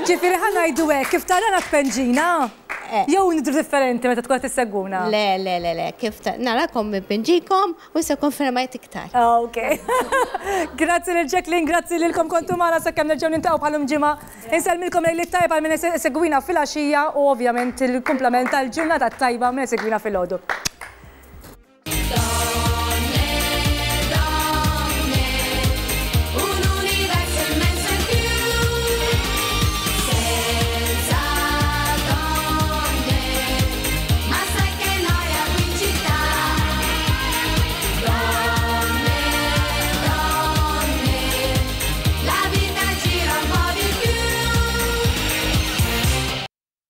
Ġifieri ħa ngħidu hekk, kif tarana tpenġina? Jew nidhru differenti meta tkun qed issegwuna? Le, le, le, le, kif narakom npinġikom u issa konfermajt iktar. Ok. Grazzi lil Jacqueline, grazzi lilkom kontu magħna sakemm nerġgħu niltaqgħu bħalum ġimgħa. Insellmilkom lejliet tajba għal min isegwina filgħaxija u ovvjament il-kumplament tal-ġurnata tajba min isegwina filgħodu.